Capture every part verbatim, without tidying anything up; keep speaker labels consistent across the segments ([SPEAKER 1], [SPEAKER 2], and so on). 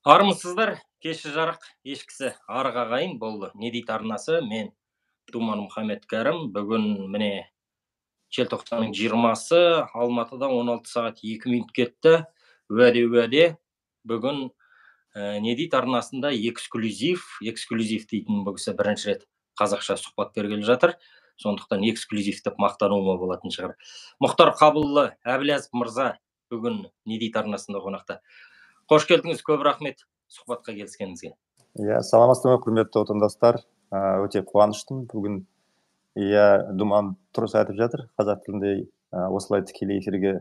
[SPEAKER 1] Армысыздар, кеші жарық, ешкісі арық ағайын болды. Не дейді арнасы, мен Думан Мұхаммед Кәрім. Бүгін міне желтоқсанның жиырмасы, Алматыда он алты сағат екі минут кетті. Уәде-уәде, бүгін ә, не дейді арнасында эксклюзив, эксклюзив дейтін бұл кісі бірінші рет қазақша сұхбат бергелі жатыр. Сондықтан эксклюзив деп мақтануыма болатын шығар. Мұхтар Қабылұлы Әбіләзов мырза бүгін не дейді арнасында қонақта. Қош келдіңіз, көп рахмет сұхбатқа келіскеніңізге.
[SPEAKER 2] Иә, саламатсыздар ма, құрметті отандастар. Өте қуаныштымын бүгін. Иә, Думан дұрыс айтып жатыр. Қазақ тілінде осылай тікелей эфирге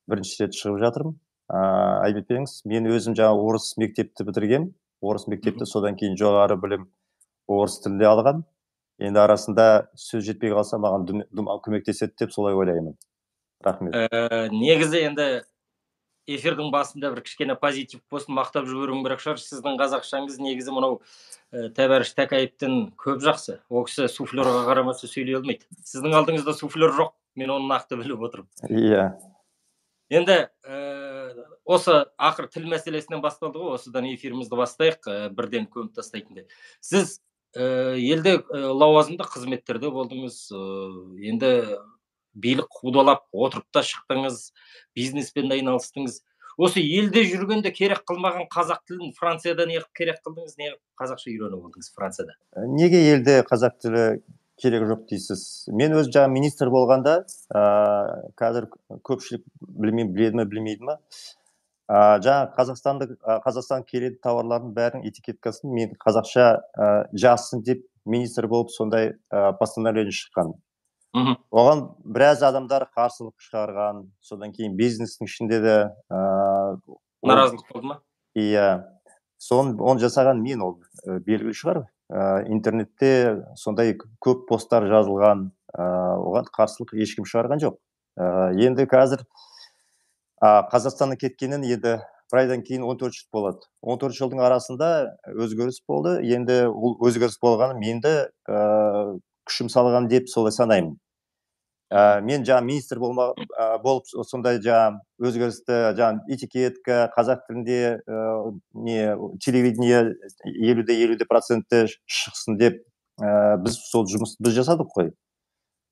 [SPEAKER 2] бірінші рет шығып жатырмын. Айып етпеңіз, мен өзім жаңа орыс мектепті бітіргем. Орыс мектепті содан кейін жоғары білім орыс тілінде алған. Енді арасында сөз жетпей қалса, маған Думан көмектеседі деп солай ойлаймын. Рахмет.
[SPEAKER 1] Негізі енді эфирдің басында бір кішкене позитив болсын мақтап жіберуім керек шығар. Сіздің қазақшаңыз негізі мынау Тәбәріш Тәкәевтен көп жақсы. Ол кісі суфлерға қарамаса сөйлей алмайды. Сіздің алдыңызда суфлер жоқ, мен оны нақты біліп отырмын.
[SPEAKER 2] Иә.
[SPEAKER 1] Енді осы ақыр тіл мәселесінен басталды ғой, осыдан эфирімізді бастайық, бірден көміп тастайтындай. Сіз елде лауазымды қызметтерде болдыңыз, енді билік қудалап отырып та шықтыңыз, бизнеспен айналыстыңыз. Осы елде жүргенде керек қылмаған қазақ тілін Францияда не керек қылдыңыз, не қазақша үйреніп алдыңыз Францияда?
[SPEAKER 2] Неге елде қазақ тілі керек жоқ дейсіз? Мен өз жаңа министр болғанда, қазір көпшілік білмейді, біледі ме, білмейді ме? Жаңа Қазақстандық, Қазақстан келеді тауарлардың бәрінің этикеткасын мен қазақша жазсын деп министр болып сондай постановление шыққан. Оған біраз адамдар қарсылық шығарған, содан кейін бизнестің ішінде де
[SPEAKER 1] наразылық болды ма?
[SPEAKER 2] Иә, оны жасаған мен, ол белгілі шығар. Интернетте сондай көп посттар жазылған, оған қарсылық ешкім шығарған жоқ. Енді қазір Қазақстанның кеткенін енді бір айдан кейін он төрт жыл болады. он төрт жылдың арасында өзгеріс болды. Енді ол өзгеріс болғаны менді күшім салған деп солай санаймын. Мен жаңа министр болып сондай жаңа өзгерісті, жаңа этикетка, қазақ тілінде телевидение елу де елу процентті шықсын деп біз сол жұмысты біз жасадық қой.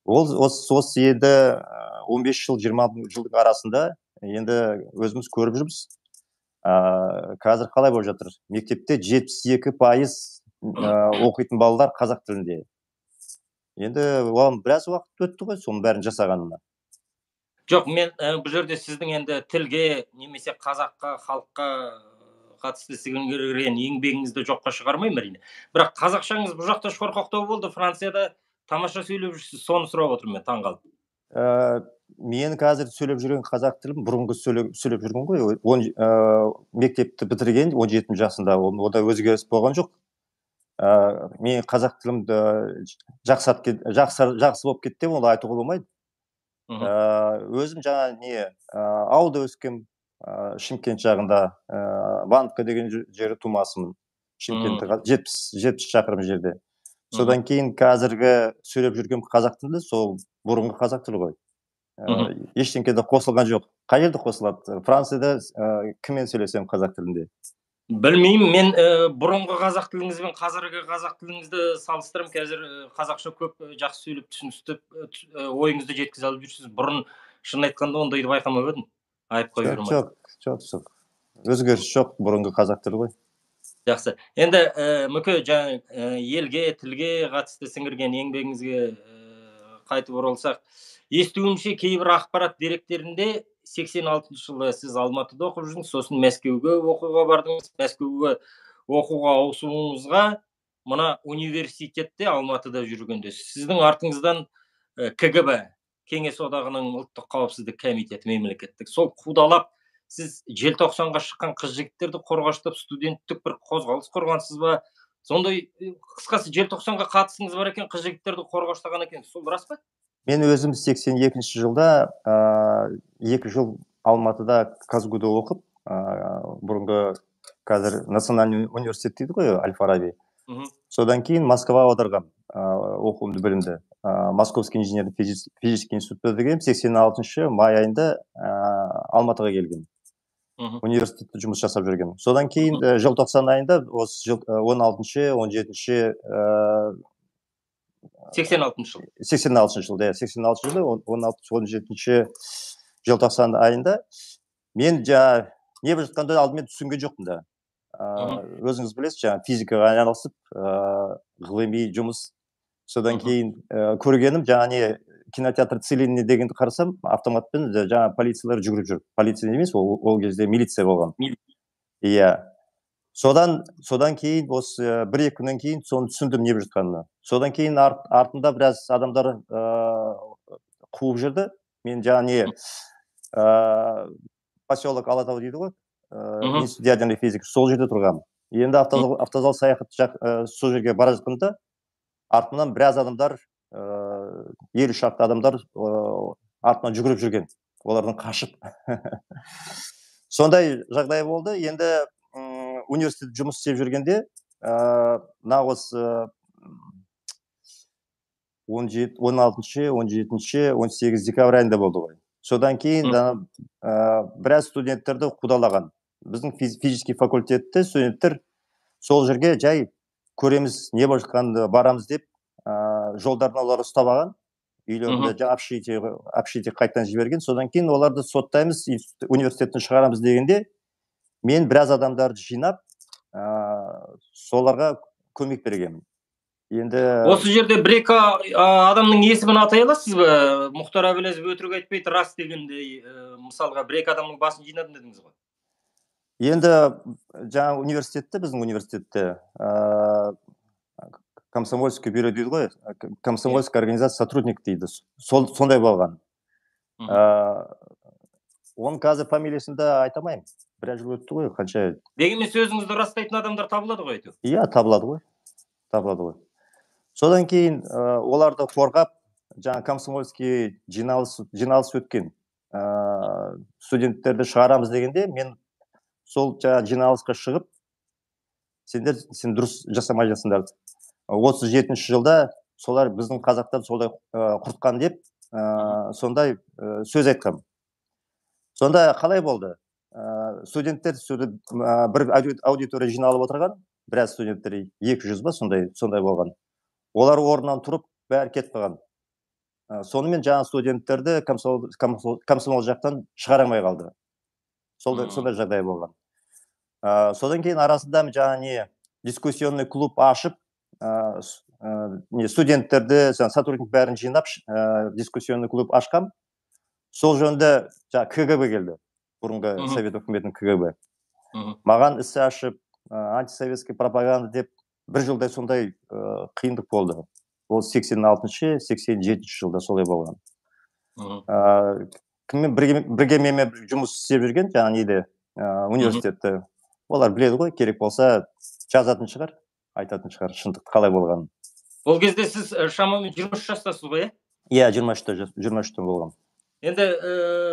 [SPEAKER 2] Осы енді он бес жыл, жиырма жылдың арасында енді өзіміз көріп жүрміз. Қазір қалай болып жатыр? Мектепте жетпіс екі пайыз оқитын балалар қазақ тілінде. Енді оған біраз уақыт өтті ғой, соның бәрін жасағанына.
[SPEAKER 1] Жоқ, мен бұл жерде сіздің енді тілге, немесе қазаққа, халыққа қатысты сіңірген еңбегіңізді жоққа шығармаймын әрине. Бірақ қазақшаңыз бұл жақта шорқақтау болды, Францияда тамаша сөйлеп жүрсіз, соны сұрап отырмын мен, таңғалып.
[SPEAKER 2] Мен қазір сөйлеп жүрген қазақ тілім бұрынғы сөйлеп жүрген ғой. Мектепті бітірген он жеті жасында, ода өзгеріс болған жоқ. Мен қазақ тілімді жақсы болып кетті, оны айтуға болмайды. Өзім жаңа не ауылда өскем, Шымкент жағында, Банковка деген жері тумасымын. Шымкентті жетпіс шақырым жерде. Содан кейін қазіргі сөйлеп жүрген қазақ тілі сол бұрынғы қазақ тілі ғой. Ештеңкеде қосылған жоқ. Қай жерде қосылады? Францияда кіммен сөйлесем қазақ тілінде?
[SPEAKER 1] Білмеймін, мен бұрынғы қазақ тіліңіз бен қазіргі қазақ тіліңізді салыстырым. Қазір қазақша көп жақсы сөйлеп түсіністіп, ойыңызды жеткізе алып жүрсіз. Бұрын шын айтқанда ондайды байқамап едім. Айып қойып жүрмін.
[SPEAKER 2] Жоқ, жоқ, жоқ. Өзгеріс жоқ, бұрынғы қазақ тілі ғой.
[SPEAKER 1] Жақсы. Енді мүке жаңа елге, тілге қатысты сіңірген еңбегіңізге қайтып оралсақ, естуімше кейбір ақпарат деректерінде сексен алтыншы жылы сіз Алматыда оқып жүрсіңіз, сосын Мәскеуге оқуға бардыңыз. Мәскеуге оқуға ауысуыңызға мына университетте Алматыда жүргенде сіздің артыңыздан КГБ, Кеңес одағының ұлттық қауіпсіздік комитеті мемлекеттік, сол қудалап сіз желтоқсанға шыққан қыз жігіттерді қорғаштап студенттік бір қозғалыс құрғансыз ба? Сондай қысқасы желтоқсанға қатысыңыз бар екен, қыз жігіттерді қорғаштаған екен, сол рас па?
[SPEAKER 2] Мен өзім сексен екінші жылда екі жыл Алматыда Казгуда оқып, бұрынғы қазір Национальный университет дейді ғой, Аль-Фараби. Содан кейін Москва аударғам оқуымды, білімді. Московский инженерный физический институтта деген сексен алтыншы май айында Алматыға келген. университетте жұмыс жасап жүрген. Содан кейін желтоқсан айында осы он алтыншы он жетінші
[SPEAKER 1] сексен алтыншы жыл
[SPEAKER 2] сексен алтыншы жылда иә сексен алтыншы жылда он алтыншы он жетінші желтоқсан айында мен жаңа не болып жатқанды алдымен түсінген жоқпын да. Өзіңіз білесіз, жаңа физикаға айналысып ғылыми жұмыс. Содан кейін көргенім жаңа не кинотеатр Целинный дегенді қарасам, автоматпен жаңа полициялар жүгіріп жүр. Полиция емес, ол кезде милиция болған. Иә. Содан содан кейін осы бір екі күннен кейін соны түсіндім не болып жатқанын. Содан кейін артында біраз адамдар қуып жүрді. Мен жаңа не поселок Алатау дейді ғой. Институт ядерной физики. Сол жерде тұрғанмын. Енді автозал саяхат сол жерге бара жатқанда артымнан біраз адамдар, елу шақты адамдар артынан жүгіріп жүрген. Олардан қашып. Сондай жағдай болды. Енді университет жұмыс істеп жүргенде, мына осы он алтыншы он жетінші он сегізінші декабрь айында болды ғой. Содан кейін біраз студенттерді қудалаған. Біздің физический факультетте студенттер сол жерге жай көреміз, не болып жатқанын барамыз деп жолдардан олар ұстап алған. Үйлерінде общежитие қайтадан жіберген. Содан кейін оларды соттаймыз, университеттен шығарамыз дегенде мен біраз адамдарды жинап, соларға көмек бергенмін. Енді
[SPEAKER 1] осы жерде бір-екі адамның есімін атай аласыз ба? Мұхтар Әбіләзов өтірік айтпайды, рас дегендей, мысалға бір-екі адамның басын жинадым дедіңіз ғой.
[SPEAKER 2] Енді жаңа университетте, біздің университетте комсомольский бюро дейді ғой, комсомольская организация сотрудник дейді. Сондай болған. Оның қазір фамилиясын да айтамаймын. Біраз жыл өтті ғой, қанша.
[SPEAKER 1] Дегенмен сөзіңізді растайтын адамдар табылады ғой әйтеуір.
[SPEAKER 2] Иә, табылады ғой. Табылады ғой. Содан кейін оларды қорғап, жаңа комсомольский жиналыс өткен студенттерді шығарамыз дегенде, мен сол жаңа жиналысқа шығып, сендер сен дұрыс жасамай жатсыңдар. отыз жетінші жылда солар біздің қазақтар солай құртқан деп, сондай сөз айтқам. Сонда қалай болды? Студенттер бір аудитория жиналып отырған, біраз студенттер екі жүз ба сондай болған. Олар орнынан тұрып, бәрі кетіп қалған. Сонымен жаңа студенттерді комсомол жақтан шығарамай қалды. Сондай жағдай болған. Содан кейін арасында жаңа не дискуссионный клуб ашып, студенттерді, сотрудник бәрін жинап, дискуссионный клуб ашқам. Сол жөнінде КГБ келді. Бұрынғы Совет үкіметінің КГБ. Маған ісі ашып, антисоветский пропаганда деп бір жылдай сондай қиындық болды. Ол сексен алтыншы сексен жетінші жылда солай болған. Кіммен бірге менімен жұмыс істеп жүрген, жаңа неде университетті. Олар біледі ғой, керек болса жазатын шығар, айтатын шығар, шындық қалай болған.
[SPEAKER 1] Ол кезде сіз шамамен жиырма үш жастасыз ғой, е?
[SPEAKER 2] Иә, жиырма үштен болған.
[SPEAKER 1] Енді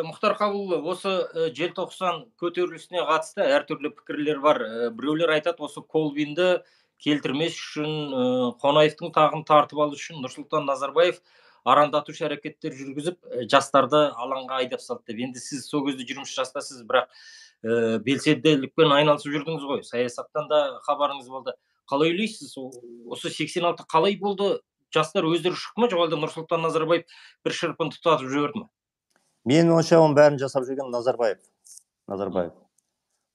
[SPEAKER 1] Мұхтар Қабылұлы, осы желтоқсан көтерілісіне қатысты әртүрлі пікірлер бар. Біреулер айтады, осы Колбинді келтірмес үшін, Қонаевтың тағын тартып алу үшін Нұрсұлтан Назарбаев арандатушы әрекеттер жүргізіп, жастарды алаңға айдап салды деп. Енді сіз сол кезде жиырма үш жастасыз, бірақ белсенділікпен айналысып жүрдіңіз ғой. Саясаттан да хабарыңыз болды. Қалай ойлайсыз? Осы сексен алты қалай болды? Жастар өздері шықты ма, жоқ әлде Нұрсұлтан Назарбаев бір шырпын тұтатып жіберді ме?
[SPEAKER 2] Мен ойымша оның бәрін жасап жүрген Назарбаев. Назарбаев.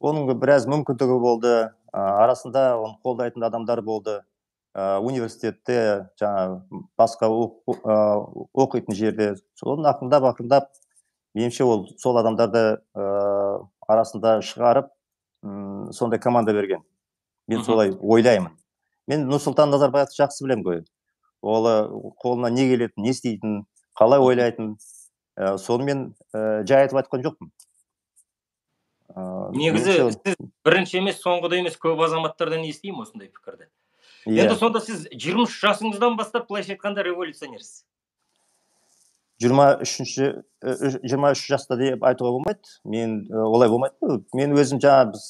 [SPEAKER 2] Оның біраз мүмкіндігі болды. Арасында оны қолдайтын адамдар болды. Университетте, жаңа басқа оқитын жерде. Соның ақырындап, ақырындап, меніңше ол сол адамдарды арасында шығарып, сондай команда берген. Мен солай ойлаймын. Мен Нұрсұлтан Назарбаевты жақсы білем ғой. Ол қолына не келетін, не істейтін, қалай ойлайтын. Сонымен жай айтып айтқан жоқпын.
[SPEAKER 1] Негізі сіз бірінші емес, соңғыда емес, көп азаматтардан естеймін осындай пікірді. Енді сонда сіз жиырма үш жасыңыздан бастап былайша айтқанда революционерсіз.
[SPEAKER 2] жиырма үш жаста деп айтуға болмайды. Мен олай болмайды. Мен өзім жаңа біз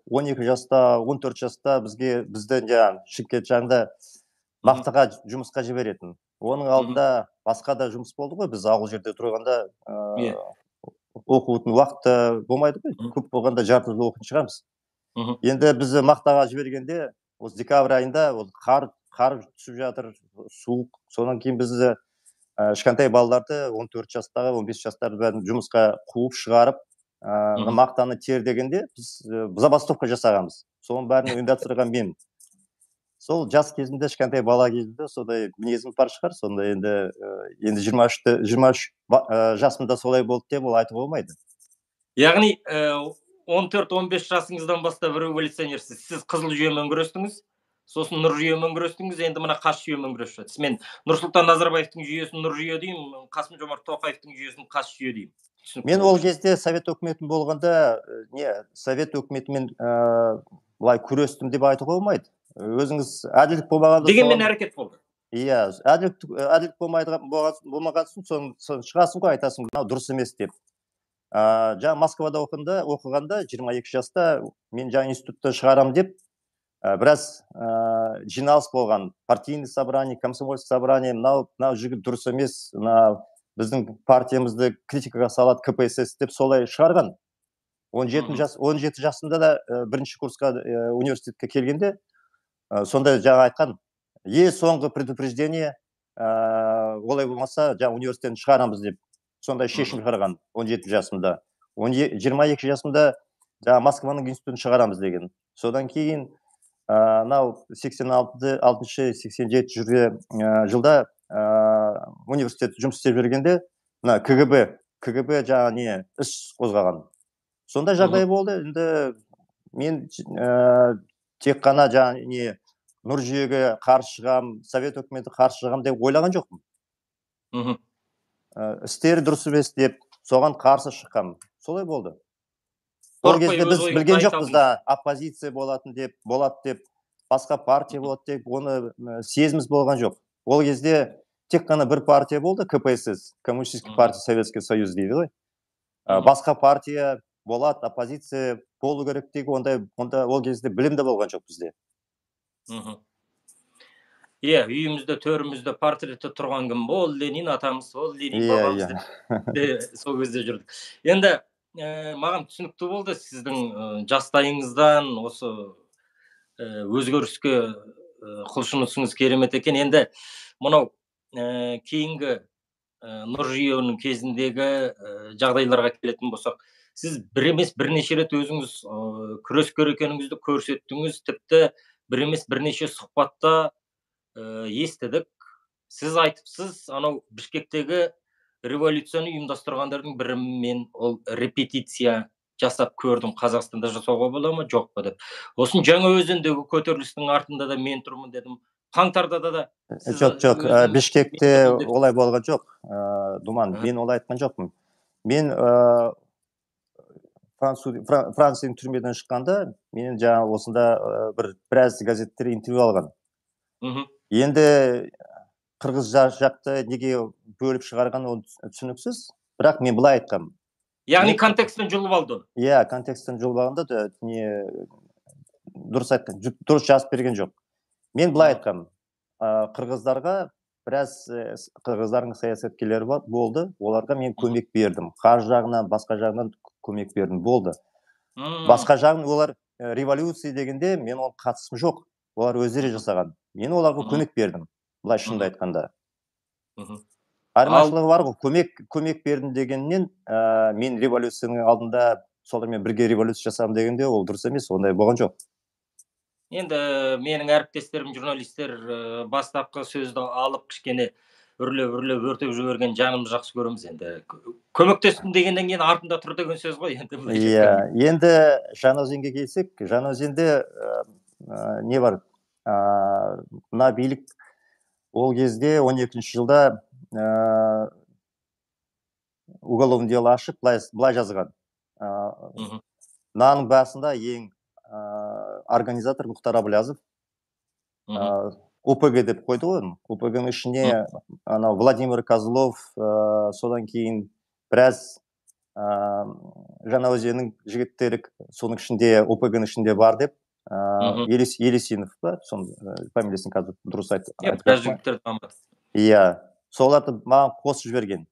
[SPEAKER 2] он екі жаста, он төрт жаста бізге бізді жаңа Шымкент жағында бақтыға жұмысқа жіберетін. Оның алдында басқа да жұмыс болды ғой. Біз ауыл жерде тұрғанда оқудың уақыты болмайды ғой, көп болғанда жарты жыл оқитын шығармыз. Енді біз мақтаға жібергенде осы декабрь айында ол қар қар түсіп жатыр, суық. Содан кейін біз кішкентай балаларды он төрт жастағы, он бес жастағы бәрін жұмысқа қуып шығарып, мақтаны тер дегенде біз забастовка жасағанбыз. Соның бәрін ұйымдастырған мен. Сол жас кезінде, кішкентай бала кезінде сондай мінезім бар шығар. Сонда енді енді жиырма үш жасымда солай болды деп ол айтуға болмайды.
[SPEAKER 1] Яғни он төрт он бес жасыңыздан бастап революционерсіз. Сіз қызыл жүйемен күрестіңіз, сосын нұр жүйемен күрестіңіз, енді мына қас жүйемен күресіп жатырсыз. Мен Нұрсұлтан Назарбаевтың жүйесін нұр жүйе деймін, Қасым Жомарт Тоқаевтың жүйесін қас жүйе деймін.
[SPEAKER 2] Мен ол кезде совет өкіметін болғанда, не, совет өкіметімен былай күрестім деп айтуға болмайды. Өзіңіз әділдік болмағанда
[SPEAKER 1] дегенмен әрекет болды.
[SPEAKER 2] Иә, әділдік болмаған соң шығасың ғой, айтасың, мынау дұрыс емес деп. Жаңа Москвада оқығанда жиырма екі жаста мен жаңа институтта шығарам деп біраз жиналыс болған. Партийный собрание, комсомольский собрание, мынау жігіт дұрыс емес, біздің партиямызды критикаға салады ка пэ эс эс деп солай шығарған. он жеті жасында да бірінші курсқа университетке келгенде сондай жаңа айтқан, е соңғы предупреждение, олай болмаса жаңа университеттен шығарамыз деп сондай шешім шығарған он жеті жасымда. жиырма екі жасымда жаңа Москваның институтын шығарамыз деген. Содан кейін мынау сексен алтыншы сексен жетінші жылда университет жұмыс істеп жүргенде мына ка гэ бэ ка гэ бэ жаңа не іс қозғаған. Сондай жағдай болды. Енді мен тек қана жаңа не нұр жүйеге қарсы шығам, совет өкіметі қарсы шығам деп ойлаған жоқпын. Істері дұрыс емес деп соған қарсы шыққам. Солай болды. Ол кезде біз білген жоқпыз да, оппозиция болатын деп, болады деп, басқа партия болады деп, оны сезіміз болған жоқ. Ол кезде тек қана бір партия болды, ка пэ эс эс, Коммунистический партия Советский Союз дейді ғой. Басқа партия болады, оппозиция болу керек деген онда ол кезде білім де болған жоқ бізде.
[SPEAKER 1] Иә, үйімізде, төрімізде портреті тұрған кім? Ол Ленин атамыз, ол Ленин бабамыз деп сол кезде жүрдік. Енді маған түсінікті болды сіздің жастайыңыздан осы өзгеріске құлшынысыңыз керемет екен. Енді мынау кейінгі нұр жүйенің кезіндегі жағдайларға келетін болсақ, сіз бір емес бірнеше рет өзіңіз күрескер екеніңізді көрсеттіңіз, тіпті бір емес бірнеше сұхбатта естідік. Сіз айтыпсыз, анау Бішкектегі революцияны ұйымдастырғандардың бірі мен ол репетиция жасап көрдім, Қазақстанда жасауға бола ма, жоқ па деп. Осын Жаңаөзендегі көтерілістің артында да мен тұрмын дедім. Қаңтарда да
[SPEAKER 2] жоқ, жоқ, Бішкекте олай болған жоқ. Думан, мен олай айтқан жоқпын. Мен Францияның түрмеден шыққанда, мен жаңа осында бір біраз газеттер интервью алған. Енді қырғыз жақты неге бөліп шығарған ол түсініксіз, бірақ мен былай айтқам.
[SPEAKER 1] Яғни контекстен жұлып алды.
[SPEAKER 2] Иә, контекстен жұлып алғанда да дұрыс айтқан, дұрыс жазып берген жоқ. Мен былай айтқам, қырғыздарға біраз қырғыздардың саясаткерлері болды, оларға мен көмек бердім. Қаржы жағынан, басқа жағынан көмек бердім, болды. Басқа жағын олар революция дегенде мен ол қатысым жоқ. Олар өздері жасаған. Мен оларға көмек бердім, былай шынды айтқанда. Айырмашылығы бар ғой, көмек көмек бердім дегеннен мен революцияның алдында солармен бірге революция жасадым дегенде ол дұрыс емес, ондай болған жоқ.
[SPEAKER 1] Енді менің әріптестерім журналистер бастапқы сөзді алып кішкене үрлеп-үрлеп өртеп жіберген жанымыз жақсы көреміз. Енді көмектестім дегеннен кейін артында тұр деген сөз ғой енді.
[SPEAKER 2] Иә, енді Жаңаөзенге келсек, Жаңаөзенде не бар? Мына билік ол кезде он екінші жылда уголовное дело ашып, былай жазған. Мынаның басында ең организатор Мұхтар Әблязов о пэ гэ деп қойды ғой. о пэ гэ-ның ішіне Владимир Козлов, содан кейін біраз Жаңаөзеннің жігіттері соның ішінде о пэ гэ-ның ішінде бар деп, Елесинов ба, фамилиясын қазір дұрыс айтып.
[SPEAKER 1] Иә, біраз жігіттер дамады.
[SPEAKER 2] Иә, соларды маған қосып жіберген.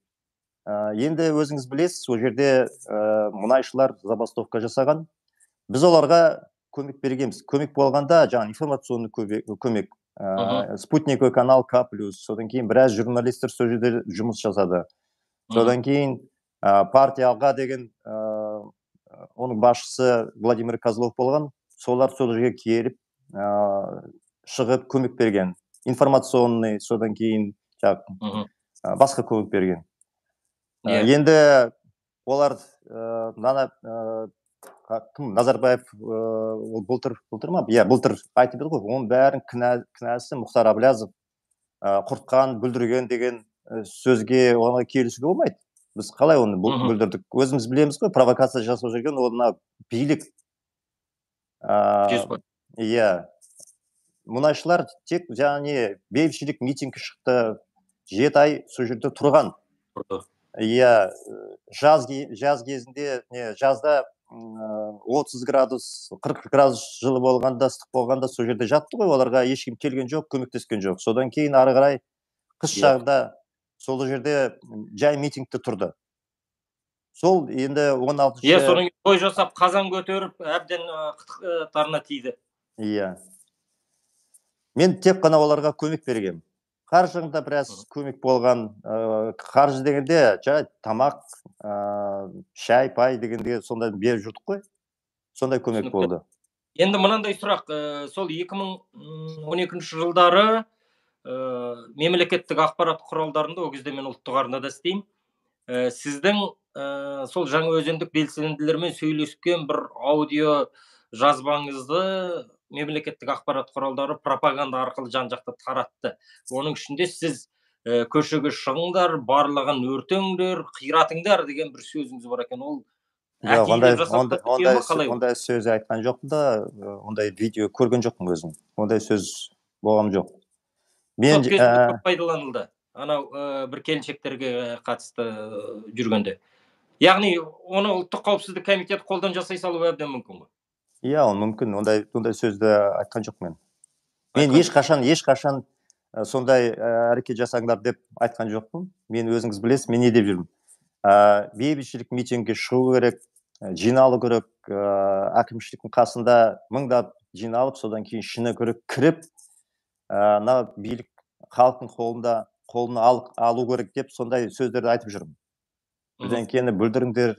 [SPEAKER 2] Енді өзіңіз білесіз, ол жерде мұнайшылар забастовка жасаған. Біз оларға көмек бергенбіз. Көмек болғанда, жаңа информационный көмек, спутниковый канал К плюс, содан кейін біраз журналистер сол жерде жұмыс жасады. Содан кейін партия алға деген оның басшысы Владимир Козлов болған. Солар сол жерге келіп, шығып көмек берген. Информационный, содан кейін басқа көмек берген. Енді олар кім, Назарбаев былтыр ма? Иә, былтыр айтып еді ғой, оның бәрін кінәсі Мұхтар Әблязов құртқан, бүлдірген деген сөзге оңай келісуге болмайды. Біз қалай оны бүлдірдік? Өзіміз білеміз ғой, провокация жасап жүрген оны билік. Иә. Мұнайшылар тек жаңа бейбітшілік митингке шықты, жеті ай сол жерде тұрған. Иә, жаз кезінде, жазда отыз градус, қырық градус жылы болғанда, ыстық болғанда сол жерде жатты ғой, оларға ешкім келген жоқ, көмектескен жоқ. Содан кейін ары қарай қыс жағда сол жерде жай митингте тұрды. Сол енді он алтыншы...
[SPEAKER 1] Е, соның той жасап, қазан көтеріп, әбден қытықтарына тиді.
[SPEAKER 2] Иә. Мен тек қана оларға көмек бергем. Қаржыңда біраз көмек болған, қаржы дегенде жай тамақ, шай, пай дегенде сондай беріп жүрдік қой. Сондай көмек болды.
[SPEAKER 1] Енді мынандай сұрақ, сол екі мың он екінші жылдары мемлекеттік ақпарат құралдарында, ол кезде мен ұлттық арнада істеймін. Сіздің сол Жаңаөзендік белсенділермен сөйлескен бір аудио жазбаңызды мемлекеттік ақпарат құралдары пропаганда арқылы жан-жақты таратты. Оның ішінде сіз көшеге шығыңдар, барлығын өртеңдер, қиратыңдар деген бір сөзіңіз бар екен. Ол
[SPEAKER 2] ондай сөз айтқан жоқпын да, ондай видео көрген жоқпын өзім. Ондай сөз болған жоқ.
[SPEAKER 1] Сол кезінде көп пайдаланылды. Анау бір келіншектерге қатысты жүргенде. Яғни, оны ұлттық қауіпсіздік комитеті қолдан жасай салу әбден мүмкін ғой.
[SPEAKER 2] Иә, ол мүмкін. Ондай сөзді айтқан жоқ мен. Мен ешқашан, ешқашан сондай әрекет жасаңдар деп айтқан жоқпын. Мен өзіңіз білесіз, мен не деп жүрмін. Бейбітшілік митингке шығу керек, жиналу керек, әкімшіліктің қасында мыңдап жиналып, содан кейін ішіне кіріп, на билік халықтың қолында қолына алу керек деп сондай сөздерді айтып жүрмін. Бірден кені бүлдіріңдер,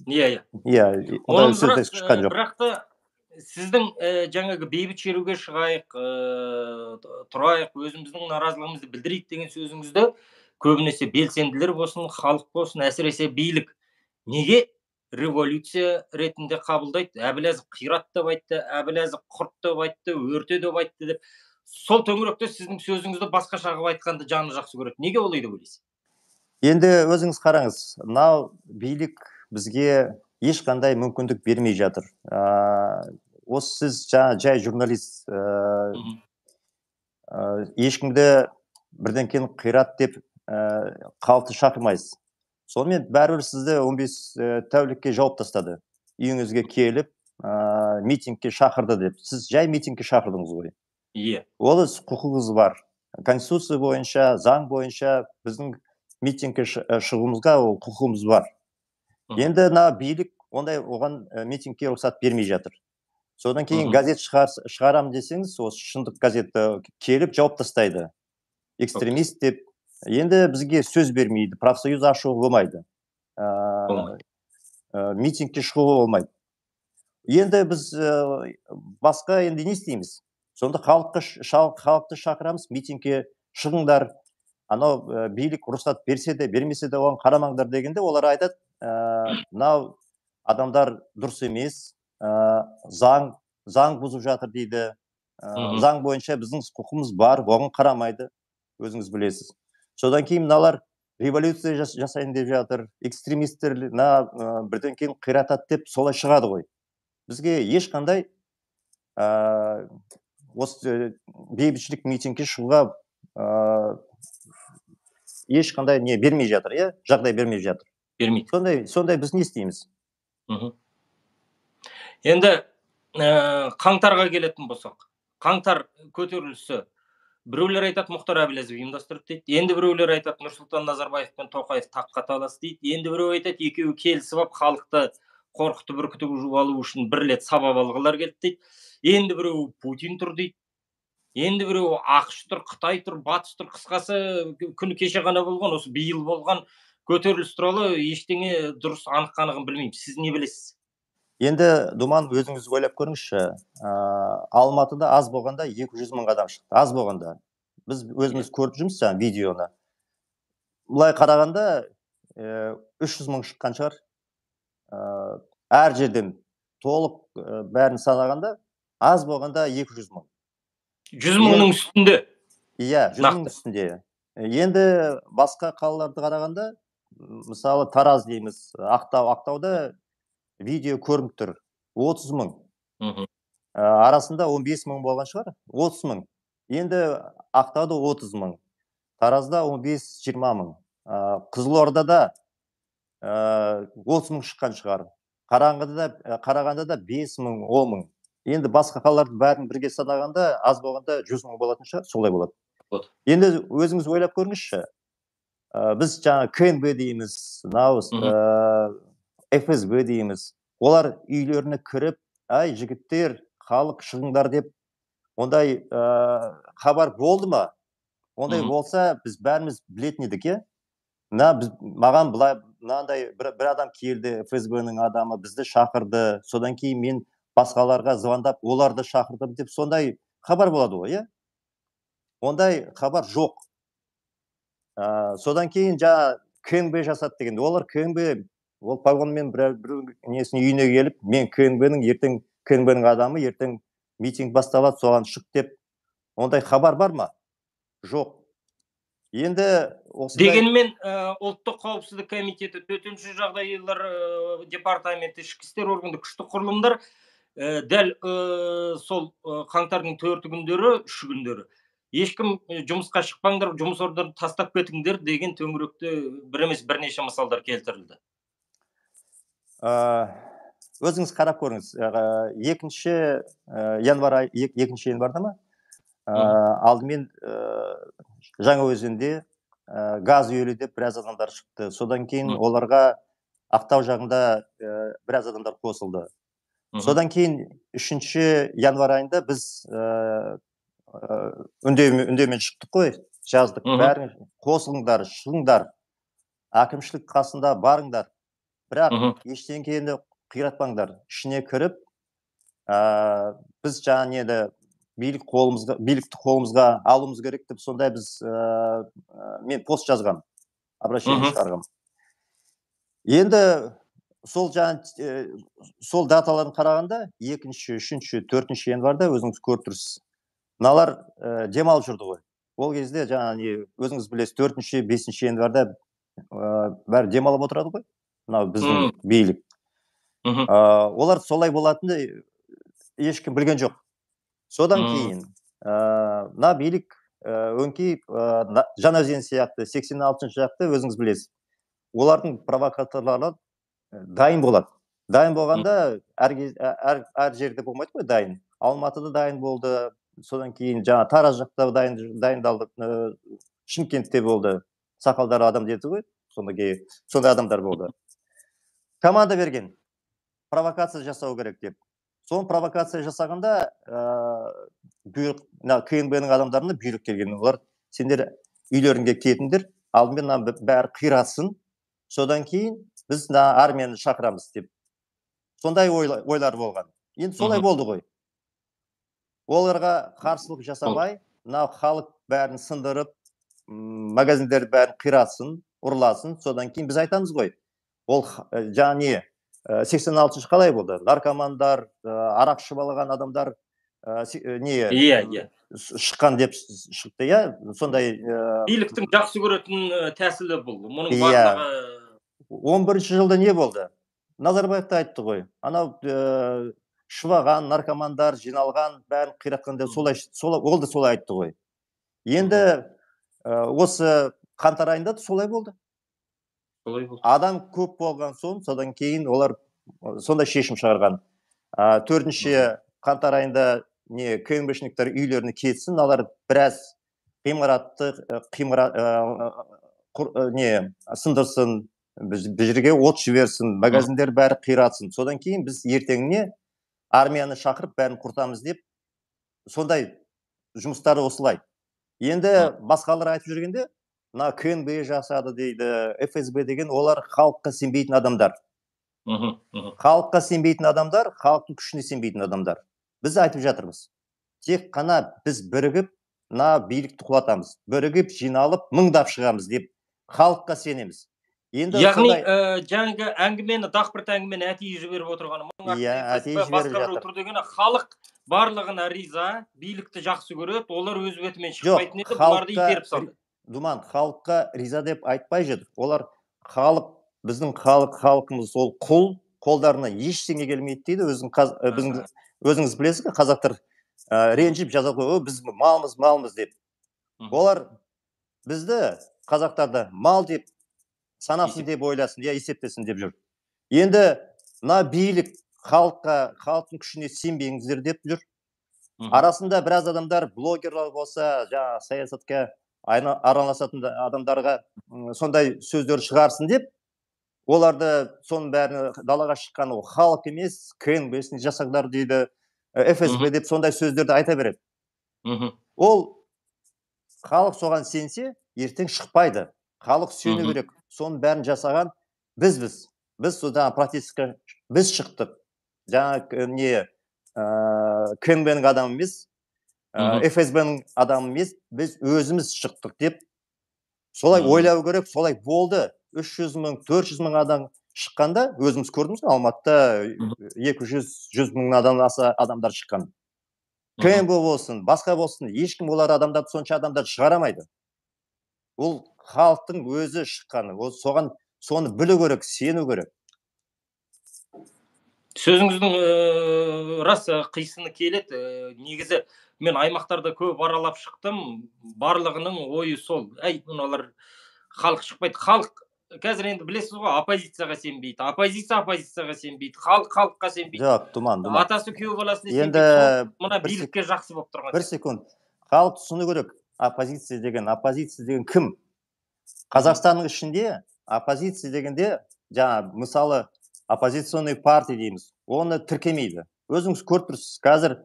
[SPEAKER 1] Иә, оның бірақ та сіздің жаңағы бейбіт шеруге шығайық, тұрайық, өзіміздің наразылығымызды білдірейік деген сөзіңізді көбінесе белсенділер болсын, халық болсын, әсіресе билік неге революция ретінде қабылдайды? Әбіләзов қират деп айтты, Әбіләзов құрт деп айтты, өрте деп айтты деп. Сол төңіректе сіздің сөзіңізді басқаша қылып айтқанды жаны жақсы көреді. Неге олай деп ойлайсыз?
[SPEAKER 2] Енді өзіңіз қараңыз, мынау билік бізге ешқандай мүмкіндік бермей жатыр. Осы сіз жаңа жай журналист, ешкімді бірден кейін қират деп халықты шақырмайсыз. Сонымен бәрібір сізді он бес тәулікке жауып тастады. Үйіңізге келіп, митингке шақырды деп. Сіз жай митингке шақырдыңыз ғой.
[SPEAKER 1] Иә.
[SPEAKER 2] Ол құқығыңыз бар. Конституция бойынша, заң бойынша біздің митингке шығуымызға ол құқығымыз бар. Енді на билік ондай оған митингке рұқсат бермей жатыр. Содан кейін газет шығарам десеңіз, осы шындық газетті келіп жауып тастайды. Экстремист деп. Енді бізге сөз бермейді, профсоюз ашуы болмайды. Митингке шығуы болмайды. Енді біз басқа енді не істейміз? Сонда халықты шақырамыз, митингке шығыңдар. Анау билік рұқсат берсе де, бермесе де оған қарамаңдар дегенде, олар айтады, мынау адамдар дұрыс емес, заң бұзып жатыр дейді. Заң бойынша біздің құқығымыз бар, оған қарамайды, өзіңіз білесіз. Содан кейін мыналар революция жасайын деп жатыр, экстремистер бірден кейін қиратады деп солай шығады ғой. Бізге ешқандай осы бейбітшілік митингке шығуға ешқандай не бермей жатыр, иә? Жағдай бермей жатыр.
[SPEAKER 1] Бермейді.
[SPEAKER 2] Сондай біз не істейміз?
[SPEAKER 1] Енді қаңтарға келетін болсақ, қаңтар көтерілісі Біреулер айтады, Мұхтар Әбіләзов ұйымдастырды дейді. Енді біреулер айтады, Нұрсұлтан Назарбаев пен Тоқаев таққа талас дейді. Енді біреу айтады, екеуі келісіп алып, халықты қорқытып үркітіп алу үшін бір рет сабап алғылар келді дейді. Енді біреу Путин тұр дейді. Енді біреу ақш тұр, Қытай тұр, батыс тұр. Қысқасы, күні кеше ғана болған, осы биыл болған көтеріліс туралы ештеңе дұрыс анық қанығын білмеймін. Сіз не білесіз?
[SPEAKER 2] Енді Думан, өзіңіз ойлап көріңізші, Алматыда аз болғанда екі жүз мың адам шықты. Аз болғанда. Біз өзіміз көріп жүрміз жаңа видеоны. Бұлай қарағанда үш жүз мың шыққан шығар. Әр жерден толық бәрін санағанда аз болғанда екі жүз мың.
[SPEAKER 1] жүз мыңның үстінде.
[SPEAKER 2] Иә, жүз мың үстінде. Енді басқа қалаларды қарағанда, мысалы Тараз дейміз, Ақтау, Ақтауда видео көрініп тұр. отыз мың. Арасында он бес мың болған шығар. отыз мың. Енді Ақтауда отыз мың. Таразда он бес жиырма мың. Қызылордада отыз мың шыққан шығар. Қарағандыда бес мың, он мың. Енді басқа қалалардың бәрін бірге санағанда аз болғанда жүз мың болатын шығар, солай болады. Енді өзіңіз ойлап көріңізші. Біз жаңа ка эн бэ дейміз, эф эс бэ дейміз. Олар үйлеріне кіріп, ай, жігіттер, халық шығыңдар деп, ондай хабар болды ма? Ондай болса, біз бәріміз білетін едік, е? Маған мынандай бір адам келді, эф эс бэ-нің адамы бізді шақырды, содан кейін мен басқаларға звондап, оларды шақырдым деп, сондай хабар болады ғой, е? Ондай хабар жоқ. Содан кейін жаңа ка эн бэ жасады деген. Олар ка эн бэ, ол погонмен бір несіне үйіне келіп, мен ка эн бэ-нің ертең ка эн бэ-нің адамы ертең митинг басталады, соған шық деп. Ондай хабар бар ма? Жоқ. Енді
[SPEAKER 1] дегенмен ұлттық қауіпсіздік комитеті, төтенше жағдайлар департаменті, ішкі істер органды, күшті құрылымдар дәл сол қаңтардың төрті күндері, үші күндері ешкім жұмысқа шықпаңдар, жұмыс орындарын тастап кетіңдер деген төңіректе бір емес бірнеше мысалдар келтірілді.
[SPEAKER 2] Өзіңіз қарап көріңіз. екінші январ, екінші январда ма? Алдымен Жаңаөзенде газ үйілі деп біраз адамдар шықты. Содан кейін оларға Ақтау жағында біраз адамдар қосылды. Содан кейін үшінші январ айында біз үндеумен шықтық қой, жаздық. Бәрін қосылыңдар, шығыңдар, әкімшілік қасында барыңдар. Бірақ ештеңені қиратпаңдар. Ішіне кіріп, біз жаңа неді билік қолымызға, билікті қолымызға алуымыз керек деп, сондай біз мен пост жазғам, обращение шығарғам. Енді сол жаңа сол даталарын қарағанда екінші, үшінші, төртінші январда өзіңіз көріп тұрсыз. Мыналар демалып жүрді ғой. Ол кезде жаңа өзіңіз білесіз, төртінші, бесінші январда бәрі демалып отырады ғой. Мынау біздің билік. Олар солай болатынды ешкім білген жоқ. Содан кейін мына билік өңкей Жаңаөзен сияқты сексен алтыншы жақты өзіңіз білесіз. Олардың провокаторлары дайын болады. Дайын болғанда әр жерде болмайды ғой дайын. Алматыда дайын болды. Содан кейін жаңа Тараз жақта дайындалды. Шымкентте болды. Сақалдары адам деді ғой. Сондай адамдар болды. Команда берген. Провокация жасау керек деп. Соң провокация жасағанда ка эн бэ-нің адамдарына бұйрық келген. Олар сендер үйлеріңге кетіңдер, алдымен бәрі қиратсын, содан кейін біз армияны шақырамыз деп. Сондай ойлар болған. Енді солай болды ғой. Оларға қарсылық жасамай, халық бәрін сындырып, магазиндер бәрін қиратсын, ұрласын, содан кейін біз айтамыз ғой. Ол жаңа не? сексен алтыншы қалай болды? Наркомандар, арақ ішіп алған адамдар не шыққан деп шықты, я? Сондай
[SPEAKER 1] биліктің жақсы көретін тәсілі бұл. Мұның барлығы
[SPEAKER 2] он бірінші жылда не болды? Назарбаев та айтты ғой. Анау шываған наркомандар жиналған, бәрін қиратқан деп солай ол да солай айтты ғой. Енді осы қаңтар айында солай болды. Адам көп болған соң, содан кейін олар сондай шешім шығарған. Төртінші қаңтар айында ка эн бэ-шниктер үйлеріне кетсін, олар біраз ғимаратты ғимарат не сындырсын, бұл жерге от жіберсін, магазиндер бәрі қиратсын. Содан кейін біз ертеңіне армияны шақырып бәрін құртамыз деп, сондай жұмыстары осылай. Енді басқалар айтып жүргенде, мына КНБ жасады дейді, эф эс бэ деген, олар халыққа сенбейтін адамдар. Халыққа сенбейтін адамдар, халықтың күшіне сенбейтін адамдар. Біз айтып жатырмыз. Тек қана біз бірігіп, мына билікті құлатамыз. Бірігіп, жиналып, мыңдап шығамыз деп халыққа сенеміз.
[SPEAKER 1] Яғни, жаңағы әңгімені, дақпырт әңгімені әтейі жіберіп отырғаны, басқа бір отыр дегені, халық барлығына риза, билікті жақсы көреді, олар өз бетімен шықпайтын еді, бұларды итеріп салды.
[SPEAKER 2] Думан, халыққа риза деп айтпай жүр. Олар халық, біздің халық, халқымыз ол құл, қолдарына ештеңе келмейді дейді. Өзіңіз білесіз, қазақтар ренжіп жаза қойып, біз малмыз, малмыз деп. Олар бізді, қазақтарды мал деп санасын деп ойласын, я есептесін деп жүр. Енді мына билік халыққа, халықтың күшіне сенбеңіздер деп жүр. Арасында біраз адамдар, блогерлар болса, жаңа саясатқа араласатын адамдарға сондай сөздер шығарсын деп, оларды соның бәрін далаға шыққан ол халық емес, КНБ-сін жасаңдар дейді, эф эс бэ деп сондай сөздерді айта береді. Ол халық соған сенсе, ертең шықпайды. Халық сену керек. Соның бәрін жасаған біз-біз. Біз содан протестке біз шықтық. Жаңа не КНБ-ның адамы емес, эф эс бэ-ның адамы емес, біз өзіміз шықтық деп солай ойлау керек, солай болды. үш жүз мың, төрт жүз мың адам шыққанда, өзіміз көрдіңіз, Алматыда екі жүз мың аса адамдар шыққан. КНБ болсын, басқа болсын, ешкім олар адамдарды, сонша адамдар шығарамайды. Ол халықтың өзі шыққаны, ол соған соны білу керек, сену керек.
[SPEAKER 1] Сөзіңіздің рас қисыны келеді. Негізі мен аймақтарда көп аралап шықтым, барлығының ойы сол. Әй, мыналар халық шықпайды. Халық қазір енді білесіз ғой, оппозицияға сенбейді. Оппозиция оппозицияға сенбейді. Халық халыққа сенбейді.
[SPEAKER 2] Жоқ, Думан, Думан.
[SPEAKER 1] Атасы күйеу баласына сенбейді. Мына билікке жақсы болып тұрған.
[SPEAKER 2] Бір секунд. Халық түсіну керек. Оппозиция деген, оппозиция деген кім? Қазақстанның ішінде оппозиция дегенде, жаңа мысалы оппозиционный партия дейміз. Оны тіркемейді. Өзіңіз көріп тұрсыз. Қазір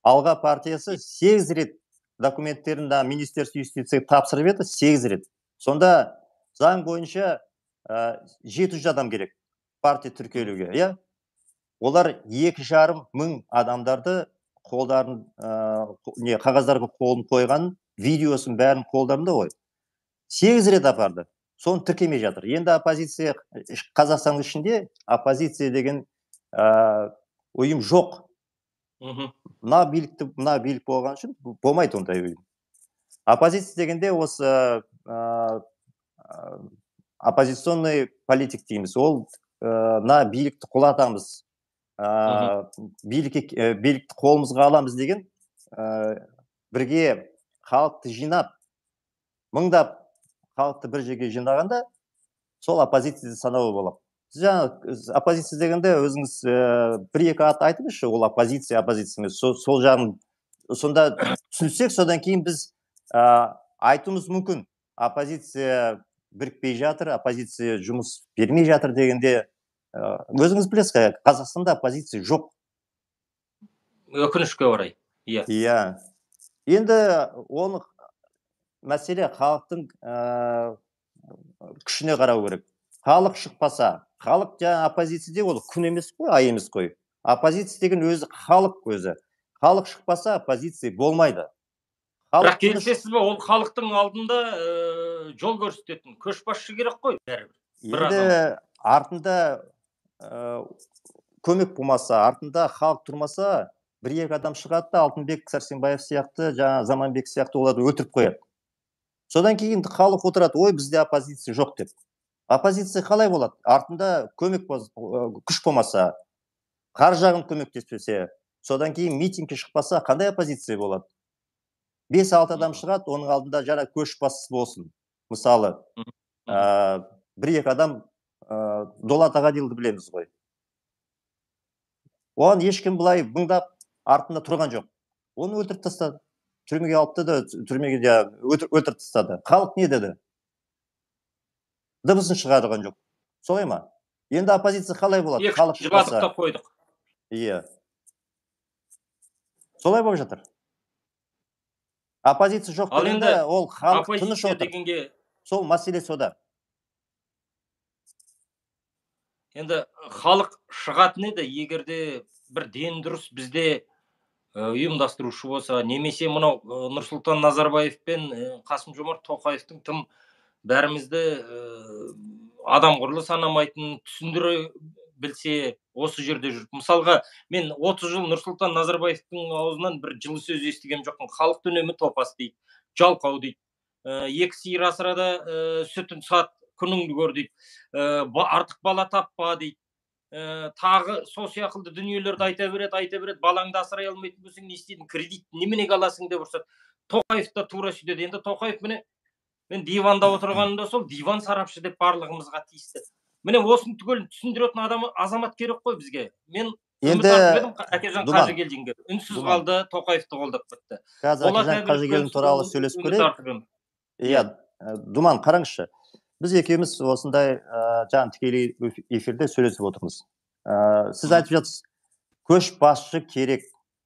[SPEAKER 2] Алға партиясы сегіз рет документтерін Министерство юстиция тапсырып еді, сегіз рет. Сонда заң бойынша жеті жүз адам керек партия тіркелуге, иә? Олар екі жарым мың адамдарды қолдарын, не, қағаздарға қолын қойған, видеосын бәрін қолдарында ғой. сегіз рет апарды. Соны тіркемей жатыр. Енді оппозиция, Қазақстанның ішінде оппозиция деген ұйым жоқ. Мына билікті, мына билік болған үшін болмайды ондай ұйым. Оппозиция дегенде осы оппозиционный политик дейміз. Ол мына билікті құлатамыз, билікті қолымызға аламыз деген бірге халықты жинап, мыңдап халықты бір жерге жинағанда сол оппозиция санауы болады. Жаңа оппозиция дегенде өзіңіз бір-екі ат айтыңызшы, ол оппозиция, оппозиция емес. Сол жағын сонда түсінсек, содан кейін біз айтуымыз мүмкін. Оппозиция бірікпей жатыр, оппозиция жұмыс бермей жатыр дегенде, өзіңіз білесіз, Қазақстанда оппозиция жоқ.
[SPEAKER 1] Өкінішке орай.
[SPEAKER 2] Иә. Енді оны мәселе халықтың күшіне қарау керек. Халық шықпаса, халық жаңа оппозиция де ол күн емес қой, ай емес қой. Оппозиция деген өзі халық өзі. Халық шықпаса оппозиция болмайды.
[SPEAKER 1] Бірақ келісесіз бе, ол халықтың алдында жол көрсететін көшбасшы керек қой бәрібір.
[SPEAKER 2] Енді артында көмек болмаса, артында халық тұрмаса, бір-екі адам шығады да Алтынбек Сәрсенбаев сияқты, жаңа Заманбек сияқты оларды өлтіріп қояды. Содан кейін халық отырады, ой, бізде оппозиция жоқ деп. Оппозиция қалай болады? Артында көмек, күш болмаса, қар жағын көмектеспесе, содан кейін митингке шықпаса, қандай оппозиция болады? бес-алты адам шығады, оның алдында жаңа көшбасшысы болсын. Мысалы, бір-екі адам Дулат Ағадилді білеміз ғой. Оған ешкім былай мыңдап артында тұрған жоқ. Оны өлтіріп тастады. түрмеге алыпты да түрмеге өлтіріп тастады. Халық не деді? Дыбысын шығарған жоқ. Солай ма? Енді оппозиция қалай болады? Халық
[SPEAKER 1] жыладық та қойдық.
[SPEAKER 2] Иә. Солай болып жатыр. Оппозиция жоқ дегенде ол халық тыныш отыр. Сол мәселе сода.
[SPEAKER 1] Енді халық шығатын еді, егерде бір ден дұрыс бізде ұйымдастырушы болса, немесе мынау Нұрсұлтан Назарбаев пен Қасым-Жомарт Тоқаевтың тым бәрімізді адам құрлы санамайтын түсіндіре білсе, осы жерде жүріп. Мысалға, мен отыз жыл Нұрсұлтан Назарбаевтың аузынан бір жылы сөз естіген жоқпын. Халықты үнемі топас дейді, жалқау дейді. Екі сиыр асырада сүтін сат, күніңді көр дейді. Артық бала таппа дейді. Тағы сол сияқылды дүниелерді айта береді, айта береді. Балаңды асырай алмайтын болсаң не істейдің? Кредит неменеге аласың деп ұрсады. Тоқаев та тура сөйтеді. Енді Тоқаев міне мен диванда отырғанымда сол диван сарапшы деп барлығымызға тиісті. Міне осыны түгел түсіндіретін адам азамат керек қой бізге. Мен үміт артып едім Әкежан Қажыгелдинге. Үнсіз қалды, Тоқаевты қолдап кетті.
[SPEAKER 2] Қазір Әкежан Қажыгелдин туралы сөйлесіп көрейік. Иә, Думан, қараңызшы. Біз екеуміз осындай жаңа тікелей эфирде сөйлесіп отырмыз. Сіз айтып жатсыз, көшбасшы керек.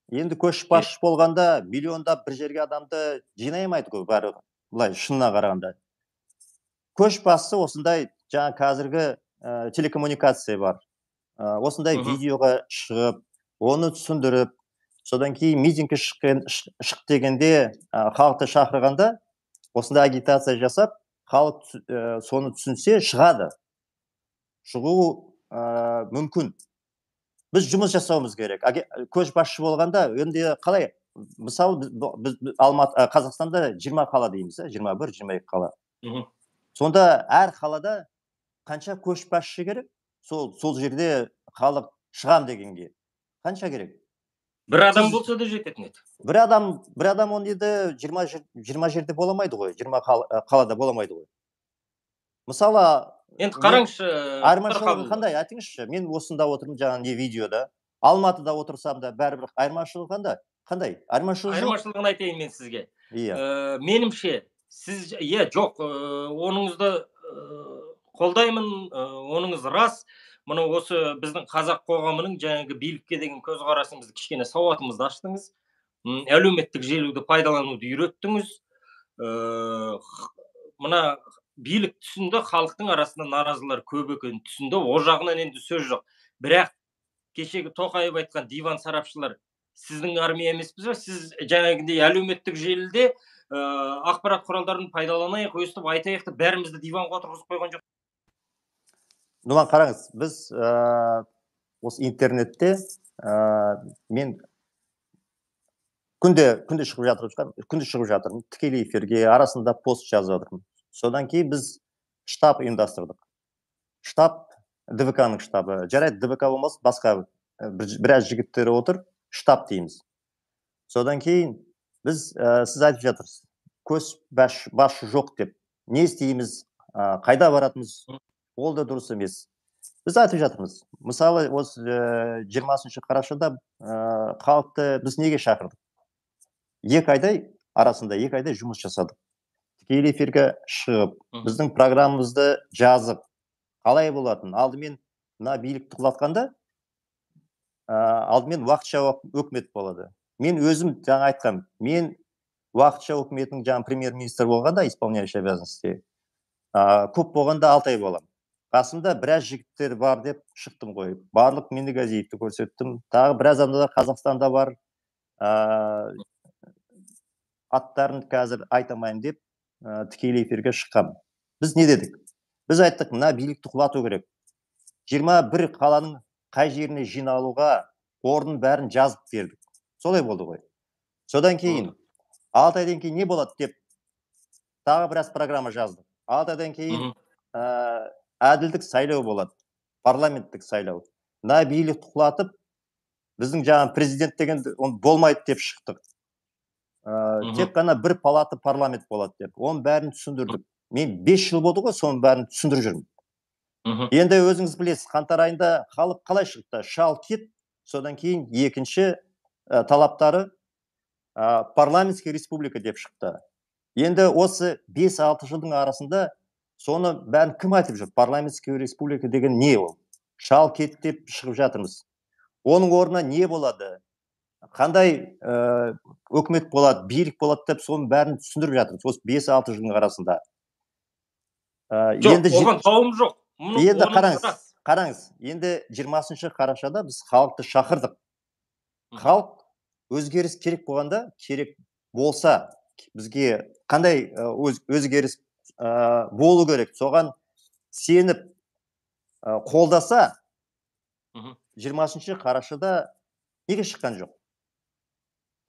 [SPEAKER 2] Енді көшбасшы болғанда миллиондап бір жерге адамды жинай алмайды ғой, бәрі былай шынына қарағанда. Көшбасшы осындай жаңа қазіргі телекоммуникация бар. Осындай видеоға шығып, оны түсіндіріп, содан кейін митингке шық дегенде халықты шақырғанда осындай агитация жасап, халық соны түсінсе шығады. Шығу мүмкін. Біз жұмыс жасауымыз керек. Көшбасшы болғанда, енді қалай? Мысалы, Қазақстанда жиырма қала дейміз, жиырма бір жиырма екі қала. Сонда әр қалада қанша көшбасшы керек? Сол жерде халық шығам дегенге. Қанша керек?
[SPEAKER 1] Бір адам болса да жететін еді.
[SPEAKER 2] Бір адам, бір адам он еді жиырма жерде боламайды ғой, жиырма қалада боламайды ғой. Мысалы,
[SPEAKER 1] енді қараңызшы,
[SPEAKER 2] айырмашылығы қандай? Айтыңызшы, мен осында отырмын жаңа не видеода, Алматыда отырсам да бәрібір айырмашылығы қандай? Қандай? Айырмашылығы жоқ.
[SPEAKER 1] Айырмашылығын айтайын мен сізге. Менімше, сіз, е, жоқ, оныңызды қолдаймын, оныңыз рас. Мұны осы біздің қазақ қоғамының жаңағы билікке деген көзқарасыңызды кішкене сауатымызды аштыңыз. Әлеуметтік желіні пайдалануды үйреттіңіз. Мына билік түсінді, халықтың арасында наразылар көп екенін түсінді. О жағынан енді сөз жоқ. Бірақ кешегі Тоқаев айтқан диван сарапшылар сіздің армия емеспіз бе? Сіз жаңағындай әлеуметтік желіде ақпарат құралдарын пайдаланайық, өстіп айтайық деп бәрімізді диванға отырғызып қойған жоқ.
[SPEAKER 2] Думан, қараңыз, біз осы интернетте мен күнде күнде шығып жатырмын, күнде шығып жатырмын, тікелей эфирге, арасында пост жазып жатырмын. Содан кейін біз штаб ұйымдастырдық. Штаб ДВК-ның штабы. Жарайды, ДВК болмас, басқа біраз жігіттері отыр, штаб дейміз. Содан кейін біз, сіз айтып жатырсыз, көшбасшы жоқ деп. Не істейміз, қайда баратымыз, ол да дұрыс емес. Біз айтып жатырмыз. Мысалы, осы жиырмасыншы қарашада халықты біз неге шақырдық? Екі айдай арасында, екі айдай жұмыс жасадық. Тікелей эфирге шығып, біздің программамызды жазып, қалай болатын? Алдымен мына билікті құлатқанда, алдымен уақытша өкімет болады. Мен өзім жаңа айтқам, мен уақытша өкіметтің жаңа премьер-министр болғанда, исполняющий обязанности, көп болғанда алты ай болам. Қасымда біраз жігіттер бар деп шықтым ғой. Барлық Миннигазиевті көрсеттім. Тағы біраз адамдар Қазақстанда бар. Аттарын қазір айтамайын деп тікелей эфирге шыққам. Біз не дедік? Біз айттық, мына билікті құлату керек. жиырма бір қаланың қай жеріне жиналуға орнын бәрін жазып бердік. Солай болды ғой. Содан кейін, алты айдан кейін не болады деп тағы біраз программа жаздық. алты айдан кейін әділдік сайлау болады. Парламенттік сайлау. Мына билікті құлатып, біздің жаңа президент деген болмайды деп шықтық. Тек қана бір палаты парламент болады деп. Оның бәрін түсіндірдік. Мен бес жыл болды ғой, соның бәрін түсіндіріп жүрмін. Енді өзіңіз білесіз, қаңтар айында халық қалай шықты? Шал кет, содан кейін екінші талаптары парламентский республика деп шықты. Енді осы бес алты жылдың арасында соны бәрін кім айтып жүр? Парламентский республика деген не ол? Шал кет деп шығып жатырмыз. Оның орнына не болады? Қандай өкімет болады, билік болады деп соның бәрін түсіндіріп жатырмыз. Осы бес алты жылдың арасында.
[SPEAKER 1] Жоқ, оған жауым жоқ.
[SPEAKER 2] Енді қараңыз, қараңыз. Енді жиырмасыншы қарашада біз халықты шақырдық. Халық өзгеріс керек болғанда, керек болса, бізге қандай өзгеріс болу керек? Соған сеніп қолдаса, жиырмасыншы қарашада неге шыққан жоқ?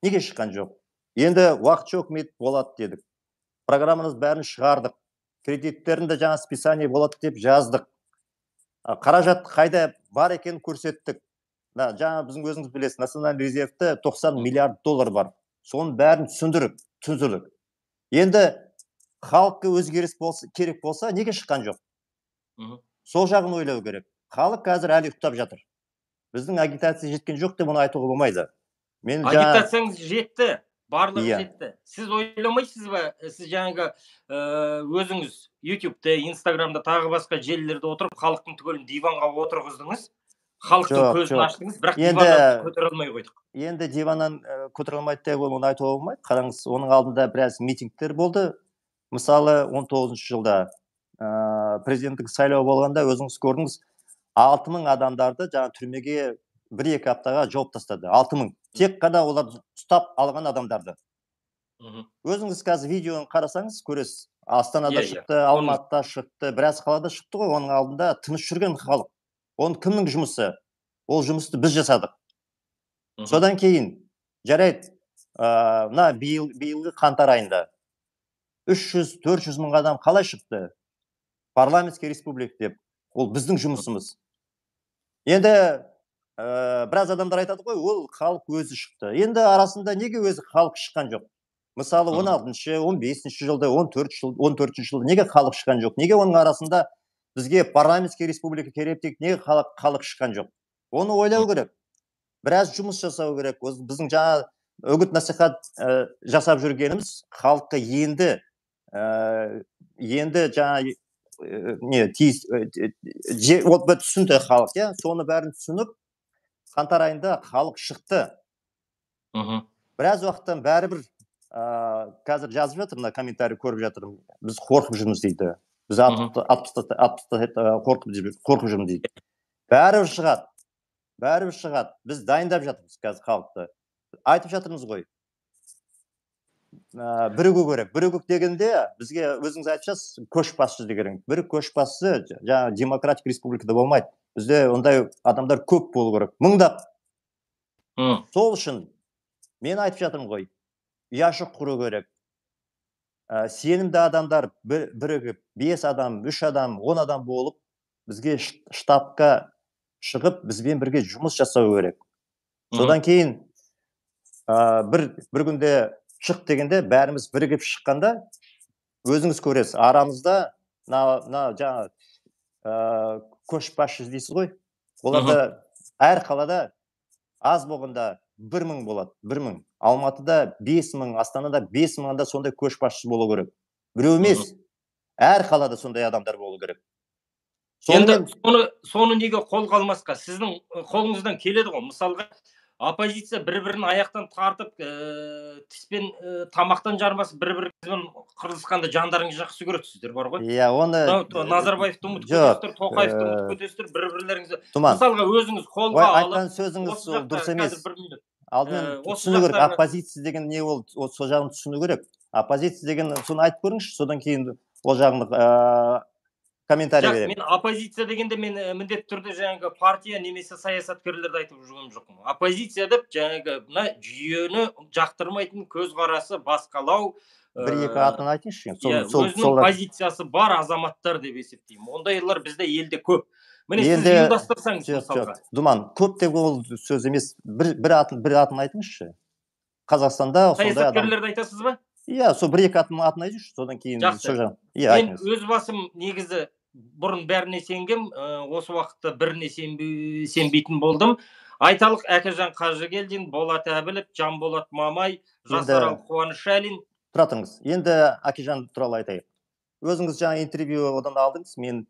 [SPEAKER 2] Неге шыққан жоқ? Енді уақытша үкімет болады дедік. Программамыз бәрін шығардық. Кредиттерінде жаңа списание болады деп жаздық. Қаражат қайда бар екенін көрсеттік. Жаңа біздің өзіңіз білесіз, национальный резервте тоқсан миллиард доллар бар. Соның бәрін түсіндіріп, түсіндірдік. Енді халыққа өзгеріс керек болса, неге шыққан жоқ? Сол жағын ойлау керек. Халық қазір әлі ұйықтап жатыр. Біздің агитация жеткен жоқ деп оны айтуға болмайды.
[SPEAKER 1] Агитацияңыз жетті, барлығы жетті. Сіз ойламайсыз ба, сіз жаңағы өзіңіз ютубта, инстаграмда, тағы басқа желілерде отырып, халықтың түгелін диванға отырғыздыңыз, халықтың көзін аштыңыз, бірақ диваннан көтере алмай қойдық.
[SPEAKER 2] Енді диваннан көтере алмайды деп оны айтуға болмайды. Қараңыз, оның алдында біраз митингтер болды. Мысалы, он тоғызыншы жылда президенттік сайлау болғанда өзіңіз көрдіңіз, алты мың адамдарды жаңа түрмеге бір-екі аптаға жауып тастады. алты мың. Тек қана олар ұстап алған адамдарды. Өзіңіз қазір видеоны қарасаңыз көресіз. Астанада шықты, Алматыда шықты, біраз қалада шықты ғой, оның алдында тыныш жүрген халық. Оның кімнің жұмысы? Ол жұмысты біз жасадық. Содан кейін, жарайды, мына биылғы қаңтар айында үш жүз төрт жүз мың адам қалай шықты? Парламентский республика деп. Ол біздің жұмысымыз. Енді біраз адамдар айтады ғой, ол халық өзі шықты. Енді арасында неге өзі халық шыққан жоқ? Мысалы, он алтыншы, он бесінші жылда, он төртінші жылда неге халық шыққан жоқ? Неге оның арасында бізге парламентский республика керек деп неге халық шыққан жоқ? Оны ойлау керек. Біраз жұмыс жасау керек. Біздің жаңа үгіт насихат жасап жүргеніміз халыққа енді енді жаңа не тиіс түсінді халық, соны бәрін түсініп, қаңтар айында халық шықты. Біраз уақыттан бәрібір қазір жазып жатыр, мына комментарий көріп жатырмын. Біз қорқып жүрміз дейді. Біз қорқып жүрміз дейді. Бәрібір шығады. Бәрібір шығады. Біз дайындап жатырмыз қазір халықты. Айтып жатырмыз ғой. Бірігу керек. Бірігу дегенде бізге өзіңіз айтып көшбасшы деген. Бір көшбасшы жаңа демократик республикада болмайды. Бізде ондай адамдар көп болу керек. Мыңдап. Сол үшін мен айтып жатырмын ғой. Ұяшық құру керек. Сенімді адамдар бірігіп, бес адам, үш адам, он адам болып, бізге штабқа шығып, бізбен бірге жұмыс жасау керек. Содан кейін бір күнде шық дегенде бәріміз бірігіп шыққанда өзіңіз көресіз. Арамызда жаңа көшбасшы дейсіз ғой. Оларда әр қалада аз болғанда бір мың болады, бір мың. Алматыда бес мың, Астанада бес мыңда сондай көшбасшы болу керек. Біреу емес, әр қалада сондай адамдар болу керек.
[SPEAKER 1] Енді соны неге қолға алмасқа? Сіздің қолыңыздан келеді ғой. Мысалға, оппозиция бір-бірін аяқтан тартып, тіспен тамақтан жармасып, бір-біріңізбен қырылысқанда жандарыңыз жақсы көресіздер бар ғой.
[SPEAKER 2] Иә, оны
[SPEAKER 1] Назарбаевты ұмытып кетесіздер, Тоқаевты ұмытып кетесіздер, бір-бірлеріңізді. Мысалға, өзіңіз қолға алып,
[SPEAKER 2] айтқан сөзіңіз дұрыс емес. Алдымен түсіну керек, оппозиция деген не ол, сол жағын түсіну керек. Оппозиция деген соны айтып көріңізші, содан кейін ол жағын комментарий беремін.
[SPEAKER 1] Мен оппозиция дегенде мен міндетті түрде жаңағы партия немесе саясаткерлерді айтып жүрген жоқпын. Оппозиция деп жаңағы мына жүйені жақтырмайтын көзқарасы басқалау,
[SPEAKER 2] бір-екі атын айтыңызшы.
[SPEAKER 1] Өзінің позициясы бар азаматтар деп есептеймін. Ондайлар бізде елде көп. Міне сіз ұйымдастырсаңыз мысалға.
[SPEAKER 2] Думан, көп деп ол сөз емес. Бір атын айтыңызшы. Қазақстанда
[SPEAKER 1] саясаткерлерді айтасыз ба?
[SPEAKER 2] Иә, сол бір-екі атын айтыңызшы, содан кейін
[SPEAKER 1] жақсы. Мен өз басым негізі бұрын бәріне сенгем, осы уақытта біріне сенбейтін болдым. Айталық Әкежан Қажыгелдин, Болат Әбілов, Жанболат Мамай, Жасарал Қуанышәлин.
[SPEAKER 2] Тұра тұрыңыз. Енді Әкежан туралы айтайық. Өзіңіз жаңа интервью одан алдыңыз. Мен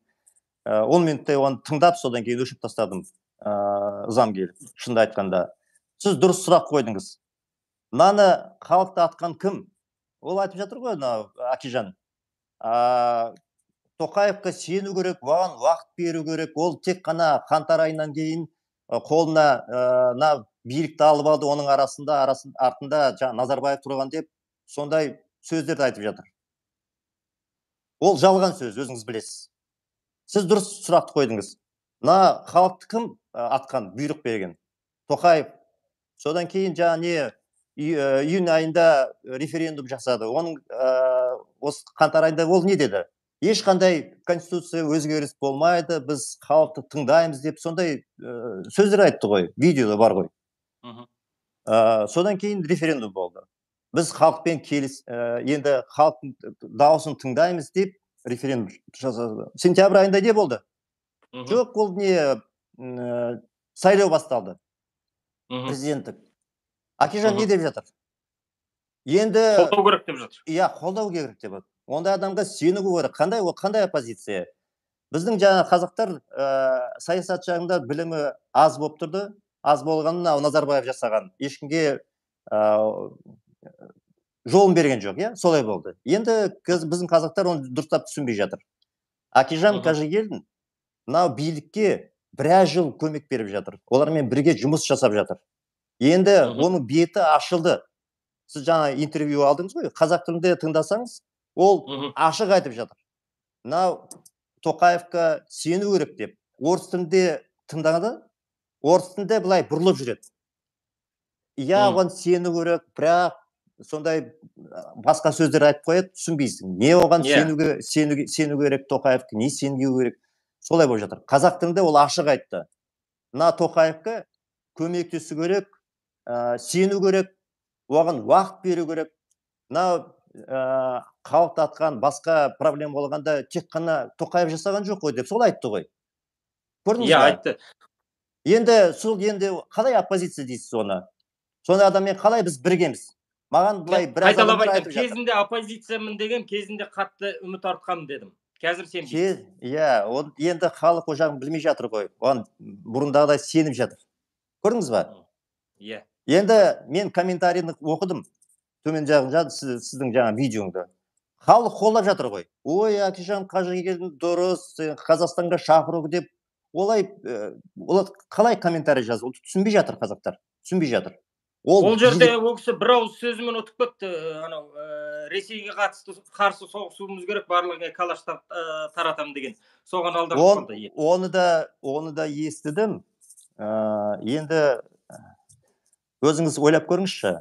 [SPEAKER 2] он минуттай оны тыңдап, содан кейін өшіп тастадым. Ызам келіп, шынды айтқанда. Сіз дұрыс сұрақ қойдыңыз. Мынаны халықты атқан кім? Ол айтып жатыр ғой, Әкежан. Тоқаевқа сену керек, оған уақыт беру керек. Ол тек қана қаңтар айынан кейін қолына билікті алып алды, оның арасында артында Назарбаев тұрған деп сондай сөздерді айтып жатыр. Ол жалған сөз, өзіңіз білесіз. Сіз дұрыс сұрақты қойдыңыз. Мына халықты кім атқан, бұйрық берген? Тоқаев. Содан кейін жаңа не июнь айында референдум жасады. Оның осы қаңтар айында ол не деді? Ешқандай конституция өзгеріс болмайды, біз халықты тыңдаймыз деп сондай сөздер айтты ғой, видеода бар ғой. Содан кейін референдум болды. Біз халықпен келіс, енді халықтың дауысын тыңдаймыз деп референдум жасады. Сентябрь айында не болды? Жоқ, ол не сайлау басталды. Президенттік. Әкежан не деп жатыр? Енді
[SPEAKER 1] қолдау керек деп жатыр.
[SPEAKER 2] Иә, қолдау керек деп жатыр. Ондай адамға сену керек. Қандай ол, қандай оппозиция? Біздің жаңа қазақтар саясат жағында білімі аз болып тұрды. Аз болғанын Назарбаев жасаған. Ешкімге жолын берген жоқ, иә? Солай болды. Енді біздің қазақтар оны дұрыстап түсінбей жатыр. Әкежан Қажыгелдин мынау билікке біраз жыл көмек беріп жатыр. Олармен бірге жұмыс жасап жатыр. Енді оның беті ашылды. Сіз жаңа интервью алдыңыз ғой, қазақ тілінде тыңдасаңыз, ол ашық айтып жатыр. Мынау Тоқаевқа сену керек деп. Орыс тілінде тыңдағанда, орыс тілінде былай бұрылып жүреді. Иә, оған сену керек, бірақ сондай басқа сөздер айтып қояды, түсінбейсің. Не оған сену керек Тоқаевқа, не сену керек? Солай болып жатыр. Қазақ тілінде ол ашық айтты. Мына Тоқаевқа көмектесу керек, сену керек, оған уақыт беру керек. Мына халықты атқан басқа проблема болғанда тек қана Тоқаев жасаған жоқ қой деп сол айтты ғой. Көрдіңіз
[SPEAKER 1] ба? Иә,
[SPEAKER 2] айтты. Енді сол енді қалай оппозиция дейсіз оны? Сондай адаммен қалай біз біргеміз? Маған былай біраз адамдар айтып жатыр.
[SPEAKER 1] Кезінде оппозициямын деген, кезінде қатты үміт артқам дедім. Қазір сенбейсіз.
[SPEAKER 2] Иә, енді халық о жағын білмей жатыр ғой. Оған бұрындағыдай сеніп жатыр. Көрдіңіз ба?
[SPEAKER 1] Иә.
[SPEAKER 2] Енді мен комментарийді оқыдым. Төмен жағын сіздің жаңа видеоңды. Халық қолдап жатыр ғой. Ой, Әкежан Қажыгелдин дұрыс, Қазақстанға шақыру деп. Олай, олар қалай комментарий жазып, түсінбей жатыр қазақтар. Түсінбей жатыр.
[SPEAKER 1] Ол жерде ол кісі бір ауыз сөзімен ұтып кетті. Анау Ресейге қатысты қарсы соғысуымыз керек, барлығы калаш таратам деген. Соған алдырып қалды.
[SPEAKER 2] Оны да, оны да естідім. Енді өзіңіз ойлап көріңізші.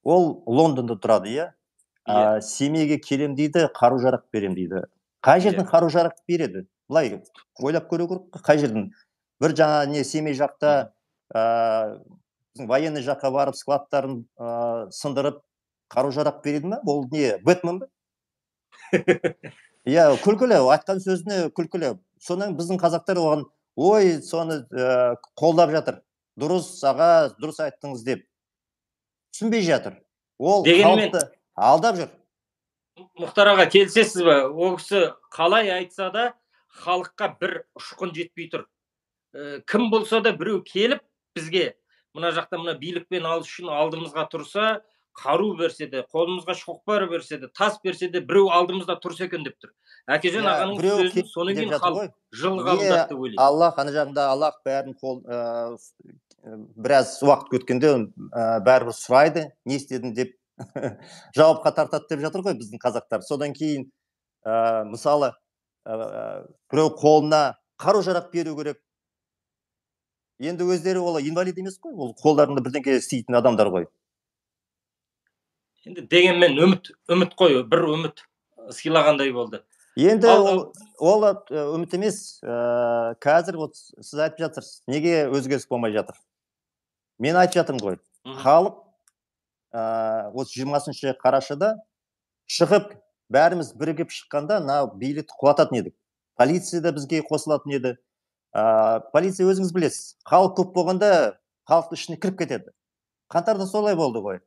[SPEAKER 2] Ол Лондонда тұрады, иә? Семейге келем дейді, қару жарақ берем дейді. Қай жерден қару жарақ береді? Былай ойлап көру керек, қай жерден? Бір жаңа не Семей жақта военный жаққа барып складтарын сындырып қару жарақ береді ме? Ол не, Бэтмен бе? Иә, күлкілі, айтқан сөзіне күлкілі. Содан біздің қазақтар оған, ой, соны қолдап жатыр. Дұрыс, аға, дұрыс айттыңыз деп. Түсінбей жатыр. Ол халықты алдап жүр.
[SPEAKER 1] Мұхтар аға, келісесіз бе? Ол кісі қалай айтса да, халыққа бір ұшқын жетпей тұр. Кім болса да біреу келіп бізге мына жақта мына билікпен алыс үшін алдымызға тұрса, қару берсе де, қолымызға шоқпар берсе де, тас берсе де, біреу алдымызда тұрса екен деп тұр. Әкежан ағаның сөзін содан кейін халық жылы қабылдады деп ойлаймын.
[SPEAKER 2] Аллах, ана жағында Аллах бәрін қол біраз уақыт өткенде бәрібір сұрайды, не істедің деп жауапқа тартады деп жатыр ғой біздің қазақтар. Содан кейін мысалы біреу қолына қару жарақ беру керек. Енді өздері ол инвалид емес қой, ол қолдарында бірдеңе істейтін адамдар ғой.
[SPEAKER 1] Енді дегенмен үміт, үміт қой, бір үміт сыйлағандай болды.
[SPEAKER 2] Енді ол үміт емес, қазір сіз айтып жатырсыз, неге өзгеріс болмай жатыр? Мен айтып жатырмын ғой, халық осы жиырмасыншы қарашада шығып, бәріміз бірігіп шыққанда, билікті құлататын едік. Полиция да бізге қосылатын еді. Полиция өзіңіз білесіз. Халық көп болғанда халықтың ішіне кіріп кетеді. Қаңтарда солай болды ғой.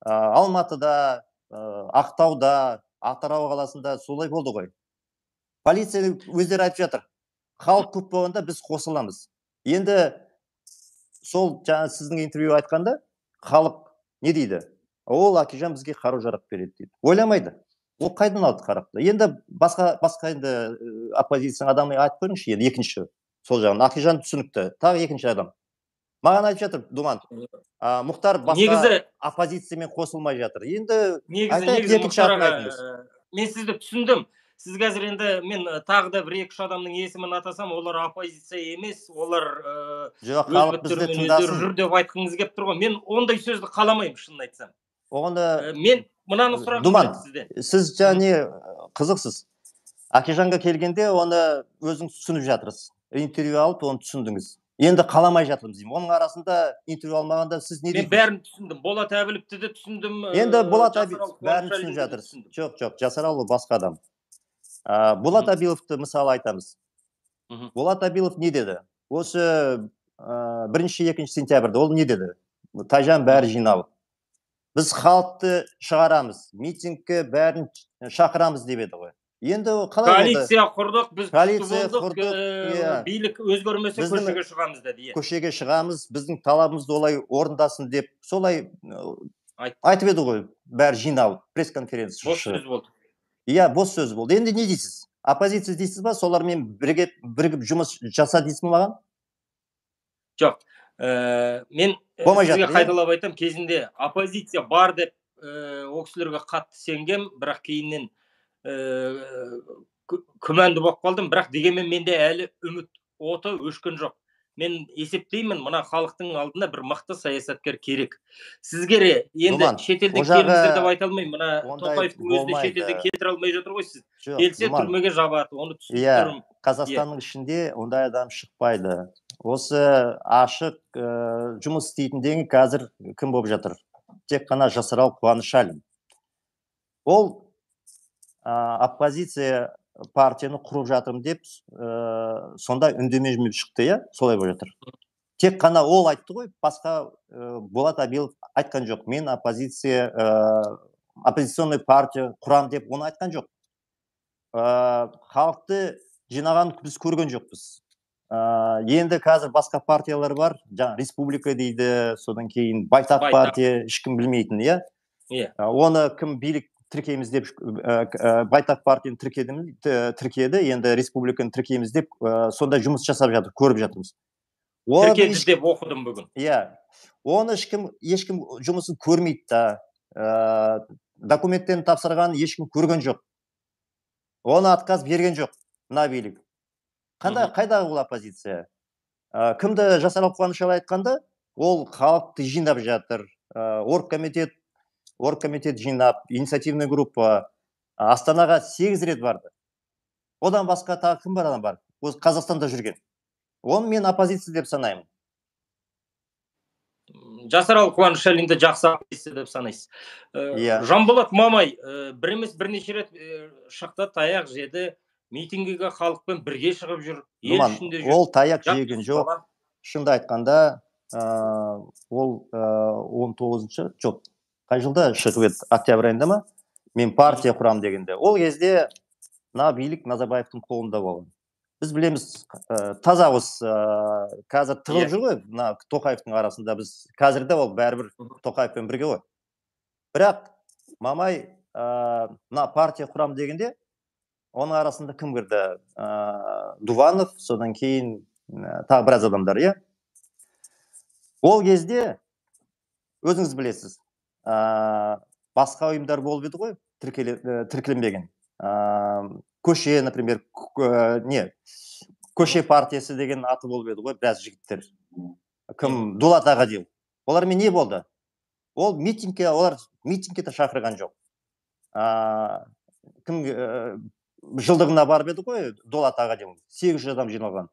[SPEAKER 2] Алматыда, Ақтауда, Атырау қаласында солай болды ғой. Полиция өздері айтып жатыр, халық көп болғанда біз қосыламыз. Енді сол жаңа сіздің интервью айтқанда халық не дейді? Ол Акижан бізге қару-жарақ береді дейді. Ойламайды. Ол қайдан алды қарақты? Енді басқа басқа енді оппозицияның адамы айтып көріңізші, енді екінші сол жағын. Акижан түсінікті. Тағы екінші адам. Маған айтып жатыр, Думан, Мұхтар басқа оппозициямен қосылмай жатыр. Енді
[SPEAKER 1] айтайық екінші атын айтыңыз. Мен сізді түсіндім. Сіз қазір енді мен тағы да бір екі-үш адамның есімін атасам, олар оппозиция емес, олар
[SPEAKER 2] жоқ, халық бізді тыңдасын
[SPEAKER 1] жүр деп айтқыңыз келіп тұр ғой. Мен ондай сөзді қаламаймын, шынын айтсам.
[SPEAKER 2] Оғанда
[SPEAKER 1] мен мынаны сұрағым
[SPEAKER 2] Думан,
[SPEAKER 1] сізден.
[SPEAKER 2] Сіз және қызықсыз. Акижанға келгенде оны өзіңіз түсініп жатырсыз. Интервью алып, оны түсіндіңіз. Енді қаламай жатырмыз деймін. Оның арасында интервью алмағанда сіз не дейсіз?
[SPEAKER 1] Мен бәрін түсіндім. Болат Әбіловті де түсіндім.
[SPEAKER 2] Енді Болат Әбілов бәрін түсініп жатырсыз. Жоқ, жоқ, Жасаралы басқа адам. Болат Әбіловті мысалы айтамыз. Болат Әбілов не деді? Осы бірінші, екінші сентябрьда ол не деді? Тайжан бәрі жиналып. Біз халықты шығарамыз, митингке бәрін шақырамыз деп еді ғой. Енді қалай болды?
[SPEAKER 1] Коалиция құрдық, біз күшті болдық, билік өзгермесе көшеге шығамыз деді.
[SPEAKER 2] Көшеге шығамыз, біздің талабымызды олай орындасын деп, солай айтып еді ғой, бәрі жиналып, пресс-конференция.
[SPEAKER 1] Бос сөз болды.
[SPEAKER 2] Иә, бос сөз болды. Енді не дейсіз? Оппозиция дейсіз ба? Солармен бірігіп жұмыс жаса дейсіз маған?
[SPEAKER 1] Жоқ. Мен сізге қайталап айтам, кезінде оппозиция бар деп ол кісілерге қатты сенгем, бірақ кейіннен күмәнді болып қалдым, бірақ дегенмен менде әлі үміт оты өшкен жоқ. Мен есептеймін, мына халықтың алдында бір мықты саясаткер керек. Сізге енді шетелден келіңіздер деп айта алмаймын. Мына Тоқаевтың өзі де шетелден кетіре алмай жатыр ғой сіз. Келсе түрмеге жабады, оны түсініп тұрмын.
[SPEAKER 2] Қазақстанның ішінде ондай адам шықпайды. Осы ашық жұмыс істейтіндегі қазір кім болып жатыр? Тек қана Жасарал Қуанышалин. Ол оппозиция партияны құрып жатырмын деп сонда үндеме шықты, иә? Солай болып жатыр. Тек қана ол айтты ғой, басқа Болат Әбілов айтқан жоқ. Мен оппозиция, оппозиционный партия құрам деп оны айтқан жоқ. Халықты жинаған біз көрген жоқпыз. Енді қазір басқа партиялар бар, жаңа республика дейді, содан кейін байтақ партия, ешкім білмейтін, иә? Оны кім билік тіркейміз деп, байтақ партияны тіркеді, енді республиканы тіркейміз деп, сонда жұмыс жасап жатыр, көріп жатырмыз.
[SPEAKER 1] Тіркеді деп оқыдым бүгін.
[SPEAKER 2] Иә, оны ешкім жұмысын көрмейді да, документтерін тапсырған ешкім көрген жоқ. Оны отказ берген жоқ, мына билік. Қайдағы ол оппозиция? Кімді Жасарал Қуанышалин айтқанда, ол халықты жинап жатыр, оргкомитет оргкомитет жинап, инициативная группа Астанаға сегіз рет барды. Одан басқа тағы кім бар адам бар? Ол Қазақстанда жүрген. Оны мен оппозиция деп санаймын.
[SPEAKER 1] Жасарал Қуанышалинді жақсы оппозиция деп санайсыз. Жанболат Мамай бір емес бірнеше рет шықты, таяқ жеді, митингіге халықпен бірге шығып жүр, ел ішінде жүр.
[SPEAKER 2] Ол таяқ жеген жоқ. Шынды айтқанда, ол он тоғызыншы жоқ. Қай жылда шығып еді, октябрь айында ма? Мен партия құрам дегенде. Ол кезде мына билік Назарбаевтың қолында болған. Біз білеміз, таза осы қазір тығылып жүр ғой, мына Тоқаевтың арасында біз қазірде ол бәрібір Тоқаевпен бірге ғой. Бірақ Мамай мына партия құрам дегенде оның арасында кім кірді? Дуванов, содан кейін тағы біраз адамдар, иә? Ол кезде өзіңіз білесіз, басқа ұйымдар болып еді ғой, тіркеленбеген. Көше, например, не, көше партиясы деген аты болып еді ғой, біраз жігіттер. Кім? Дулат Ағадил. Олармен не болды? Ол митингке, олар митингке де шақырған жоқ. Кім жылдығына барып еді ғой, Дулат Ағадил. сегіз жүз адам жиналған.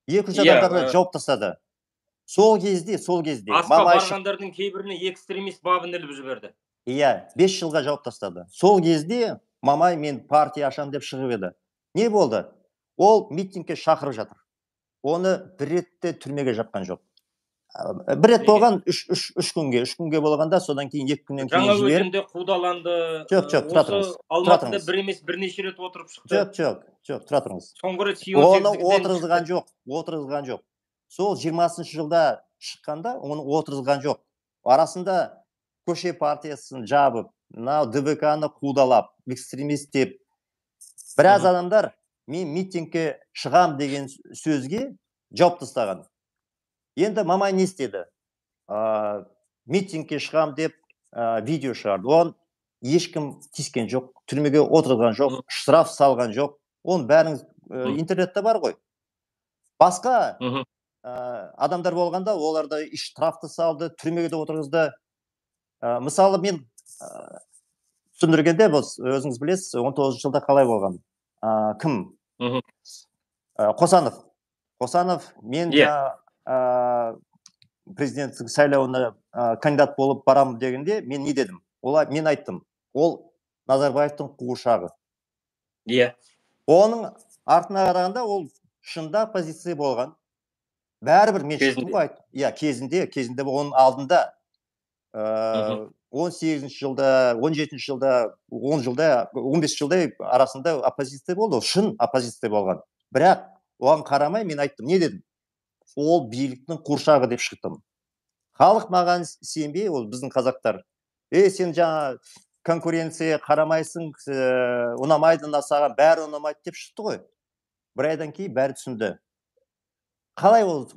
[SPEAKER 2] екі жүз адамдарды жауып тастады. Сол кезде, сол кезде.
[SPEAKER 1] Асқа барғандардың кейбіріне экстремист бабын іліп жіберді.
[SPEAKER 2] Иә, бес жылға жауып тастады. Сол кезде Мамай мен партия ашам деп шығып еді. Не болды? Ол митингке шақырып жатыр. Оны бір ретте түрмеге жапқан жоқ. бір рет болған үш күнге үш күнге болғанда, содан кейін екі күннен кейін
[SPEAKER 1] жаңа
[SPEAKER 2] жіберіп.
[SPEAKER 1] өзенде қудаланды.
[SPEAKER 2] Жоқ, жоқ, тұра тұрыңыз.
[SPEAKER 1] Осы Алматыда бір емес бірнеше рет отырып шықты.
[SPEAKER 2] Жоқ, жоқ, жоқ, тұра тұрыңыз.
[SPEAKER 1] Соңғы рет
[SPEAKER 2] Оны отырғызған жоқ, отырғызған жоқ. Сол жиырмасыншы жылда шыққанда оны отырғызған жоқ. Арасында көше партиясын жабып, мынау ДБК-ны қудалап, экстремист деп, біраз адамдар мен митингке шығам деген сөзге жауап тастаған. Енді Мамай не істеді? Митингке шығам деп видео шығарды. Оған ешкім тиіскен жоқ, түрмеге отырған жоқ, штраф салған жоқ. Оның бәріңіз интернетте бар ғой. Басқа адамдар болғанда оларды штрафты салды, түрмеге де отырғызды. Мысалы мен түсіндіргенде, өзіңіз білесіз, он тоғызыншы жылда қалай болған? Кім? Қосанов. Қосанов мен президенттік сайлауына кандидат болып барам дегенде мен не дедім? Мен айттым, ол Назарбаевтың қуыршағы. Оның артына қарағанда ол шында позиция болған. Бәрібір мен шықтым ғой айттым. Иә, кезінде, кезінде оның алдында он сегізінші жылда, он жетінші жылда, он жылда, он бес жылда арасында оппозиция болды. Ол шын оппозиция болған. Бірақ оған қарамай мен айттым, не дедім? Ол биліктің қуыршағы деп шықтым. Халық маған сенбей, ол біздің қазақтар. Ей, сен жаңа конкуренция қарамайсың, ұнамайды, саған бәрі ұнамайды деп шықты ғой. Бір айдан кейін бәрі түсінді. Қалай ол,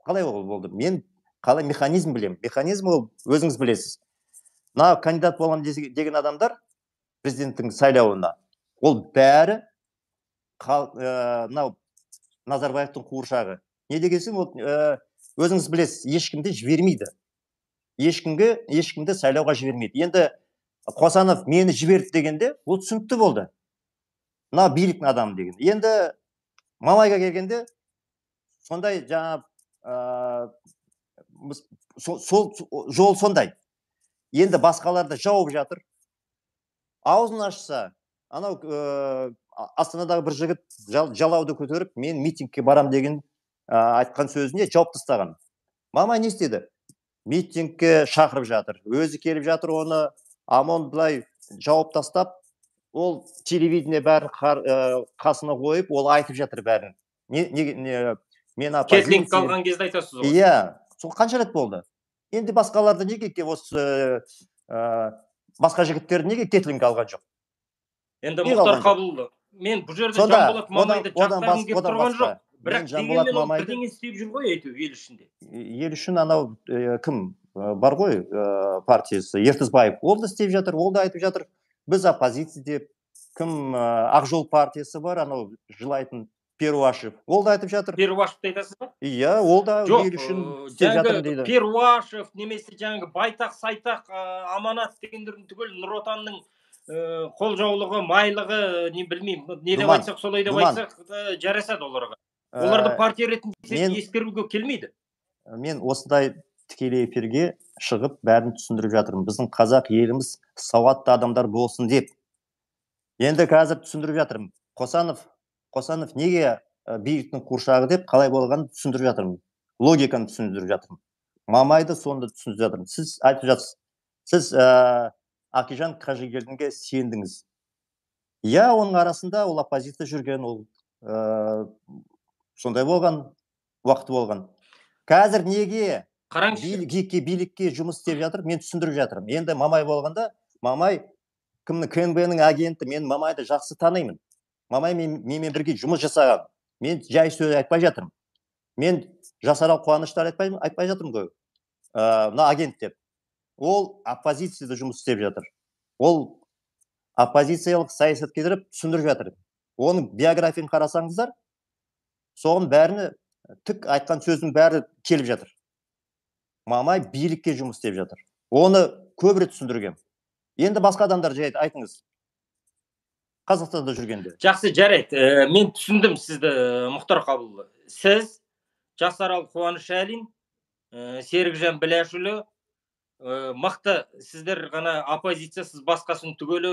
[SPEAKER 2] қалай ол болды? Мен қалай механизм білем? Механизм ол өзіңіз білесіз. Мына кандидат болам деген адамдар президенттің сайлауына, ол бәрі мынау Назарбаевтың қуыршағы. Не дегенсің, өзіңіз білесіз, ешкімді жібермейді. Ешкімге, ешкімді сайлауға жібермейді. Енді Қосанов мені жіберді дегенде, ол түсінікті болды. Мына биліктің адамы деген. Енді Мамайға келгенде, сондай жаңа сол жол сондай. Енді басқаларды жауып жатыр. Аузын ашса, анау Астанадағы бір жігіт жалауды көтеріп, мен митингке барам деген айтқан сөзіне жауап тастаған. Мамай не істеді? Митингке шақырып жатыр. Өзі келіп жатыр, оны амон былай жауап тастап, ол телевидение бәрін қасына қойып, ол айтып жатыр бәрін. Мен оппозиция.
[SPEAKER 1] Кетлинг қалған кезде айтасыз ғой.
[SPEAKER 2] Иә, сол қанша рет болды? Енді басқаларды неге осы басқа жігіттерді неге кетлинг алған жоқ?
[SPEAKER 1] Енді Мұхтар Қабылұлы, мен бұл жерде Жанболат Мамайды жақтағым келіп тұрған жоқ. Бірақ дегенмен ол бірдеңе істеп жүр ғой, әйтеуір ел ішінде.
[SPEAKER 2] Ел үшін анау кім бар ғой, партиясы Ертісбаев, ол да істеп жатыр, ол да айтып жатыр. Біз оппозиция деп, кім Ақжол партиясы бар, анау жылайтын Перуашев, ол да айтып жатыр.
[SPEAKER 1] Перуашевты айтасыз ба?
[SPEAKER 2] Иә, ол да ел үшін істеп жатыр дейді.
[SPEAKER 1] Перуашев, немесе жаңағы Байтақ, Сайтақ, Аманат дегендердің түгел Нұр Отанның қолжаулығы, майлығы, не білмеймін, не деп айтсақ, солай деп айтсақ, жарасады оларға. Оларды партия ретінде ескеруге келмейді.
[SPEAKER 2] Мен осындай тікелей эфирге шығып бәрін түсіндіріп жатырмын. Біздің қазақ еліміз сауатты адамдар болсын деп. Енді қазір түсіндіріп жатырмын. Қосанов, Қосанов неге биліктің қуыршағы деп қалай болғанын түсіндіріп жатырмын. Логиканы түсіндіріп жатырмын. Мамайды сонда түсіндіріп жатырмын. Сіз айтып жатсыз. Сіз Акижан Қажыгелдинге сендіңіз. Иә, оның арасында ол оппозиция жүрген, ол сондай болған, уақыты болған. Қазір неге билікке жұмыс істеп жатыр, мен түсіндіріп жатырмын. Енді Мамай болғанда, Мамай кімнің КНБ-ның агенті, мен Мамайды жақсы танимын. Мамай менімен бірге жұмыс жасаған. Мен жай сөз айтпай жатырмын. Мен Жасарал Қуаныштар айтпай жатырмын ғой. Мына агент деп. Ол оппозицияда жұмыс істеп жатыр. Ол оппозициялық саясат кетіріп түсіндіріп жатыр. Оның биографиясын қарасаңыздар, соғын бәріні тік айтқан сөздің бәрі келіп жатыр. Мамай билікке жұмыс істеп жатыр. Оны көп рет түсіндіргем. Енді басқа адамдар жай айтыңыз. Қазақстанда жүргенде.
[SPEAKER 1] Жақсы, жарайды. Мен түсіндім сізді, Мұхтар Қабылұлы. Сіз Жасарал Қуанышәлин, Серікжан Біләшұлы, мықты, сіздер ғана оппозициясыз басқасын түгелі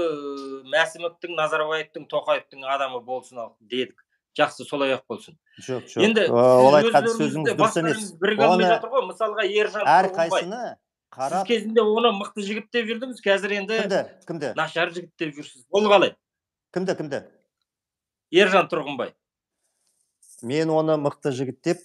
[SPEAKER 1] Мәсімовтің, Назарбаевтың, Тоқаевтың адамы болсын ал дедік. жақсы, солай ақ болсын.
[SPEAKER 2] Жоқ, жоқ.
[SPEAKER 1] Енді
[SPEAKER 2] Ол
[SPEAKER 1] сіз
[SPEAKER 2] айтқан
[SPEAKER 1] өздеріңізді
[SPEAKER 2] сөзіңіз дұрыс емес.
[SPEAKER 1] бастарыңыз біріге алмай
[SPEAKER 2] Оны
[SPEAKER 1] жатыр ғой. Мысалға, Ержан
[SPEAKER 2] әр
[SPEAKER 1] Тұрғынбай.
[SPEAKER 2] қайсыны
[SPEAKER 1] Сіз
[SPEAKER 2] қарап,
[SPEAKER 1] кезінде оны мықты жігіт деп жүрдіңіз, қазір енді
[SPEAKER 2] кімді, кімді,
[SPEAKER 1] нашар жігіт деп жүрсіз. Ол қалай?
[SPEAKER 2] кімді, кімді?
[SPEAKER 1] Ержан Тұрғынбай.
[SPEAKER 2] Мен оны мықты жігіт деп,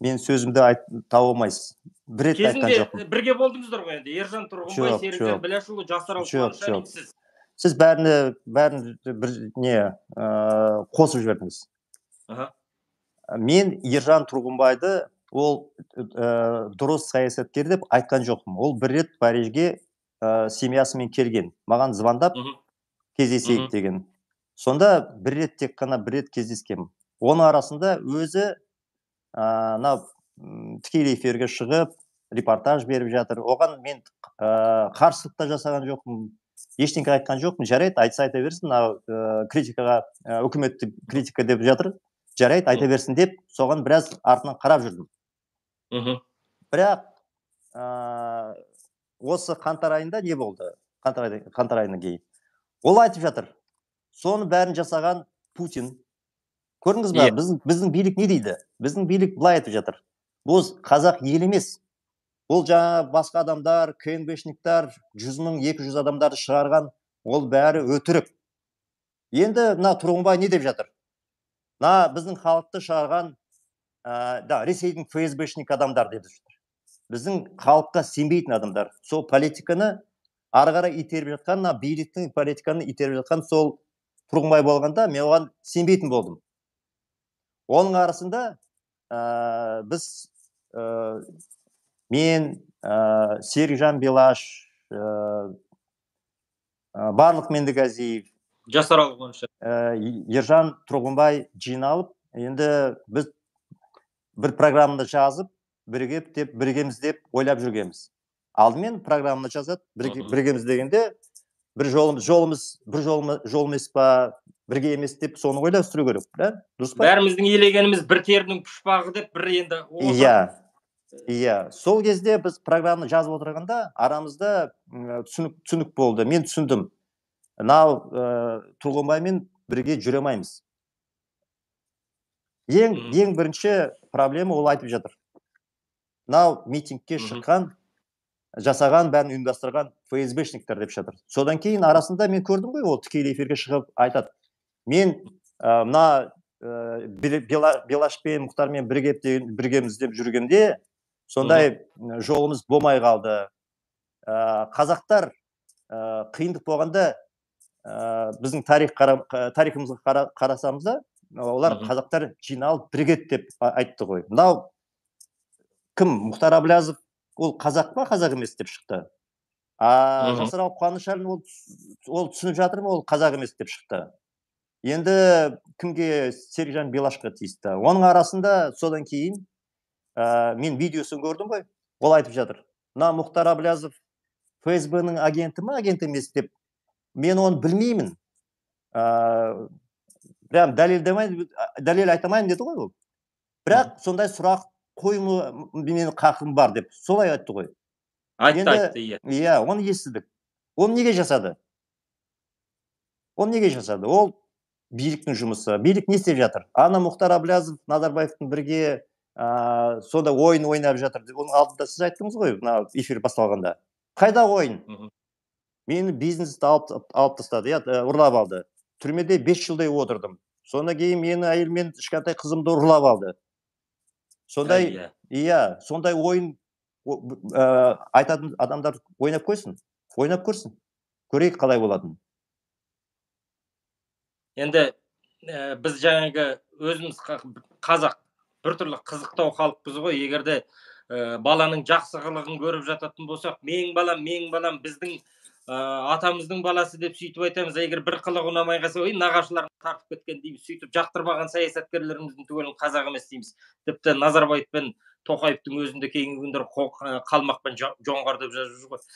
[SPEAKER 2] мен сөзімді айт, таба алмайсыз. Бір рет те айтқан
[SPEAKER 1] Кезінде
[SPEAKER 2] жоқпын.
[SPEAKER 1] бірге болдыңыздар ғой енді. Ержан Тұрғынбай,
[SPEAKER 2] Жоқ,
[SPEAKER 1] Серікжан
[SPEAKER 2] жоқ.
[SPEAKER 1] Біләшұлы, Жасарал
[SPEAKER 2] Жоқ,
[SPEAKER 1] Қуанышалин,
[SPEAKER 2] жоқ.
[SPEAKER 1] сіз.
[SPEAKER 2] Сіз бәріне, бәрін бір не ә, қосып жібердіңіз.
[SPEAKER 1] Аха.
[SPEAKER 2] Мен Ержан Тұрғынбайды ол ә, дұрыс саясаткер деп айтқан жоқпын. Ол бір рет Парижге ә, семьясымен келген. Маған звондап
[SPEAKER 1] Мгм.
[SPEAKER 2] кездесейік
[SPEAKER 1] Мгм.
[SPEAKER 2] деген. Сонда бір рет тек қана бір рет кездескенмін. Оның арасында өзі мына тікелей эфирге шығып, репортаж беріп жатыр. Оған мен ә, қарсылық та жасаған жоқпын. Ештеңе айтқан жоқпын. Жарайды, айтса айта берсін. Мына ә, критикаға, ә, үкіметті критика деп жатыр. Жарайды, айта берсін деп, соған біраз артынан қарап жүрдім.
[SPEAKER 1] Мгм.
[SPEAKER 2] Бірақ ә, осы қаңтар айында не болды? Қаңтар айында, қаңтар айынан кейін. Ол айтып жатыр. Соны бәрін жасаған Путин. Көрдіңіз ба? Біздің, біздің билік не дейді? Біздің билік былай айтып жатыр. Бұл қазақ ел емес. Ол жаңа басқа адамдар, ка эн бэ-шниктар, жүз мың, екі жүз адамдарды шығарған, ол бәрі өтірік. Енді мына Тұрғынбай не деп жатыр? Мына біздің халықты шығарған, ә, да, Ресейдің эф эс бэ-шник адамдар деп жатыр. Біздің халыққа сенбейтін адамдар. Сол политиканы ары қарай итеріп жатқан, мына биліктің политиканы итеріп жатқан сол Тұрғынбай болғанда, мен оған сенбейтін болдым. Оның арасында ә, біз ә, мен, ә, Серікжан Белаш, ә, Барлық Мендіғазиев,
[SPEAKER 1] Жасарал Қуанышалин,
[SPEAKER 2] ә, Ержан Тұрғынбай жиналып, енді біз бір программаны жазып, бірігіп деп, бірігеміз деп ойлап жүргенбіз. Алдымен программаны жазады, бірігеміз дегенде, бір жолымыз, жолымыз, бір жолымыз, жол емес па, бірге емес деп, соны ойластыру керек, да? Дұрыс па?
[SPEAKER 1] бәріміздің елегеніміз бір терінің пұшпағы деп, бір енді
[SPEAKER 2] Иә, иә. Сол кезде біз программаны жазып отырғанда, арамызда түсінік, түсінік болды. Мен түсіндім. Мынау Тұрғынбаймен бірге жүре алмаймыз. Ең, ең бірінші проблема ол айтып жатыр. Мынау митингке шыққан, жасаған, бәрін ұйымдастырған эф эс бэ-шниктер деп жатыр. Содан кейін арасында мен көрдім ғой, ол тікелей эфирге шығып айтады. Мен мына Белашпен, Мұхтармен біргеміз деп жүргенде, сондай жолымыз болмай қалды. Қазақтар қиындық болғанда, біздің тарихымызға қарасамызда, олар қазақтар жиналып бірігеді деп айтты ғой. Мынау кім? Мұхтар Әблязов ол қазақ па, қазақ емес деп шықты. Жасарал Қуанышалин ол түсініп жатыр ма, ол қазақ емес деп шықты. Енді кімге? Серікжан Белашқа тиісті. Оның арасында содан кейін мен видеосын көрдім ғой, ол айтып жатыр. Мына Мұхтар Әблязов эф эс бэ-ның агенті ма, агент емес деп, мен оны білмеймін. Прям дәлел айтамайын деді ғой ол. Бірақ сондай сұрақ қоймы менің қақым бар деп, солай айтты ғой.
[SPEAKER 1] Айтты, айтты, иә.
[SPEAKER 2] Иә, оны естідік. Оны неге жасады? Оны неге жасады? Ол биліктің жұмысы. Билік не істеп жатыр? Ана Мұхтар Әблязов, Назарбаевтың бірге сонда ойын ойнап жатыр. Оның алдында сіз айттыңыз ғой, эфир басталғанда. Қайда ойын? Мені бизнесті алып тастады, ұрлап алды. Түрмеде бес жылдай отырдым. Сонда кейін мені әйелмен кішкентай қызымды ұрлап алды. Сондай, иә, сондай ойын айтатын адамдар ойнап қойсын. Ойнап көрсін. Көрейік қалай болатын.
[SPEAKER 1] Енді біз жаңағы өзіміз қазақ біртүрлі қызықтау халықпыз ғой. Егерде баланың жақсы қылығын көріп жататын болсақ, менің балам, менің балам, біздің атамыздың баласы деп сөйтіп айтамыз. Егер бір қылығы ұнамай қалса, ой, нағашыларын тартып кеткен дейміз. Сөйтіп жақтырмаған саясаткерлеріміздің түгелін қазақ емес дейміз. Тіпті Назарбаев пен Тоқаевтың өзінде кейінгі күндер қалмақпен жоңғар деп жазып жүр ғой.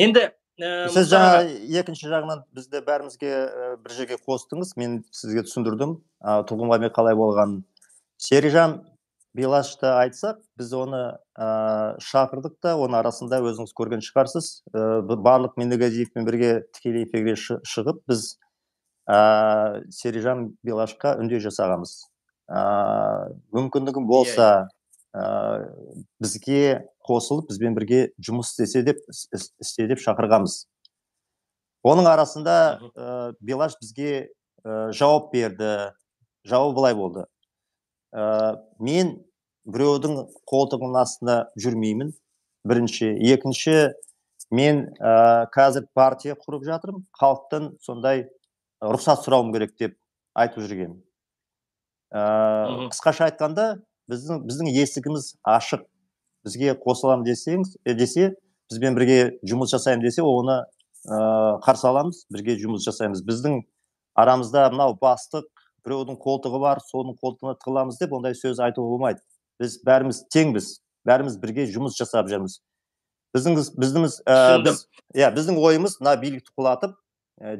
[SPEAKER 1] Енді
[SPEAKER 2] сіз жаңа екінші жағынан бізді бәрімізге бір жерге қостыңыз. Мен сізге түсіндірдім. Тұрғынбаймен қалай болған. Серікжан Белашты айтсақ, біз оны шақырдық та, оның арасында өзіңіз көрген шығарсыз. Барлық Мендіғазиевпен бірге тікелей эфирге шығып, біз Серікжан Белашқа үндеу жасағанбыз. мүмкіндігім болса бізге қосылып бізбен бірге жұмыс істесе деп істе деп шақырғанбыз. Оның арасында Белаш бізге жауап берді. Жауап былай болды: мен біреудің қолтығының астында жүрмеймін, бірінші. Екінші, мен қазір партия құрып жатырмын, халықтан сондай рұқсат сұрауым керек деп айтып жүрген. Қысқаша айтқанда, біздің біздің есігіміз ашық. Бізге қосылам десеңіз, десе, бізбен бірге жұмыс жасаймын десе, оны қарсы аламыз, бірге жұмыс жасаймыз. Біздің арамызда мынау бастық, біреудің қолтығы бар, соның қолтығына тығыламыз деп ондай сөз айтуға болмайды. Біз бәріміз теңбіз, бәріміз бірге жұмыс жасап жүрміз. Біздің біздің ойымыз мына билікті құлатып,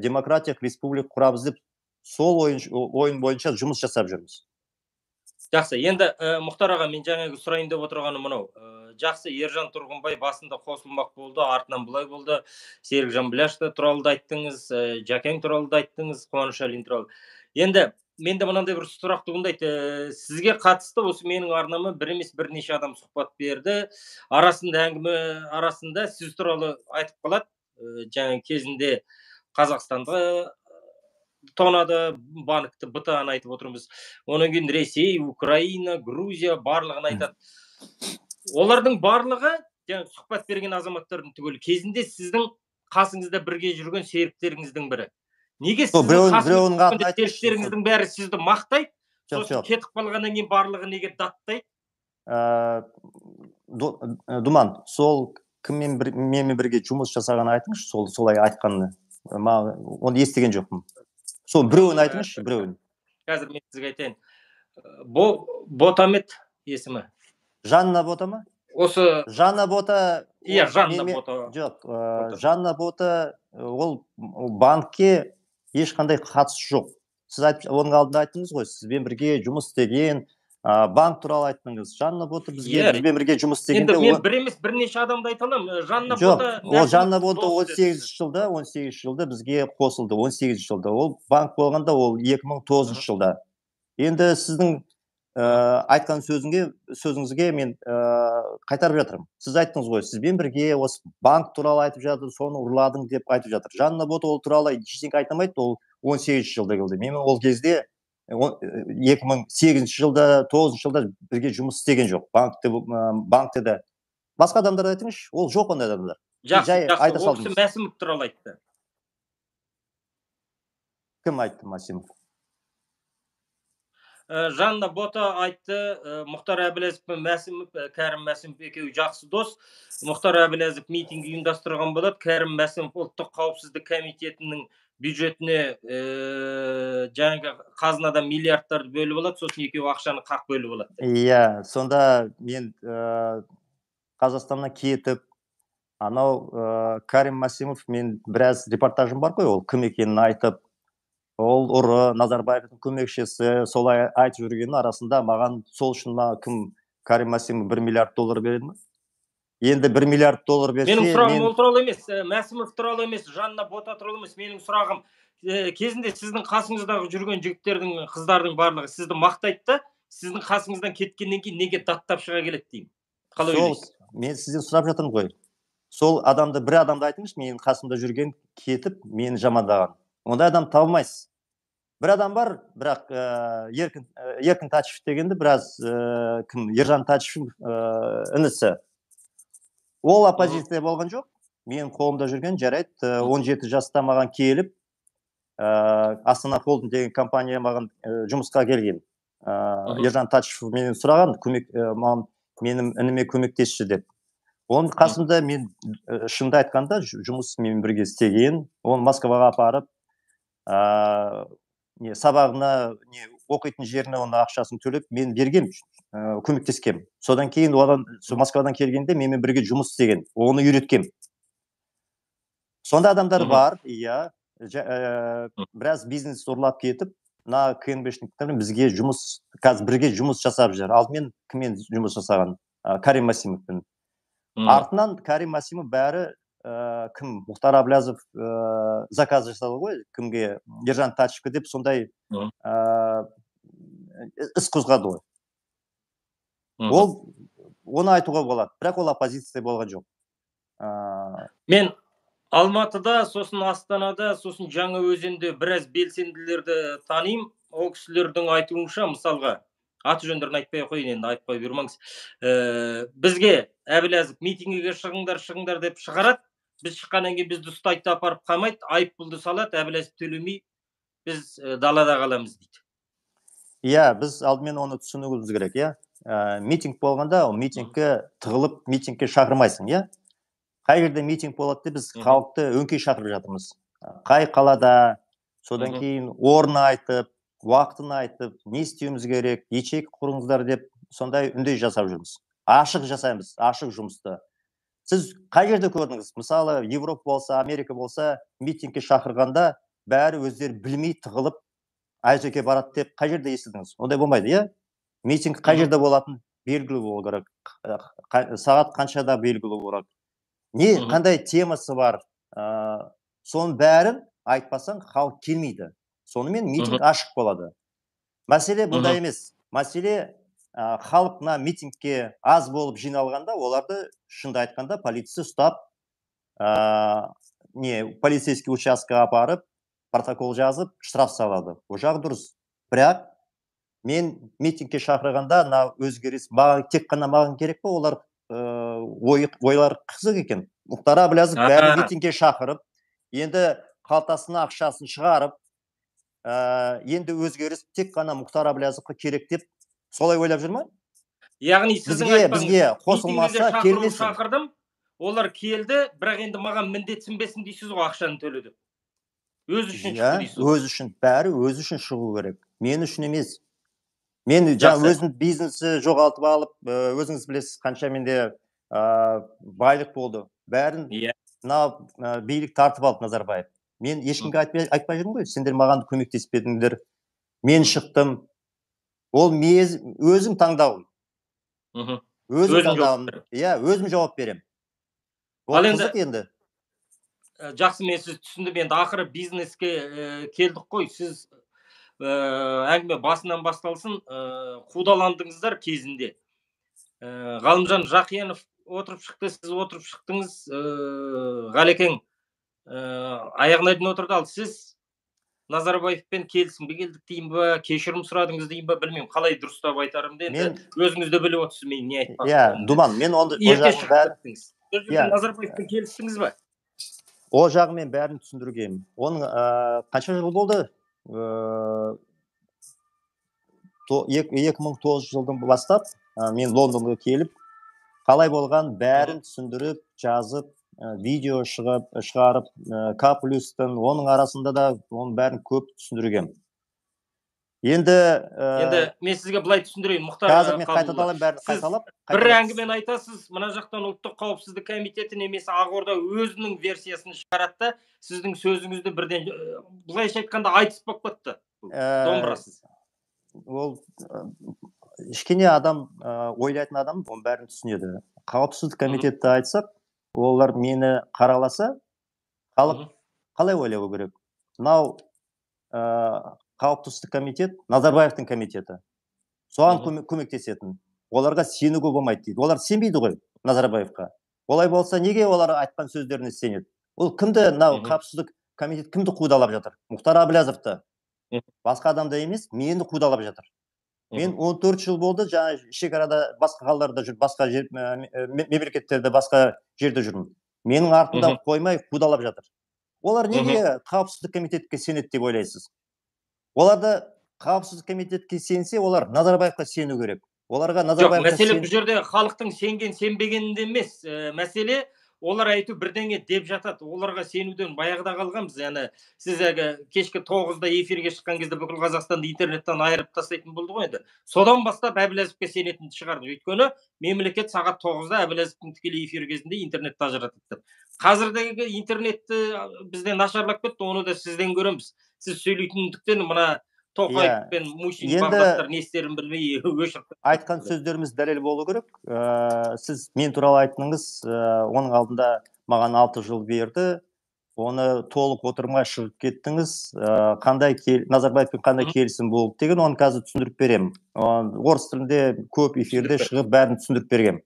[SPEAKER 2] демократиялық республика құрамыз деп, сол ойын бойынша жұмыс жасап жүрміз.
[SPEAKER 1] Жақсы, енді Мұхтар аға, мен жаңағы сұрайын деп отырғаным мынау. Жақсы, Ержан Тұрғынбай басында қосылмақ болды, артынан бұлай болды. Серікжан Біляшты туралы да айттыңыз, Жәкең туралы да айттыңыз, Қуаныш Әлин туралы. Енді менде мынандай бір сұрақ туындайды. Сізге қатысты осы менің арнама бір емес бірнеше адам сұхбат берді. Арасында әңгіме арасында сіз туралы айтып қалады. Жаңа кезінде Қазақстанды тонады, банкті бытаны айтып отырмыз. Оның кейін Ресей, Украина, Грузия барлығын айтады. Олардың барлығы, жаңа сұхбат берген азаматтардың түгелі, кезінде сіздің қасыңызда бірге жүрген серіктеріңіздің бірі. Неге сіздің қасыңызда серіктеріңіздің бәрі сізді мақтайды, сосын кетіп қалғаннан кейін барлығы неге даттайды?
[SPEAKER 2] Думан, сол кіммен бірге жұмыс жасағанын айтыңызшы, солай айтқанын. Оны естіген жоқпын. Сол біреуін айтыңызшы, біреуін.
[SPEAKER 1] Қазір мен сізге айтайын. Ботамет есімі.
[SPEAKER 2] Жанна Бота ма?
[SPEAKER 1] Осы
[SPEAKER 2] Жанна Бота.
[SPEAKER 1] Иә, Жанна Бота.
[SPEAKER 2] Жоқ, Жанна Бота ол банкке ешқандай қатысы жоқ. Сіз оның алдында айттыңыз ғой, сізбен бірге жұмыс істеген, банк туралы айттыңыз. Жанна Бота бізбен бірге жұмыс істегенде...
[SPEAKER 1] Енді мен бір емес бірнеше адамды айта аламын. Жанна
[SPEAKER 2] Бота... Жоқ, Жанна Бота он сегізінші жылда, он сегізінші жылда бізге қосылды, он сегізінші жылда. Ол банк болғанда, ол екі мың тоғызыншы жылда. Енді сіздің айтқан сөзіңізге мен қайтарып жатырмын. Сіз айттыңыз ғой, сізбен бірге осы банк туралы айтып жатыр, соны ұрладың деп айтып жатыр. Жанна Бота ол туралы ештеңе айтамайды, ол он сегізінші жылда келді. Мен ол кезде екі мың сегізінші жылда, тоғызыншы жылда бірге жұмыс істеген жоқ. Банкте де. Басқа адамдар айтыңызшы, ол жоқ ондай адамдар.
[SPEAKER 1] Жақсы, жақсы, ол кісі Мәсімов туралы айтты.
[SPEAKER 2] Кім айтты Мәсімов?
[SPEAKER 1] Жанна Бота айтты, Мұхтар Әбіләзов пен Мәсімов, Кәрім Мәсімов екеуі жақсы дос. Мұхтар Әбіләзов митинг ұйымдастырған болады. Кәрім Мәсімов ұлттық қауіпсіздік комитетінің бюджетіне жаңағы қазынадан миллиардтарды бөліп алады, сосын екеуі ақшаны қақ бөліп алады.
[SPEAKER 2] Иә, сонда мен Қазақстаннан кетіп, анау Кәрім Мәсімов, мен біраз репортажым бар қой, ол кім екенін айтып, ол ұры, Назарбаевтың көмекшісі, солай айтып жүргеннің арасында маған сол үшін кім Кәрім Мәсімов бір миллиард доллар береді ме? Енді бір миллиард доллар берсе...
[SPEAKER 1] Менің сұрағым ол туралы емес, Мәсімов туралы емес, Жанна Бота туралы емес. Менің сұрағым, кезінде сіздің қасыңыздағы жүрген жігіттердің, қыздардың барлығы сізді мақтайды, сіздің қасыңыздан кеткеннен кейін неге даттап шыға келеді деймін. Қалай ойлайсыз?
[SPEAKER 2] Мен сізден сұрап жатырмын ғой. Сол адамды, бір адамды айтыңызшы, менің қасымда жүрген кетіп, мені жамандаған. Ондай адам табылмайсыз. Бір адам бар, бірақ Еркін Тачев дегенді, біраз кім, Ержан Тачев інісі. Ол оппозиция болған жоқ. Мен қолымда жүрген жарайды, он жеті жаста маған келіп, Астана Холдинг деген компания маған жұмысқа келген. Ержан Тачев менен сұраған, менің ініме көмектесші деп. Оның қасымда мен шынды айтқанда жұмыс мен бірге істеген. Оны Москваға апарып, сабағына, оқитын жеріне оны ақшасын төлеп, мен берген, көмектескен. Содан кейін Москвадан келгенде менімен бірге жұмыс істеген, оны үйреткен. Сонда адамдар бар, иә, біраз бизнес ұрлап кетіп, на КНБшниктер бізге жұмыс, қазір бірге жұмыс жасап жүр. Алдымен кіммен жұмыс жасаған? Кәрім Мәсімовпен. Артынан Кәрім Мәсімов бәрі кім? Мұхтар Әбіләзов заказ жасады ғой, кімге? Ержан Тачевке деп сондай іс қозғады ғой. Ол оны айтуға болады, бірақ ол оппозиция болған жоқ.
[SPEAKER 1] Мен Алматыда, сосын Астанада, сосын Жаңаөзенде біраз белсенділерді танимын. Ол кісілердің айтуынша, мысалға, аты жөндерін айтпай қойын, енді айтпай бермеңіз. Бізге Әбіләзов митингіге шығыңдар, шығыңдар деп шығарады. Біз шыққаннан кейін бізді ұстайды апарып қамайды, айыппұлды салады, Әбіләзов төлемей, біз далада қаламыз дейді.
[SPEAKER 2] Иә, біз алдымен оны түсінуіміз керек, иә. Митинг болғанда, ол митингке тығылып, митингке шақырмайсың, иә. Қай жерде митинг болады, біз халықты өңкей шақырып жатырмыз. Қай қалада, содан кейін орын айтып, уақытын айтып, не істеуіміз керек, ячейка құрыңыздар деп, сондай үндеу жасап жүрміз. Ашық жасаймыз, ашық жұмысты. Сіз қай жерде көрдіңіз? Мысалы, Европа болса, Америка болса, митингке шақырғанда бәрі өздері білмей тығылып, айжеке барады деп қай жерде естідіңіз? Ондай болмайды, иә? Митинг қай жерде болатын белгілі болу керек. Сағат қаншада белгілі болу керек. Не, қандай темасы бар? Соның бәрін айтпасаң, халық келмейді. Сонымен митинг ашық болады. Мәселе бұнда емес. Мәселе халықна митингке аз болып жиналғанда, оларды шынды айтқанда полиция ұстап, не, полицейский участка апарып, протокол жазып, штраф салады. О жағы дұрыс. Бірақ мен митингке шақырғанда, өзгеріс тек қана маған керек па, олар ойлар қызық екен. Мұхтар Әбіләзов бәрі митингке шақырып, енді қалтасына ақшасын шығарып, енді өзгеріс тек қана Мұхтар Әбіләзовқа керек деп солай ойлап жүр ма?
[SPEAKER 1] Яғни сіздің айтпаңыз,
[SPEAKER 2] бізге қосылмаса келмесін.
[SPEAKER 1] Шақырдым, олар келді, бірақ енді маған міндетсінбесін дейсіз ғой, ақшаны төледі. Өз үшін шығу дейсіз.
[SPEAKER 2] Өз үшін, бәрі өз үшін шығу керек. Мен үшін емес. Мен өзім бизнесі жоғалтып алып, өзіңіз білесіз, қанша менде байлық болды. Бәрін билік тартып алды Назарбаев. Мен ешкімге айтпай жүрмін ғой, сендер маған көмектеспедіңдер. Мен шықтым. Ол өзім таңдауым. Өзім таңдауым. Иә, өзім жауап берем. Ол қызық енді.
[SPEAKER 1] Жақсы, мен сіз түсіндім. Енді ақыры бизнеске келдік қой. Сіз әңгіме басынан басталсын, қудаландыңыздар кезінде. Ғалымжан Жақиянов отырып шықты, сіз отырып шықтыңыз, Ғалекең аяғына дейін отырды. Ал сіз Назарбаевпен келісімге келдік дейін ба, кешірім сұрадыңыз дейін ба, білмеймін, қалай дұрыстап айтарымды. Енді өзіңізді біліп отырсыз, мен не айтпақпын.
[SPEAKER 2] Иә, Думан, мен онда
[SPEAKER 1] ерте шықтыңыз. Назарбаевпен келістіңіз ба?
[SPEAKER 2] О жағы мен бәрін түсіндіргенмін. Оның қанша жыл болды? екі мың тоғызыншы жылдан бастап мен Лондонға келіп, қалай болған бәрін түсіндіріп, жазып, видео шығарып, К плюстың, оның арасында да оның бәрін көп түсіндіргем. Енді
[SPEAKER 1] мен сізге былай түсіндірейін, Мұхтар
[SPEAKER 2] Қабылұлы.
[SPEAKER 1] Бір әңгімені айтасыз, мына жақтан ұлттық қауіпсіздік комитеті немесе Ақорда өзінің версиясын шығарады, сіздің сөзіңізді бірден былайша айтқанда айтыс болып кетті. Домбырасыз.
[SPEAKER 2] Ол кішкене адам, ойлайтын адам, оның бәрін түсінеді. Қауіпсіздік комитетті айтсақ, олар мені қараласа, халық қалай ойлауы керек? Мынау Қауіпсіздік комитет, Назарбаевтың комитеті. Соған көмектесетін. Оларға сенуге болмайды дейді. Олар сенбейді ғой Назарбаевқа. Олай болса, неге олар айтқан сөздеріне сенеді? Ол кімді, қауіпсіздік комитет кімді қудалап жатыр? Мұхтар Әбіләзовты. Басқа адамда емес, мені қудалап жатыр. Мен он төрт жыл болды, жаңа шекарада басқа қалаларда жүр, басқа мемлекеттерде, басқа жерде жүрмін. Менің артымда қоймай қудалап жатыр. Олар неге қауіпсіздік комитетке сенеді деп ойлайсыз? Оларды қауіпсіздік комитетке сенсе, олар Назарбаевқа сену керек. Оларға Назарбаевқа
[SPEAKER 1] сену. Жоқ, мәселе бұл жерде халықтың сенген, сенбегенінде емес. Мәселе олар айту бірдеңе деп жатады. Оларға сенуден баяғыда қалғанбыз. Яғни сіз кешкі тоғызда эфирге шыққан кезде бүкіл Қазақстанды интернеттен айырып тастайтын болды ғой енді. Содан бастап Әбіләзовке сенетінді шығарды. Өйткені мемлекет сағат тоғызда Әбіләзовтың тікелей эфир кезінде интернетті ажыратады. Қазірдегі интернетті бізден нашарлап кетті, оны да сізден көреміз. Сіз сөйлейтіндіктен мына Тоқаев пен Мусин бағдаттар не істерін білмей өшіріп.
[SPEAKER 2] Айтқан сөздеріміз дәлел болу керек. Сіз мен туралы айттыңыз, оның алдында маған алты жыл берді. оны толық отырмай шығып кеттіңіз, қандай Назарбаевпен қандай келісім болды деген, оны қазір түсіндіріп беремін. Орыс тілінде көп эфирде шығып бәрін түсіндіріп бергем.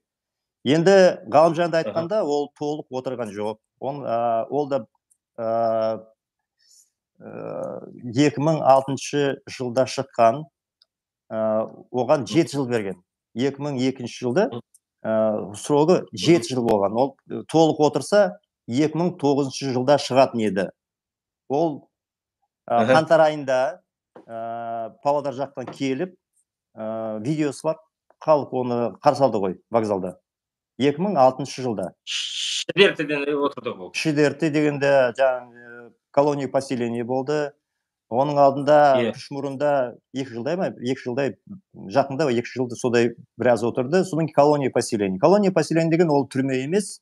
[SPEAKER 2] Енді Ғалымжанды айтқанда, ол толық отырған жоқ. Ол да екі мың алтыншы жылда шыққан, оған жеті жыл берген. екі мың екінші жылда срогы жеті жыл болған. Ол толық отырса екі мың тоғызыншы жылда шығатын еді. Ол қаңтар айында Павлодар жақтан келіп, видеосы бар, халық оны қарсы алды ғой вокзалда. екі мың алтыншы жылда.
[SPEAKER 1] Шідертіден отырды бұл.
[SPEAKER 2] Шідерті дегенде жаңағы колония поселение болды. Оның алдында Күшмұрында екі жылдай ма? екі жылдай жақында, екі жылды содай біраз отырды. Содан колония поселение. Колония поселение деген ол түрме емес.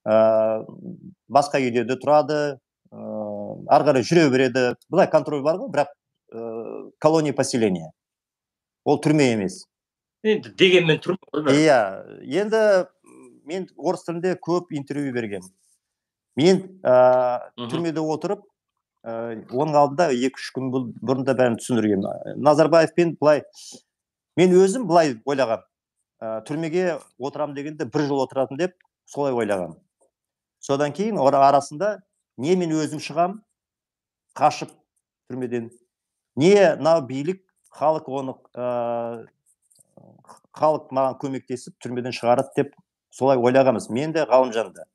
[SPEAKER 2] Басқа үйде де тұрады, ары қарай жүре береді. Бұлай контроль бар ғой, бірақ колония поселение. Ол түрме емес.
[SPEAKER 1] Енді дегенмен тұрмын ғой.
[SPEAKER 2] Иә, енді мен орыс тілінде көп интервью бергем. Мен түрмеде отырып, оның алдында екі-үш күн бұрында бәрін түсіндіргем. Назарбаевпен былай, мен өзім былай ойлағам. Түрмеге отырам дегенде бір жыл отыратын деп, солай ойлағам. Содан кейін арасында не мен өзім шығам, қашып түрмеден, не мынау билік, халық оны халық маған көмектесіп түрмеден шығарады деп солай ойлағамыз. Мен де Ғалымжан да.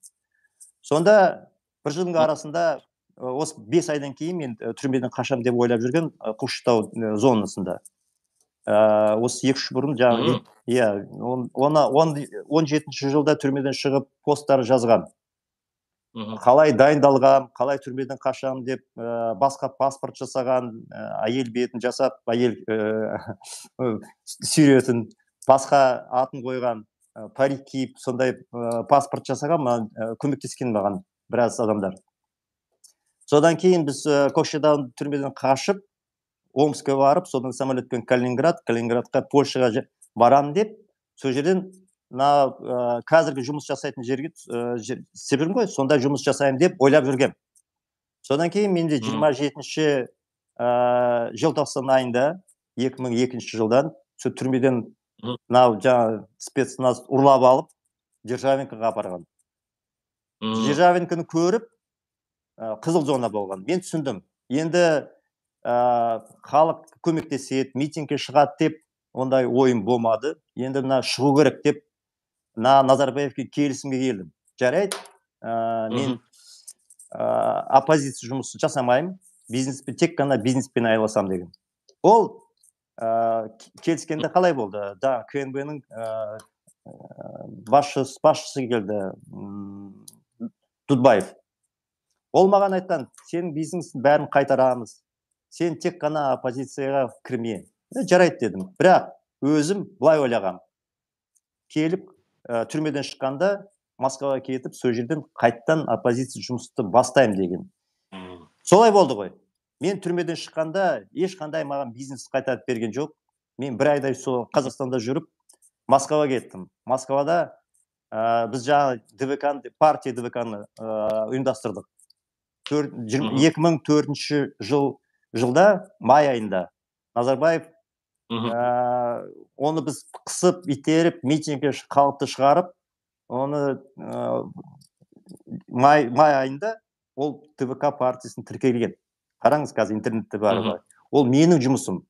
[SPEAKER 2] Сонда бір жылдың арасында осы бес айдан кейін мен түрмеден қашам деп ойлап жүрген Көкшетау зонасында. Осы екі-үш бұрын жаңағы, иә, он жетінші жылда түрмеден шығып посттар жазған. Қалай дайындалғам, қалай түрмеден қашам деп басқа паспорт жасаған, әйел бетін жасап, әйел сүйретін, басқа атын қойған, парик киіп, сондай паспорт жасаған, көмектескен маған біраз адамдар. Содан кейін біз Көкшетау түрмеден қашып, Омскке барып, содан самолетпен Калининград, Калининградқа, Польшаға барам деп, сол жерден қазіргі жұмыс жасайтын жерге себірім ғой, сонда жұмыс жасайым деп ойлап жүргем. Содан кейін менде жиырма жетінші желтоқсан айында, екі мың екінші жылдан, сол түрмеден жаңағы спецназ ұрлап алып, Державинкаға апарған. Державинканы көріп, қызыл зона болған. Мен түсіндім. Енді халық көмектеседі, митингке шығады деп, ондай ойым болмады. Енді мына шығу керек деп, Назарбаевке келісімге келдім. Жарайды, мен оппозиция жұмысы жасамайым, бизнеспен, тек қана бизнеспен айналысам деген. Ол келіскенде қалай болды? Да, КНБ-ның басшысы келді, Дудбаев. Ол маған айтқан, сен бизнестің бәрін қайтарамыз, сен тек қана оппозицияға кірме. Жарайды дедім. Бірақ өзім былай ойлағам. Келіп, түрмеден шыққанда Москваға кетіп, сол жерден қайттан оппозиция жұмысты бастайым деген. Солай болды ғой. Мен түрмеден шыққанда ешқандай маған бизнес қайтарып берген жоқ. Мен бір айдай сол Қазақстанда жүріп, Москваға кеттім. Москвада біз жаңа ДВК-ны, партия ДВК-ны ұйымдастырдық. екі мың төртінші жылда, май айында, Назарбаев оны біз қысып, итеріп, митингке халықты шығарып, оны май айында ол ТВК партиясын тіркелген. Қараңыз, қазір интернетте бар ғой. Ол менің жұмысым.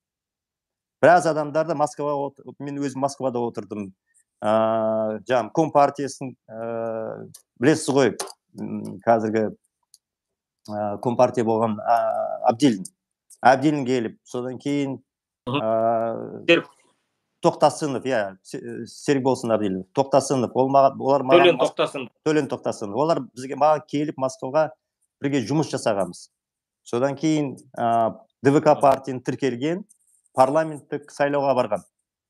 [SPEAKER 2] Біраз адамдарда Москваға, мен өзім Москвада отырдым. Жаңағы Компартиясын білесіз ғой, қазіргі Компартия болған Абдилин. Абдилин келіп, содан кейін Тоқтасынов, иә, Серікболсын Абдилин. Тоқтасынов, олар маған... Төлен Тоқтасынов. Олар бізге маған келіп Москваға бірге жұмыс жасағамыз. Содан кейін ДВК партияны тіркелген, парламенттік сайлауға барған.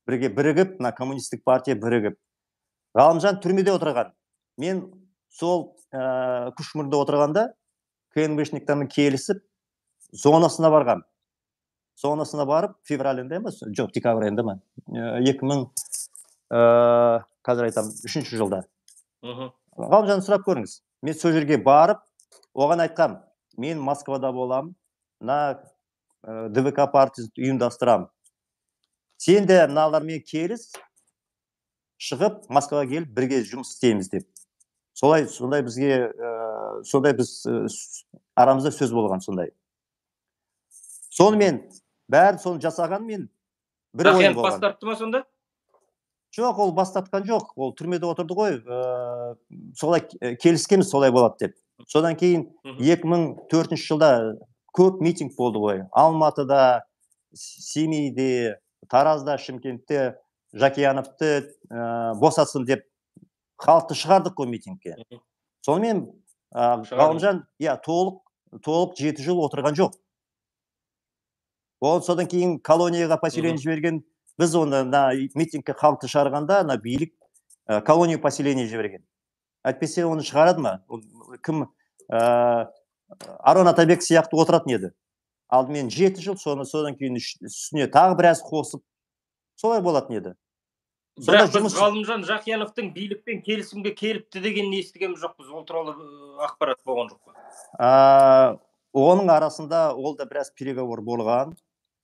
[SPEAKER 2] Бірге бірігіп, коммунистік партия бірігіп. Ғалымжан түрмеде отырған. Мен сол Күшмұрында отырғанда, КНБшниктармен келісіп, зонасына барған. Зонасына барып, февраль айында емес, жоқ, декабрь айында ма? екі мың, қазір айтам, үшінші жылда. Ғалымжан сұрап көріңіз. Мен сол жерге барып, оған айтқам, мен Москвада болам, мына ДВК партиясын ұйымдастырам. Сен де мыналармен келіс, шығып Москваға келіп бірге жұмыс істейміз деп. Солай, сондай бізге, сондай біз арамызда сөз болған сондай. Сонымен бәрін соны жасаған мен бір ойым
[SPEAKER 1] Жақиянов
[SPEAKER 2] болған.
[SPEAKER 1] бас тартты ма сонда?
[SPEAKER 2] Жоқ, ол бас тартқан жоқ. Ол түрмеде отырды ғой. Солай келіскенбіз, солай болады деп. Содан кейін екі мың төртінші жылда көп митинг болды ғой. Алматыда, Семейде, Таразда, Шымкентте Жақияновты босатсын деп халықты шығардық қой митингке. Сонымен Ғалымжан, иә, толық толық жеті жыл отырған жоқ. Ол содан кейін колонияға поселение жіберген. Біз оны митингке халықты шығарғанда, ана билік колония поселение жіберген. Әйтпесе оны шығарады ма? Кім? Арон Атабек сияқты отыратын еді. Алдымен жеті жыл, содан кейін үстіне тағы біраз қосып, солай болатын еді.
[SPEAKER 1] Бірақ біз Ғалымжан Жақияновтың билікпен келісімге келіпті деген естігеніміз жоқпыз. Ол туралы ақпарат болған жоқ па?
[SPEAKER 2] Оның арасында ол да біраз переговор болған.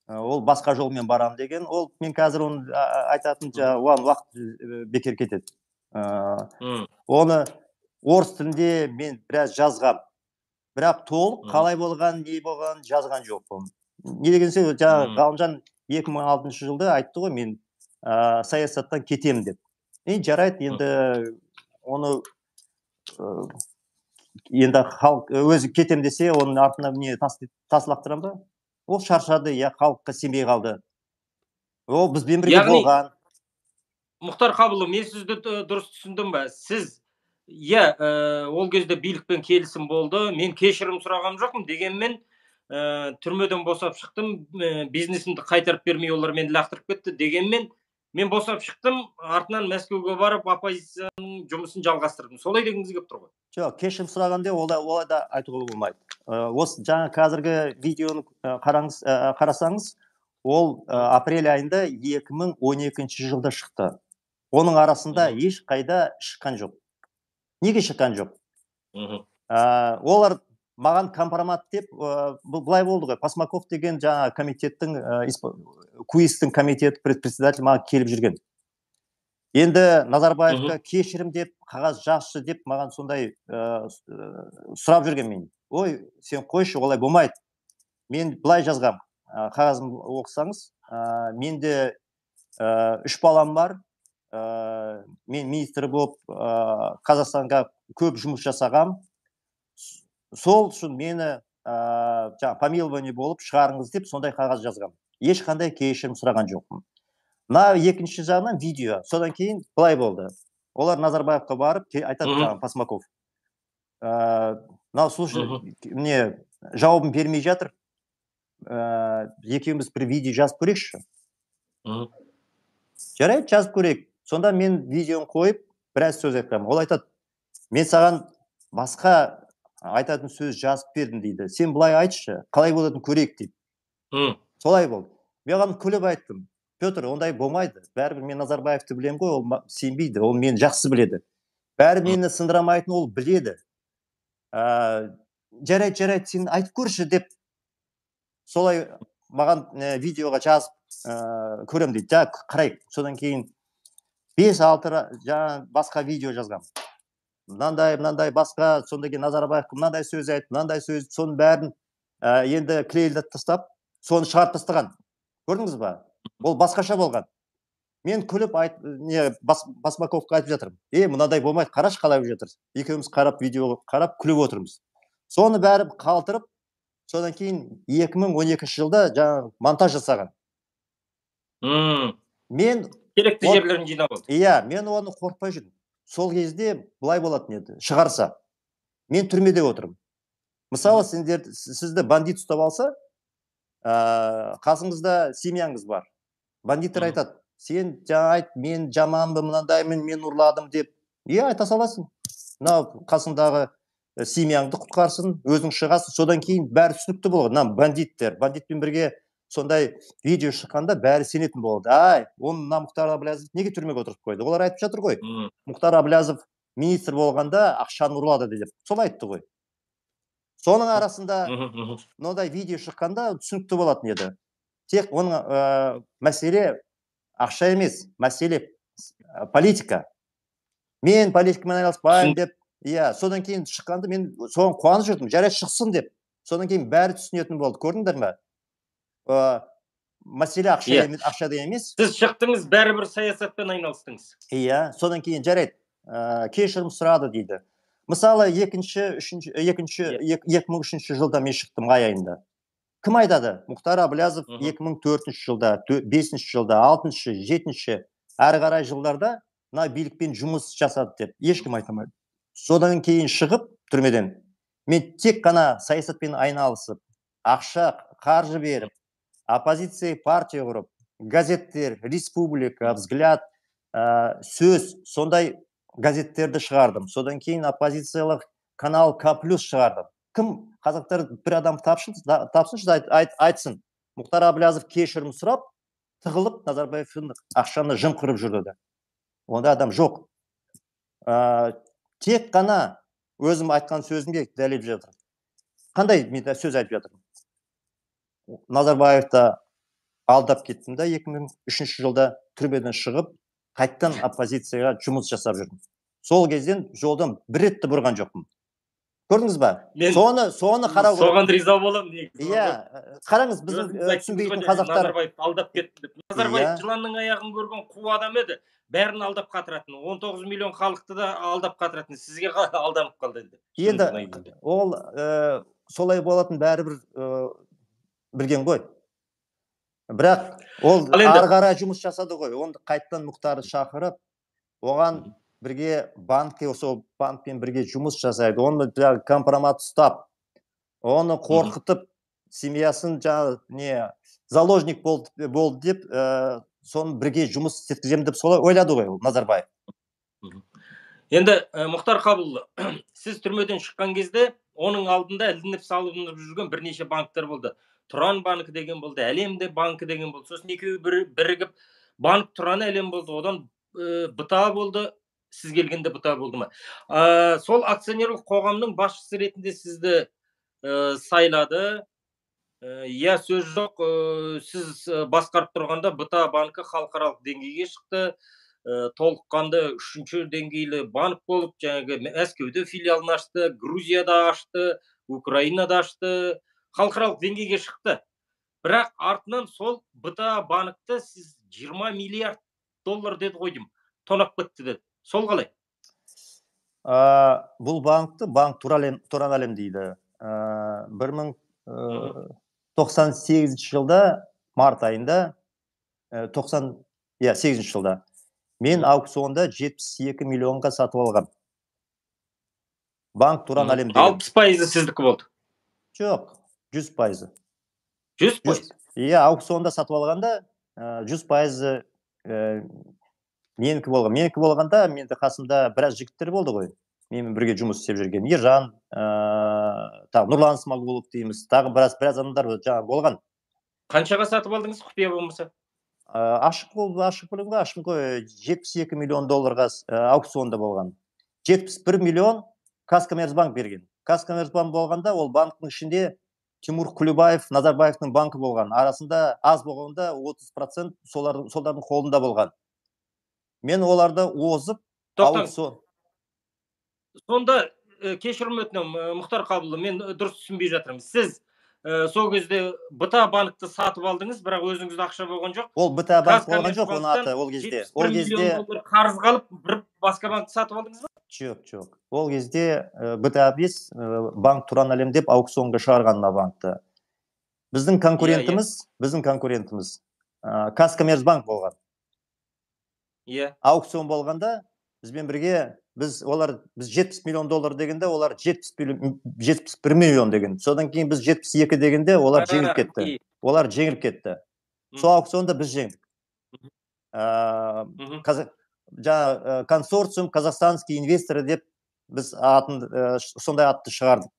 [SPEAKER 2] Ол басқа жолмен барам деген. Ол мен қазір оны айтатын оған уақыт бекер кетеді. Оны орыс тілінде мен біраз жазғам. Бірақ толық қалай болған, не болған жазған жоқпын. Не дегенсе, жаңа Ғалымжан екі мың алтыншы жылда айтты ғой, мен саясаттан кетем деп. Енді жарайды, енді оны енді халық өзі кетем десе, оның артына не тас лақтырам ба? Ол шаршады, я халыққа сенбей қалды. Ол бізбен бірге болған.
[SPEAKER 1] Мұхтар Қабылов, мен сізді дұрыс түсіндім бе? Сіз, иә, ол кезде билікпен келісім болды, мен кешірім сұрағам жоқпын, дегенмен түрмеден босап шықтым, бизнесімді қайтарып бермей олар мені лақтырып кетті, дегенмен мен босап шықтым, артынан Мәскеуге барып оппозицияның жұмысын жалғастырдым. Солай дегіңіз келіп тұр ғой?
[SPEAKER 2] Жоқ, кешірім сұрағанда олай да айтуға болмайды. Осы жаңа қазіргі видеоны қарасаңыз, ол апрель айында екі мың он екінші жылда шықты. Оның арасында еш қайда шыққан жоқ. Неге шыққан жоқ? Олар маған компромат деп, бұлай болды ғой, Посмаков деген жаңа комитеттің, куистің комитет председатель маған келіп жүрген. Енді Назарбаевқа кешірім деп, қағаз жақшы деп маған сондай сұрап жүрген мен. Ой, сен қойшы, олай болмайды. Мен бұлай жазғам, қағазым оқысаңыз, менде үш балам бар, мен министр болып Қазақстанға көп жұмыс жасағам. Сол үшін мені помилование болып шығарыңыз деп сондай қағаз жазғам. Ешқандай кешірім сұраған жоқпын. Мына екінші жағынан видео. Содан кейін былай болды. Олар Назарбаевқа барып айтады жаңа Посмаков. Мынау слушай, мне жауабын бермей жатыр. Екеуміз бір видео жазып көрейікші. Жарайды, жазып көрейік. Сонда мен видеоны қойып, біраз сөз айтқам. Ол айтады, мен саған басқа айтатын сөз жазып бердім дейді. Сен былай айтшы, қалай болатын көрейік дейді. Солай болды. Мен оған күліп айттым. Петр, ондай болмайды. Бәрібір мен Назарбаевты білем ғой, ол сенбейді, ол мені жақсы біледі. Бәрі мені сындырамайтын ол біледі. Жарайды, жарайды, сен айтып көрші деп солай маған видеоға жазып көрем дейді. Жа, қарайық. Содан кейін бес алты жаңа басқа видео жазғам. Мынандай, мынандай басқа, сонда кейін Назарбаевқа мынандай сөз айтып, мынандай сөз, соның бәрін енді клейлдеп тастап, соны шығарып тастаған. Көрдіңіз ба? Ол басқаша болған. Мен күліп Посмаковқа айтып жатырмын. Е, мынадай болмайды, қараш қалай жатыр. Екеуміз қарап, видеоға қарап, күліп отырмыз. Соны бәрі қалтырып, содан кейін екі мың он екінші жылда жаңа монтаж жасаған. Мен
[SPEAKER 1] керекті жерлерін жинап алды.
[SPEAKER 2] Иә, мен оны қорқпай жүрдім. Сол кезде былай болатын еді, шығарса. Мен түрмеде отырмын. Мысалы, сізді бандит ұстап алса, қасыңызда семьяңыз бар. Бандиттер айтады, сен жаңа айт, мен жаманбы, мынандаймын, мен ұрладым деп. Иә, айта саласың. Мынау қасыңдағы семьяңды құтқарсын, өзің шығасың. Содан кейін бәрі түсінікті болады. Мына бандиттер, бандитпен бірге сондай видео шыққанда бәрі сенетін болды. Ай, оны мына Мұхтар Әблязов неге түрмеге отырып қойды? Олар айтып жатыр ғой. Мұхтар Әблязов министр болғанда ақшаны ұрлады деп. Сол айтты ғой. Соның арасында мынадай видео шыққанда түсінікті болатын еді. Тек оның мәселе ақша емес, мәселе политика. Мен политикамен айналыспаймын деп, иә, содан кейін шыққанда мен соған қуанып жүрдім, жарайды шықсын деп. Содан кейін бәрі түсінетін болды. Көрдіңдер ме? Мәселе ақша емес, ақшада емес.
[SPEAKER 1] Сіз шықтыңыз, бәрібір саясатпен айналыстыңыз.
[SPEAKER 2] Иә, содан кейін жарайды, кешірім сұрады дейді. Мысалы, екінші, үшінші, екінші, екі мың үшінші жылда мен шықтым ай айында. Кім айтады? Мұхтар Әблязов екі мың төртінші жылда, бесінші жылда, алтыншы, жетінші, әрі қарай жылдарда мына билікпен жұмыс жасады деп ешкім айтамайды. Содан кейін шығып түрмеден мен тек қана саясатпен айналысып, ақша, қаржы беріп, оппозиция партия құрып, газеттер, республика, взгляд, сөз, сондай газеттерді шығардым. Содан кейін оппозициялық канал К плюс шығардым. Кім қазақтар бір адам тапсыншы айтсын. Мұхтар Әблязов кешірім сұрап, тығылып, Назарбаевтың ақшаны жымқырып жүрді. Онда адам жоқ. Тек қана өзім айтқан сөзімге дәлелдеп жатыр. Қандай мен сөз айтып жатырмын? Назарбаевты алдап кеттім да екі мың үшінші жылда түрмеден шығып, қайттан оппозицияға жұмыс жасап жүрдім. Сол кезден жолдан бір ретті бұрған жоқпын. Көрдіңіз ба? Соны, соны қарау керек.
[SPEAKER 1] Соған риза боламын.
[SPEAKER 2] Иә, қараңыз, біздің түсінбейтін қазақтар.
[SPEAKER 1] Назарбаев алдап кетті деп. Назарбаев жыланның аяғын көрген қу адам еді. Бәрін алдап қатыратын. он тоғыз миллион халықты да алдап қатыратын. Сізге алданып қалды енді.
[SPEAKER 2] Енді ол солай болатын бәрібір білген ғой. Бірақ ол ары қарай жұмыс жасады ғой. Оны қайттан Мұхтарды шақырып, оған бірге банкке, осы банкпен бірге жұмыс жасайды. Оны компромат ұстап, оны қорқытып, семьясын жаңа не заложник болды деп, соны бірге жұмыс істеткіземін деп солай ойлады ғой Назарбаев.
[SPEAKER 1] Енді Мұхтар Қабылұлы, сіз түрмеден шыққан кезде оның алдында ілініп салынып жүрген бірнеше банктер болды. Тұран банкі деген болды, Әлемде банкі деген болды. Сосын екеуі бірігіп банк Тұран Әлем болды. Одан бұта болды. Сіз келгенде бұта болды ма? Сол акционерлік қоғамның басшысы ретінде сізді сайлады. Я сөз жоқ, сіз басқарып тұрғанда бұта банкі халықаралық деңгейге шықты. Толыққанды үшінші деңгейлі банк болып, жаңағы Мәскеуде филиалын ашты, Грузияда ашты, Украинада ашты, халықаралық деңгейге шықты. Бірақ артынан сол бұта банкты сіз жиырма миллиард доллар деді ғой деймін, тонап кетті деді. Сол қалай?
[SPEAKER 2] Бұл банкты банк Тұран Әлем дейді. бір мың тоқсан сегізінші жылда, март айында, тоқсан сегізінші жылда мен аукционда жетпіс екі миллионға сатып алғам. Банк Тұран Әлем деген.
[SPEAKER 1] алпыс пайызы сіздікі болды?
[SPEAKER 2] Жоқ, жүз пайызы.
[SPEAKER 1] жүз пайыз?
[SPEAKER 2] Иә, аукционда сатып алғанда жүз пайызы менікі болған. Менікі болғанда, менде қасымда біраз жігіттер болды ғой. Менімен бірге жұмыс істеп жүрген. Ержан, Нұрлан Смағұлов дейміз. Тағы біраз адамдар болған.
[SPEAKER 1] Қаншаға сатып алдыңыз, құпия болмаса?
[SPEAKER 2] Ашық болды, ашық білімге ашық қой. жетпіс екі миллион долларға аукционда болған. жетпіс бір миллион Казкоммерцбанк берген. Казкоммерцбанк болғанда, ол банктың ішінде Тимур Құлыбаев, Назарбаевтың банкі болған. Арасында аз болғанда отыз процент солардың қолында болған. Мен оларды озып,
[SPEAKER 1] аукцион. Сонда кешірім өтінемін, Мұхтар Қабылұлы, мен дұрыс түсінбей жатырмын. Сіз сол кезде бұта банкты сатып алдыңыз, бірақ өзіңізде ақша болған жоқ.
[SPEAKER 2] Ол бұта банк болған жоқ, оны аты ол кезде.
[SPEAKER 1] жетпіс бір миллион доллар қарыз қалып, бір басқа банкты сатып алдыңыз ба?
[SPEAKER 2] Жоқ, жоқ. Ол кезде бұта бес банк Тұран Әлем деп аукционға шығарған банкты. Біздің конкурентіміз, біздің конкурентіміз Казкоммерцбанк болған. Аукцион болғанда бізбен бірге біз олар біз жетпіс миллион доллар дегенде олар жетпіс бір миллион деген. Содан кейін біз жетпіс екі дегенде олар жеңіліп кетті. Олар жеңіліп кетті. Сол аукционда біз жеңдік. Жаңа консорциум қазақстанский инвесторы деп біз атын сондай атты шығардық.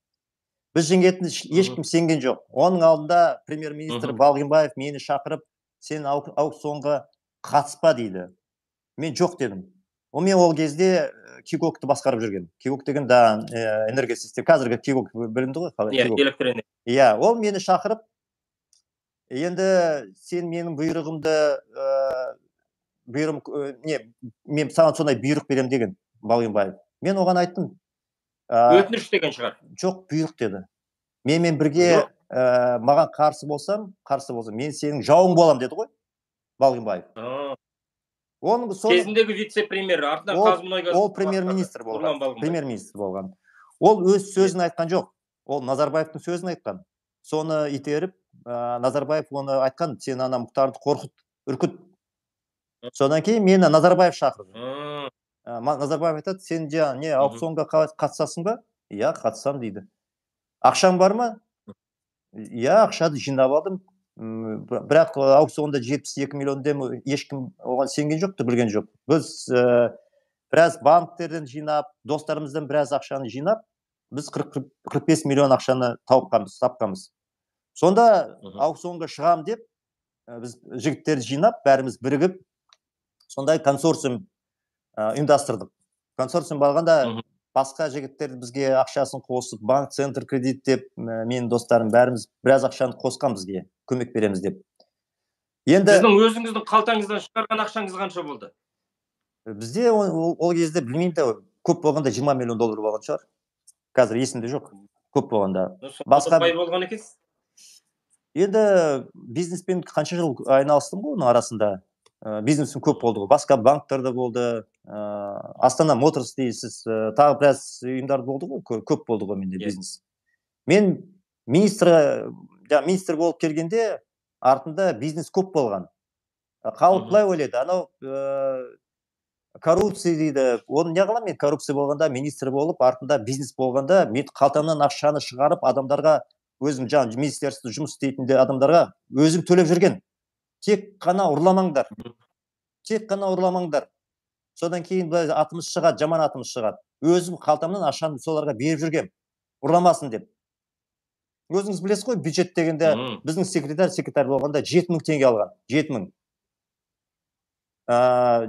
[SPEAKER 2] Біз жеңетін ешкім сенген жоқ. Оның алдында премьер-министр Балғынбаев мені шақырып, сен аукционға қатыспа дейді. Мен жоқ дедім. Мен ол кезде Кигокты басқарып жүрген. Кигок деген да энергосистема. Қазіргі Кигок білінді ғой, қалай
[SPEAKER 1] Иә,
[SPEAKER 2] Кигок.
[SPEAKER 1] электр энергия.
[SPEAKER 2] Иә, ол мені шақырып, енді сен менің бұйрығымды бұйрығым не, мен саған сондай бұйрық берем деген Балғынбаев. Мен оған айттым.
[SPEAKER 1] Өтініш деген шығар.
[SPEAKER 2] Жоқ, бұйрық деді. Менімен бірге маған қарсы болсам, қарсы болсам, мен сенің жауың болам деді ғой, Балғынбаев. Оның
[SPEAKER 1] кезіндегі вице-премьер, артынан Қазмұнайгаз.
[SPEAKER 2] Ол премьер-министр болған. Премьер-министр болған. Ол өз сөзін айтқан жоқ. Ол Назарбаевтың сөзін айтқан. Соны итеріп, Назарбаев оны айтқан, сен ана Мұхтарды қорқыт, үркіт. Содан кейін мені Назарбаев шақырды. Назарбаев айтады, сен жаңа не аукционға қатысасың ба? Иә, қатысам дейді. Ақшаң бар ма? Иә, ақшады жинап алдым. Бірақ аукционда жетпіс екі миллион дем ешкім оған сенген жоқты, білген жоқ. Біз біраз банктерден жинап, достарымыздан біраз ақшаны жинап, біз қырық бес миллион ақшаны тауыпқанбыз, тапқанбыз. Сонда аукционға шығам деп, біз жігіттерді жинап, бәріміз бірігіп, сондай консорциум ұйымдастырдық. Консорциум болғанда басқа жігіттер бізге ақшасын қосып, банк, центр кредит деп, менің достарым бәріміз біраз ақшаны қосқан бізге, көмек береміз деп.
[SPEAKER 1] Енді сіздің өзіңіздің қалтаңыздан шығарған ақшаңыз қанша болды?
[SPEAKER 2] Бізде ол кезде білмеймін де, көп болғанда жиырма миллион доллар болған шығар. Қазір есімде жоқ. Көп болғанда.
[SPEAKER 1] Басқа бай болған екенсіз?
[SPEAKER 2] Енді бизнеспен қанша жыл айналыстым ғой оның арасында. Бизнесім көп болды ғой. Басқа банктарда болды. Астана Моторс дейсіз, тағы біраз ұйымдар болды ғой, көп болды ғой менде бизнес. Мен министр, министр болып келгенде артында бизнес көп болған. Халық былай ойлайды, анау коррупция дейді. Оны не қыламын мен коррупция болғанда, министр болып, артында бизнес болғанда, мен қалтамнан ақшаны шығарып, адамдарға, өзім жаңа министерство жұмыс істейтінде адамдарға өзім төлеп жүрген. Тек қана ұрламаңдар. Тек қана ұрламаңдар. Содан кейін атымыз шығады, жаман атымыз шығады. Өзім қалтамнан ақшаны соларға беріп жүргем. Ұрламасын деп. Өзіңіз білесіз ғой, бюджет дегенде біздің секретарь, секретарь болғанда жеті мың теңге алған. жеті мың.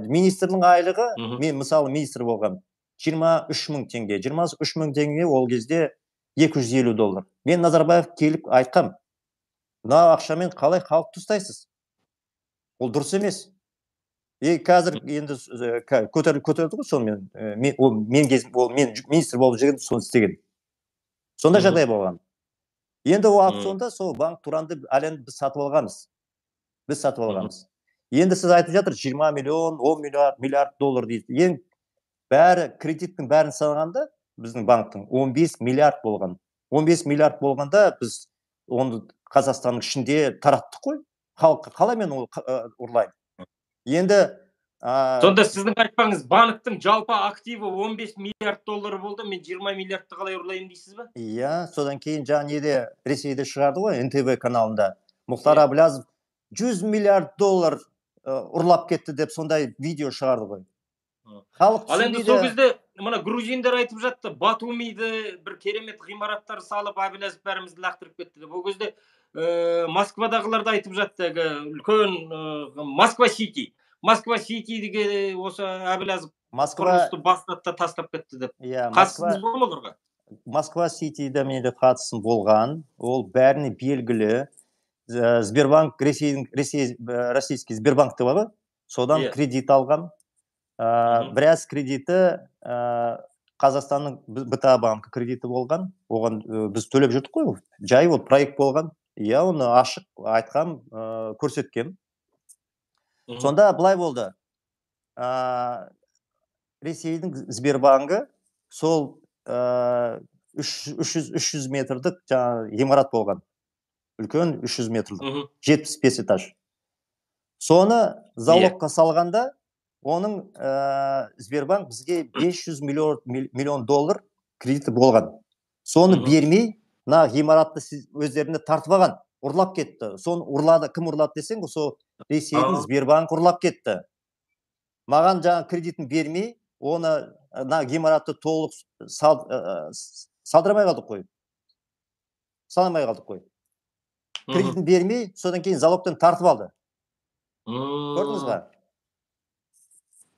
[SPEAKER 2] Министрдің айлығы, мен мысалы министр болғам, жиырма үш мың теңге. жиырма үш мың теңге ол кезде екі жүз елу доллар. Мен Назарбаев келіп айтқам, мына ақшамен қалай халықты ұстайсыз? Ол дұрыс емес. И қазір енді көтерді ғой сонымен, мен министр болып жүрген, соны істеген. Сонда жағдай болған. Енді ол аукционда сол банк Туранды әлемді біз сатып алғанбыз. Біз сатып алғанбыз. Енді сіз айтып жатыр, жиырма миллион, он миллиард доллар дейді. Ең бәрі, кредиттің бәрін санағанда, біздің банктың он бес миллиард болған. он бес миллиард болғанда біз оны Қазақстанның ішінде тараттық қой. Халыққа қалай мен ұрлаймын? Енді
[SPEAKER 1] сонда сіздің айтпаңыз, банктың жалпы активі он бес миллиард доллары болды, мен жиырма миллиардты қалай ұрлайын дейсіз ба?
[SPEAKER 2] Иә, содан кейін жаңа неде Ресейде шығарды ғой, эн тэ вэ каналында. Мұхтар Әбіләзов жүз миллиард доллар ұрлап кетті деп сондай видео шығарды ғой.
[SPEAKER 1] Халық түсінбейді. Ал енді сол кезде мына грузиндар айтып жатты, Батумиді бір керемет ғимараттар салып, Әбіләзов бәрімізді лақтырып кетті деп. Ол кезде Москвадағыларды айтып жатты, үлкен Москва-Сити. Москва-Ситиге осы Әбіләзов құрылысты бастатта тастап кетті деп. Қатысыңыз болды ма оларға?
[SPEAKER 2] Москва-Ситиде менде қатысым болған. Ол бәріне белгілі. Сбербанк, российский Сбербанк деп бар, содан кредит алған. Біраз кредиті Қазақстанның бэ тэ а банкі кредиті болған. Оған біз төлеп жүрдік қой. Жай ол проект болған. Я оны ашық айтқам, көрсеткем. Сонда былай болды. Ресейдің Сбербанкі сол үш жүз метрлік ғимарат болған. Үлкен үш жүз метрлік. жетпіс бес этаж. Соны залогқа салғанда, оның Сбербанк бізге бес жүз миллион доллар кредиті болған. Соны бермей, на ғимаратты өздеріне тартып алған, ұрлап кетті. Соны ұрлады, кім ұрлады десең, сол Ресейдің Сбербанк ұрлап кетті. Маған жаңа кредитін бермей, оны на ғимаратты толық салдырамай қалдық қой. Саламай қалдық қой. Кредитін бермей, содан кейін залогтан тартып алды. Көрдіңіз ба?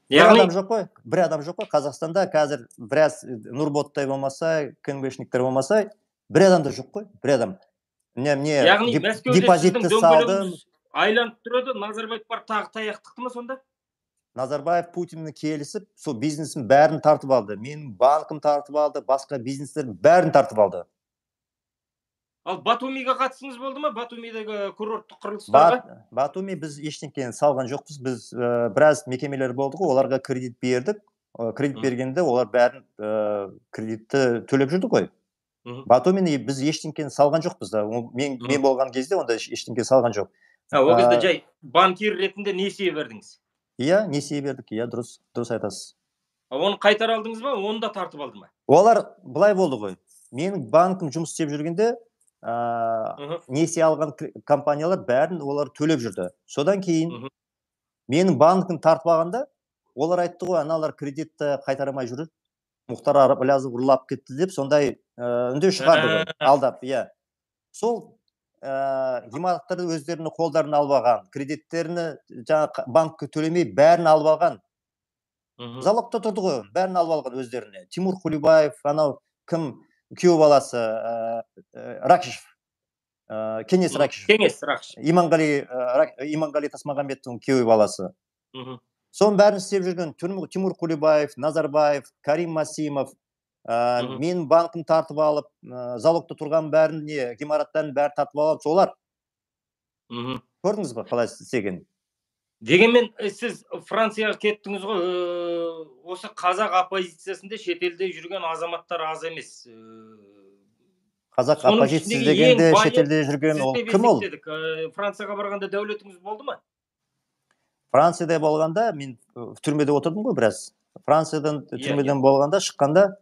[SPEAKER 2] бір
[SPEAKER 1] Яғни
[SPEAKER 2] адам жоқ қой, бір адам жоқ қой. Қазақстанда қазір біраз Нұрботтай болмаса, КНБшниктер болмаса, бір адам да жоқ қой, бір адам. Не, не,
[SPEAKER 1] яғни
[SPEAKER 2] деп-
[SPEAKER 1] Мәскеуде сіздің
[SPEAKER 2] депозитті салдым.
[SPEAKER 1] дөңгелегіңіз айланып тұрады, Назарбаев бар тағы таяқ тықты ма сонда?
[SPEAKER 2] Назарбаев Путинмен келісіп, сол бизнесін бәрін тартып алды. Менің банкым тартып алды, басқа бизнестерін бәрін тартып алды.
[SPEAKER 1] Ал Батумиға қатысыңыз болды ма? Батумидегі курорттық құрылыстарға?
[SPEAKER 2] Бат, Батуми біз ештеңені салған жоқпыз. Біз ә, біраз мекемелер болды ғой, оларға кредит бердік. Ә, кредит
[SPEAKER 1] Мгм.
[SPEAKER 2] бергенде олар бәрін ә, кредитті төлеп жүрді ғой.
[SPEAKER 1] Мгм.
[SPEAKER 2] Батумині біз ештеңені салған жоқпыз да. Ол Мен,
[SPEAKER 1] Мгм.
[SPEAKER 2] мен болған кезде онда еш- ештеңе салған жоқ.
[SPEAKER 1] А, ол кезде
[SPEAKER 2] А,
[SPEAKER 1] жай банкир ретінде несие бердіңіз.
[SPEAKER 2] Иә, несие бердік, иә, дұрыс, дұрыс айтасыз.
[SPEAKER 1] А оны қайтара алдыңыз ба? Оны да тартып алды ма?
[SPEAKER 2] Олар былай болды ғой. Менің банкім жұмыс істеп жүргенде ә,
[SPEAKER 1] Мгм.
[SPEAKER 2] несие алған к- компаниялар бәрін олар төлеп жүрді. Содан кейін
[SPEAKER 1] Мгм.
[SPEAKER 2] менің банкім тартып алғанда олар айтты ғой, аналар кредитті қайтарамай жүр. Мұхтар Абылязов ұрлап кетті деп сондай ә, үндеу шығарды ғой,
[SPEAKER 1] Ә.
[SPEAKER 2] алдап, иә. Сол ә, ғимараттарды өздерінің қолдарына алып алған, кредиттерін жаңа банкке төлемей бәрін алып алған.
[SPEAKER 1] Мгм.
[SPEAKER 2] Залогта тұрды ғой, бәрін алып алған өздеріне. Тимур Кулибаев, анау кім, күйеу баласы, ә, ә, Ракишев, ә, Кеңес
[SPEAKER 1] Мгм.
[SPEAKER 2] Ракишев,
[SPEAKER 1] Кеңес Рақышев.
[SPEAKER 2] Иманғали, ә, Рак- Иманғали Тасмағамбеттің күйеу баласы.
[SPEAKER 1] Мгм.
[SPEAKER 2] Соның бәрін істеп жүрген Тимур Тимур Кулибаев, Назарбаев, Карим Масимов, ә,
[SPEAKER 1] Мгм.
[SPEAKER 2] менің банкім тартып алып, ә, залогта тұрған бәрін, не, ғимараттарын бәрін тартып алып, солар.
[SPEAKER 1] Мгм.
[SPEAKER 2] Көрдіңіз ба қалай істеген?
[SPEAKER 1] Дегенмен э, сіз Францияға кеттіңіз ғой, э, осы қазақ оппозициясында шетелде жүрген азаматтар аз емес. Э,
[SPEAKER 2] Қазақ
[SPEAKER 1] Соның
[SPEAKER 2] оппозициясы
[SPEAKER 1] ішіндегі
[SPEAKER 2] дегенде
[SPEAKER 1] ең байы
[SPEAKER 2] шетелде жүрген
[SPEAKER 1] сіз
[SPEAKER 2] ол
[SPEAKER 1] деп
[SPEAKER 2] кім ол?
[SPEAKER 1] есептедік. Э, Францияға барғанда дәулетіңіз болды ма?
[SPEAKER 2] Францияда болғанда мен ә, түрмеде отырдым ғой біраз. Франциядан
[SPEAKER 1] Иә,
[SPEAKER 2] түрмеден болғанда шыққанда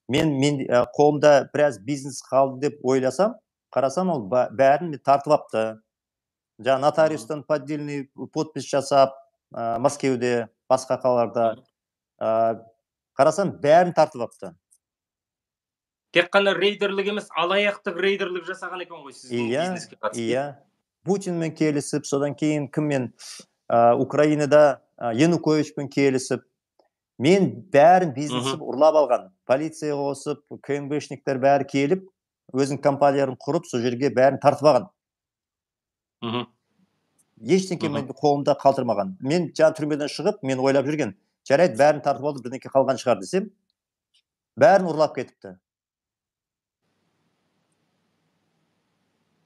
[SPEAKER 2] мен мен ә, қолымда біраз бизнес қалды деп ойласам, қарасам ол ба- бәрін тартып алыпты. Жаңа нотариустан поддельный подпись жасап, ә, Мәскеуде, басқа қалаларда ә, қарасам бәрін тартып алыпты.
[SPEAKER 1] Тек қана рейдерлік емес, алаяқтық рейдерлік жасаған екен ғой сіздің
[SPEAKER 2] Иә,
[SPEAKER 1] бизнеске қатысты.
[SPEAKER 2] иә. Путинмен келісіп, содан кейін кіммен ә, Украинада ә, Януковичпен келісіп, мен бәрін бизнесіп ұрлап алған. Полиция қосып, КНБшниктер бәрі келіп, өзінің компанияларын құрып, сол жерге бәрін тартып алған.
[SPEAKER 1] Мгм.
[SPEAKER 2] Ештеңке
[SPEAKER 1] Мгм.
[SPEAKER 2] мен қолымда қалдырмаған. Мен жаңа түрмеден шығып, мен ойлап жүрген, жарайды бәрін тартып алды, бірдеңке қалған шығар десем, бәрін ұрлап кетіпті.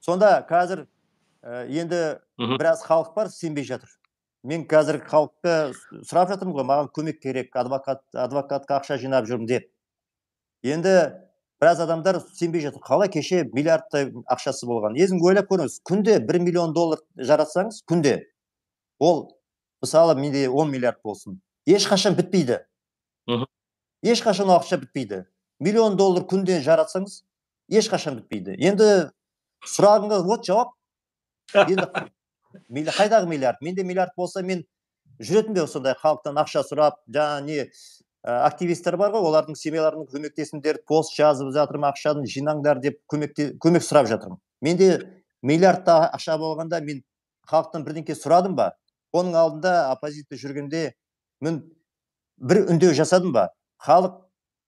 [SPEAKER 2] Сонда қазір ә, енді
[SPEAKER 1] Мгм.
[SPEAKER 2] біраз халық бар, сенбей жатыр. Мен қазір халыққа сұрап жатырмын ғой, маған көмек керек, адвокат, адвокатқа ақша жинап жүрмін деп. Енді біраз адамдар сенбей жатыр. Қалай кеше миллиардтай ақшасы болған. Өзің ойлап көріңіз, күнде бір миллион доллар жаратсаңыз, күнде ол мысалы менде он миллиард болсын. Ешқашан бітпейді.
[SPEAKER 1] Мгм.
[SPEAKER 2] Ешқашан ақша бітпейді. Миллион доллар күнде жаратсаңыз, ешқашан бітпейді. Енді сұрағыңа вот жауап. Енді милли- қайдағы миллиард? Менде миллиард болса, мен жүретін бе сондай халықтан ақша сұрап, жаңа не ә, активистер бар ғой, олардың семьяларының көмектесіңдер, пост жазып жатырмын, ақшаны жинаңдар деп көмекте, көмек сұрап жатырмын. Менде миллиардта ақша болғанда мен халықтан бірдеңке сұрадым ба? Оның алдында оппозиция жүргенде мен бір үндеу жасадым ба? Халық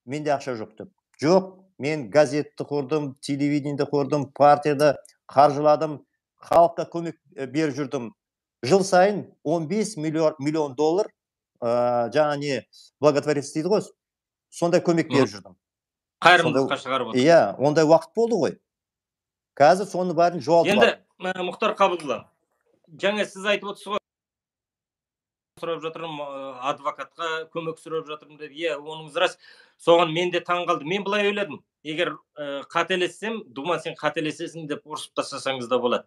[SPEAKER 2] менде ақша жоқ деп. Жоқ, мен газетті құрдым, телевидениеді құрдым, партияда қаржыладым, халыққа көмек ә, беріп жүрдім. Жыл сайын он бес миллион, миллион доллар ә, жаңа не благотворительность дейді ғой, сондай көмек беріп жүрдім.
[SPEAKER 1] Қайырымдылыққа шығарып отыр.
[SPEAKER 2] Иә, ондай уақыт болды ғой. Қазір соны бәрін жоғалтып
[SPEAKER 1] Енді
[SPEAKER 2] алдым.
[SPEAKER 1] ә, Мұхтар Қабылұлы, жаңа сіз айтып отырсыз ғой, сұрап жатырмын, ә, адвокатқа көмек сұрап жатырмын деп. Иә, оныңыз рас. Соған мен де таң қалдым. Мен былай ойладым. Егер ә, қателессем, Дума сен қателесесің деп ұрсып тастасаңыз да болады.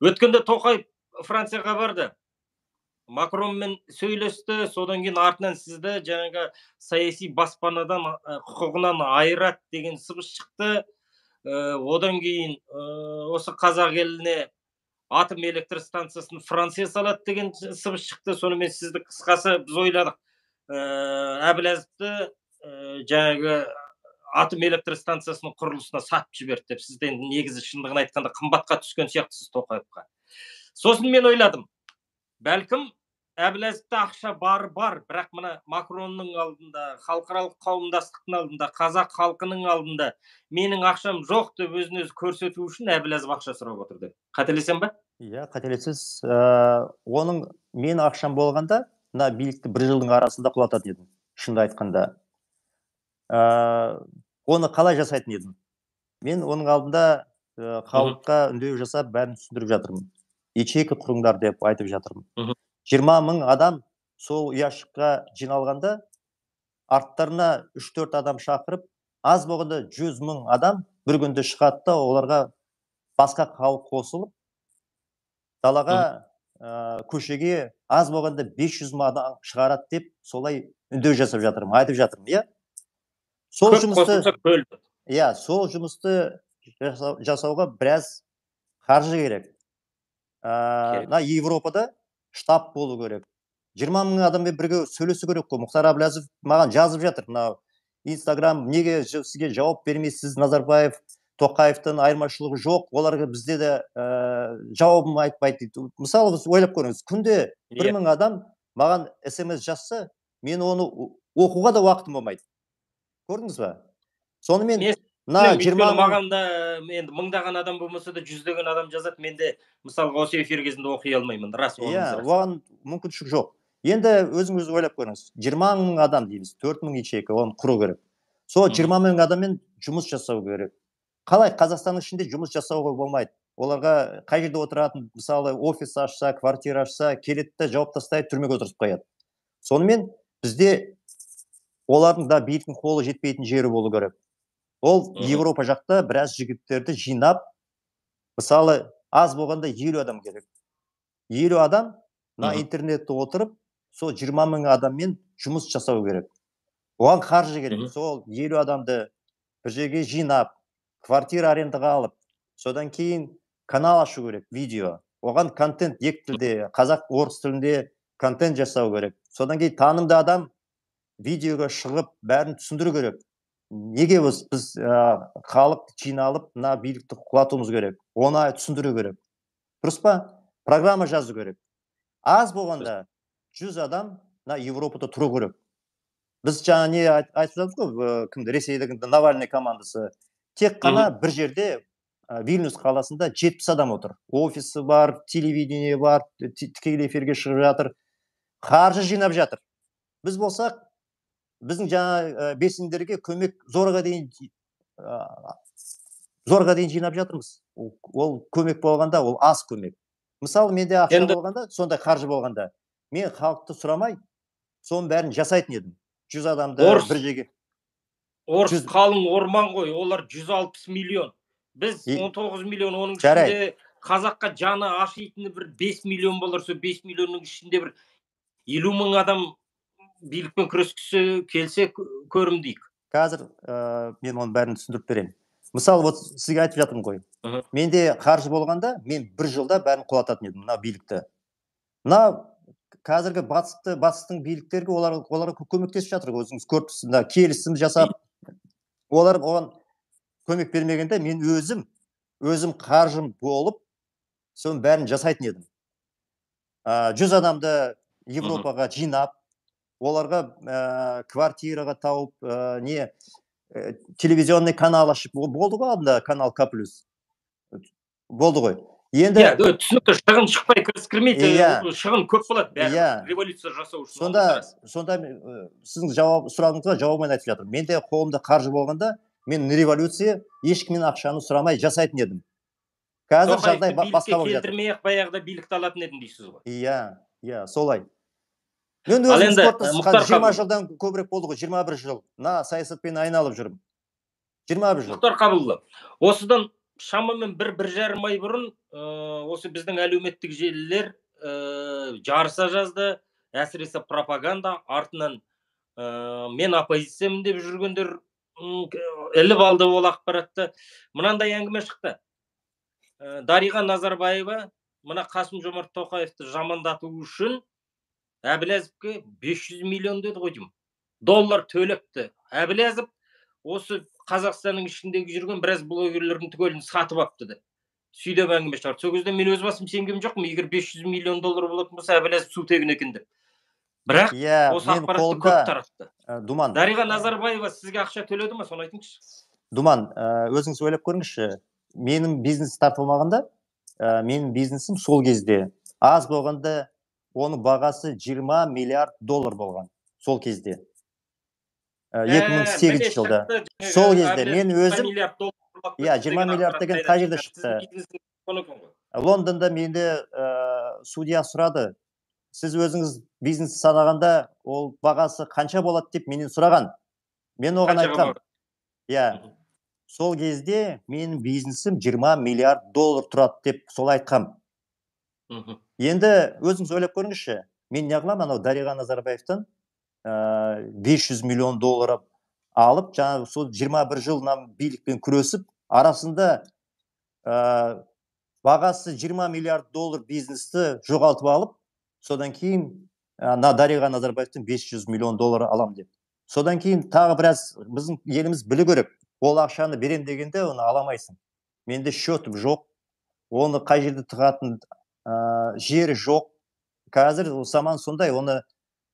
[SPEAKER 1] Өткенде Тоқаев Францияға барды. Макронмен сөйлесті, содан кейін артынан сізді жаңағы саяси баспанадан ә, құқығынан айырат деген сыбыс шықты. Ә, одан кейін ә, осы қазақ еліне атом электр станциясын Франция салады деген сыбыс шықты. Сонымен сізді қысқасы біз ойладық. Ә, Әбіләзовті ә, жаңағы атом электр станциясының құрылысына сатып жіберді деп. Сіз енді негізі шындығын айтқанда қымбатқа түскен сияқтысыз Тоқаевқа. Сосын мен ойладым, бәлкім Әбләзовта ақша бар бар, бірақ мына Макронның алдында, халықаралық қауымдастықтың алдында, қазақ халқының алдында менің ақшам жоқ деп өзін өзі көрсету үшін Әбләзов ақша сұрап отыр деп. Қателесем ба?
[SPEAKER 2] Иә, қателесіз. Оның мен ақшам болғанда, мына билікті бір жылдың арасында құлататын едім, шынды айтқанда. Оны қалай жасайтын едім? Мен оның алдында халыққа үндеу жасап, бәрін түсіндіріп жатырмын. Ячейка құрыңдар деп айтып жатырмын. жиырма мың адам сол ұяшыққа жиналғанда, арттарына үш төрт адам шақырып, аз болғанда жүз мың адам бір күнде шығады да, оларға басқа халық қосылып, далаға, көшеге аз болғанда бес жүз мың адам шығарады деп, солай үндеу жасап жатырмын, айтып жатырмын, иә? Сол жұмысты, иә, сол жұмысты жасауға біраз қаржы керек. На Европада штаб болу керек. жиырма мың адаммен бірге сөйлесу керек қой. Мұхтар Әбләзов маған жазып жатыр. Мынау Инстаграм неге сізге жауап бермейсіз, Назарбаев, Тоқаевтың айырмашылығы жоқ, оларға бізде де жауабын айтпайды дейді. Мысалы, біз ойлап көріңіз, күнде бір мың адам маған смс жазса, мен оны оқуға да уақытым болмайды. Көрдіңіз ба? Сонымен
[SPEAKER 1] маған да енді мыңдаған адам болмаса да жүздеген адам жазады, мен де мысалға осы эфир кезінде оқи алмаймын. Рас,
[SPEAKER 2] иә, оған мүмкіншілік жоқ. Енді өзіңіз ойлап көріңіз, жиырма мың адам дейміз, төрт мың ячейка, оны құру керек. Сол жиырма мың адаммен жұмыс жасау керек. Қалай Қазақстанның ішінде жұмыс жасауға болмайды? Оларға қай жерде отыратын, мысалы, офис ашса, квартира ашса, келеді де жауап тастайды, түрмеге отырып қояды. Сонымен бізде олардың да биліктің қолы жетпейтін жері болу керек. Ол Европа жақта біраз жігіттерді жинап, мысалы, аз болғанда елу адам керек. елу адам на интернетте отырып, сол жиырма мың адаммен жұмыс жасау керек. Оған қаржы керек. Сол елу адамды бір жерге жинап, квартира арендаға алып, содан кейін канал ашу керек, видео. Оған контент екі тілде, қазақ, орыс тілінде контент жасау керек. Содан кейін танымды адам видеоға шығып, бәрін түсіндіру керек. Неге біз халық жиналып, мына билікті құлатуымыз керек? Оны түсіндіру керек. Дұрыс па? Программа жазу керек. Аз болғанда жүз адам на Европада тұру керек. Біз жаңа не айтып жатырмыз ғой, кімді, Ресейдегі Навальный командасы. Тек қана бір жерде, Вильнюс қаласында жетпіс адам отыр. Офисі бар, телевидение бар, тікелей эфирге шығып жатыр. Қаржы жинап жатыр. Біз болсақ, біздің жаңа белсенділерге көмек зорға дейін зорға дейін жинап жатырмыз. Ол көмек болғанда, ол аз көмек. Мысалы, менде ақша болғанда, сондай қаржы болғанда, мен халықты сұрамай, соның бәрін жасайтын едім. жүз адамды бір жерге.
[SPEAKER 1] Орыс қалың орман ғой, олар жүз алпыс миллион. Біз он тоғыз миллион, оның ішінде қазаққа жаны ашитыны бір бес миллион болар, сол бес миллионның ішінде бір елу мың адам билікпен күрескісі келсе көрімдейік.
[SPEAKER 2] Қазір мен оның бәрін түсіндіріп беремін. Мысалы, вот сізге айтып жатырмын ғой. Менде қаржы болғанда, мен бір жылда бәрін құлататын едім, мына билікті. Мына қазіргі батысты, батыстың биліктерге оларға көмектесіп жатыр, өзіңіз көріпсіз, келісім жасап, олар оған көмек бермегенде, мен өзім, өзім қаржым болып, соның бәрін жасайтын едім. жүз адамды Европаға жинап, оларға квартираға тауып, не телевизионный канал ашып, болды ғой алдында канал К плюс. Болды ғой.
[SPEAKER 1] Енді түсінікті, шығын шықпай кіріскірмейді, шығын көп болады, бәрі революция жасау үшін.
[SPEAKER 2] Сонда, сонда сіздің сұрағыңызға жауабын айтып жатырмын. Менде қолымда қаржы болғанда, мен революция ешкімнен ақшаны сұрамай жасайтын едім. Қазір жағдай басқа болып жатыр.
[SPEAKER 1] Келтірмей-ақ баяғыда билікті алатын едім дейсіз ғой.
[SPEAKER 2] Иә, иә, солай. Мен өзім спортта жиырма жылдан көбірек болды ғой, жиырма бір жыл. На саясатпен айналып жүрмін. жиырма бір жыл.
[SPEAKER 1] Мұхтар Қабылұлы, осыдан шамамен бір бір жарым ай бұрын осы біздің әлеуметтік желілер жарыса жазды, әсіресе пропаганда артынан мен оппозициямын деп жүргендер іліп алды ол ақпаратты. Мынандай әңгіме шықты. Дариға Назарбаева мына Қасым-Жомарт Тоқаевты жамандату үшін Әбләзовке бес жүз миллион деді ғой деймін. Доллар төлепті. Әбләзов осы Қазақстанның ішіндегі жүрген біраз блогерлердің түгелін сатып апты. сүйдеп әңгіме шығарды. Сол кезде мен өз басым сенген жоқпын, егер бес жүз миллион доллар болатын болса, әбіләзов су тегін екен деп. Бірақ
[SPEAKER 2] иә,
[SPEAKER 1] осы
[SPEAKER 2] мен
[SPEAKER 1] ақпаратты көп
[SPEAKER 2] қолымда
[SPEAKER 1] таратты.
[SPEAKER 2] Думан,
[SPEAKER 1] Дариға Назарбаева сізге ақша төледі ма, соны айтыңызшы.
[SPEAKER 2] Думан, өзіңіз ойлап көріңізші, менің бизнес тартылмағанда, менің бизнесім сол кезде аз болғанда оның бағасы жиырма миллиард доллар болған сол кезде. екі мың сегізінші жылда. Сол кезде мен өзім, иә, жиырма миллиард деген қай жерде шықты? Лондонда менде судья сұрады, сіз өзіңіз бизнес санағанда ол бағасы қанша болады деп менен сұраған. Мен оған айтқам, иә, сол кезде менің бизнесім жиырма миллиард доллар тұрады деп сол айтқам. Енді өзіңіз ойлап көріңізші, мен неғылам, анау Дариға Назарбаевтан бес жүз миллион доллар алып, жаңағы сол жиырма бір жыл билікпен күресіп, арасында бағасы жиырма миллиард доллар бизнесті жоғалтып алып, содан кейін Дариға Назарбаевтан бес жүз миллион доллар алам деп. Содан кейін тағы біраз біздің еліміз білу керек. Ол ақшаны берем дегенде оны аламайсың. Менде счетым жоқ, оны қай жерде тығатын жері жоқ. Қазір заман сондай, оны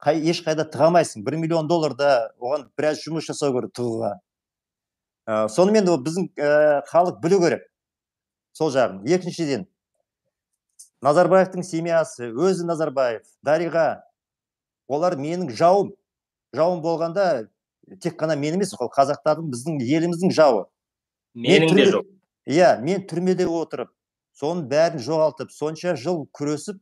[SPEAKER 2] ешқайда тығамайсың. бір миллион долларда оған біраз жұмыс жасау керек тығуға. Сонымен біздің халық білу керек сол жағын. Екіншіден, Назарбаевтың семьясы, өзі Назарбаев, Дариға, олар менің жауым. Жауым болғанда тек қана мен емес, ол қазақтардың, біздің еліміздің жауы.
[SPEAKER 1] Менің де жоқ.
[SPEAKER 2] Иә, мен түрмеде отырып, соның бәрін жоғалтып, сонша жыл күресіп,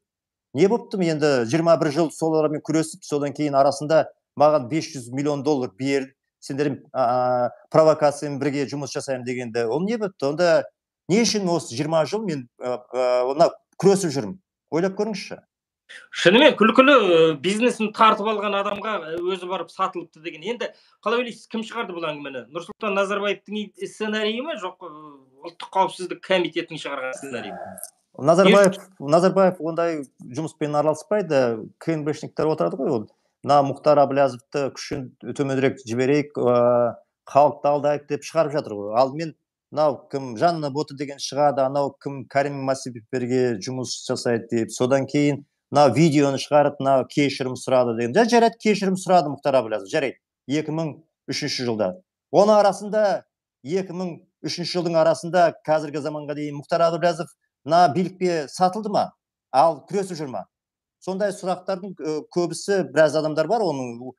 [SPEAKER 2] не боптым енді жиырма бір жыл солармен күресіп, содан кейін арасында маған бес жүз миллион доллар бер, сендер провокациямен бірге жұмыс жасаймын дегенде, ол не бопты? Онда не үшін осы жиырма жыл мен ona күресіп жүрмін? Ойлап көріңізші.
[SPEAKER 1] Шынымен күлкілі, бизнесін тартып алған адамға өзі барып сатылыпты деген. Енді қалай ойлайсыз, кім шығарды бұл әңгімені? Нұрсұлтан Назарбаевтың сценарийі ме, жоқ ұлттық қауіпсіздік комитетінің шығарған сценарийі ме?
[SPEAKER 2] Назарбаев, Назарбаев ондай жұмыспен араласпайды. КНБшниктер отырады ғой, ол. Мына Мұхтар Әбіләзовті күшін төмендірек жіберейік, халықты алдайық деп шығарып жатыр ғой. Алдымен мынау кім Жанна Боты деген шығады, анау кім Кәрім Мәсімовтерге жұмыс жасайды деп. Содан кейін мынау видеоны шығарып, мынау кешірім сұрады деген. Жарайды, кешірім сұрады Мұхтар Әбіләзов, жарайды. екі мың үшінші жылда. Оның арасында екі мың үшінші жылдың арасында қазіргі заманға дейін Мұхтар Әбіләзов мына билікке сатылды ма? Ал күресіп жүр ма? Сондай сұрақтардың көбісі, біраз адамдар бар, оның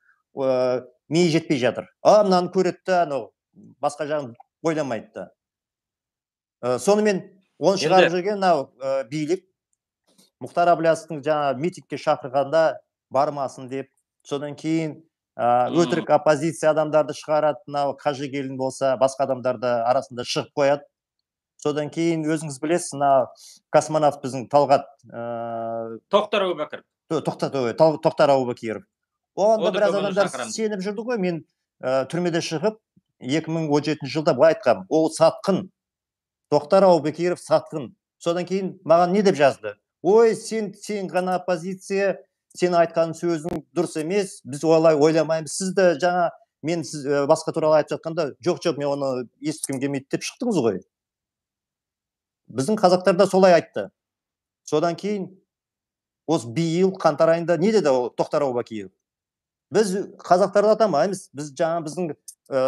[SPEAKER 2] миы жетпей жатыр. А, мынаны көреді, анау басқа жағын ойламайды. Сонымен оны шығарып жүрген мынау билік Мұхтар Әбіләзовтың жаңа митингке шақырғанда бармасын деп, содан кейін өтірік оппозиция адамдарды шығарады, мынау Қажыгелдин болса, басқа адамдарды арасында шығып қояды. Содан кейін өзіңіз білесіз, мына космонавт біздің Талғат
[SPEAKER 1] Тоқтар Әубәкіров.
[SPEAKER 2] Тоқтар Әубәкіров. Онда біраз адамдар сеніп жүрді ғой, мен түрмеде шығып екі мың он жетінші жылда былай айтқам, ол сатқын. Тоқтар Әубәкіров сатқын. Содан кейін маған не деп жазды? Ой, сен сен ғана оппозиция, сен айтқан сөзің дұрыс емес, біз олай ойламаймыз. Сіз де жаңа мен сіз басқа туралы айтып жатқанда, жоқ жоқ, мен оны естігім келмейді деп шықтыңыз ғой. Біздің қазақтар да солай айтты. Содан кейін осы биыл қаңтар айында не деді Тоқтар Әубәкіров? Біз қазақтарды атамаймыз, біз жаңа біздің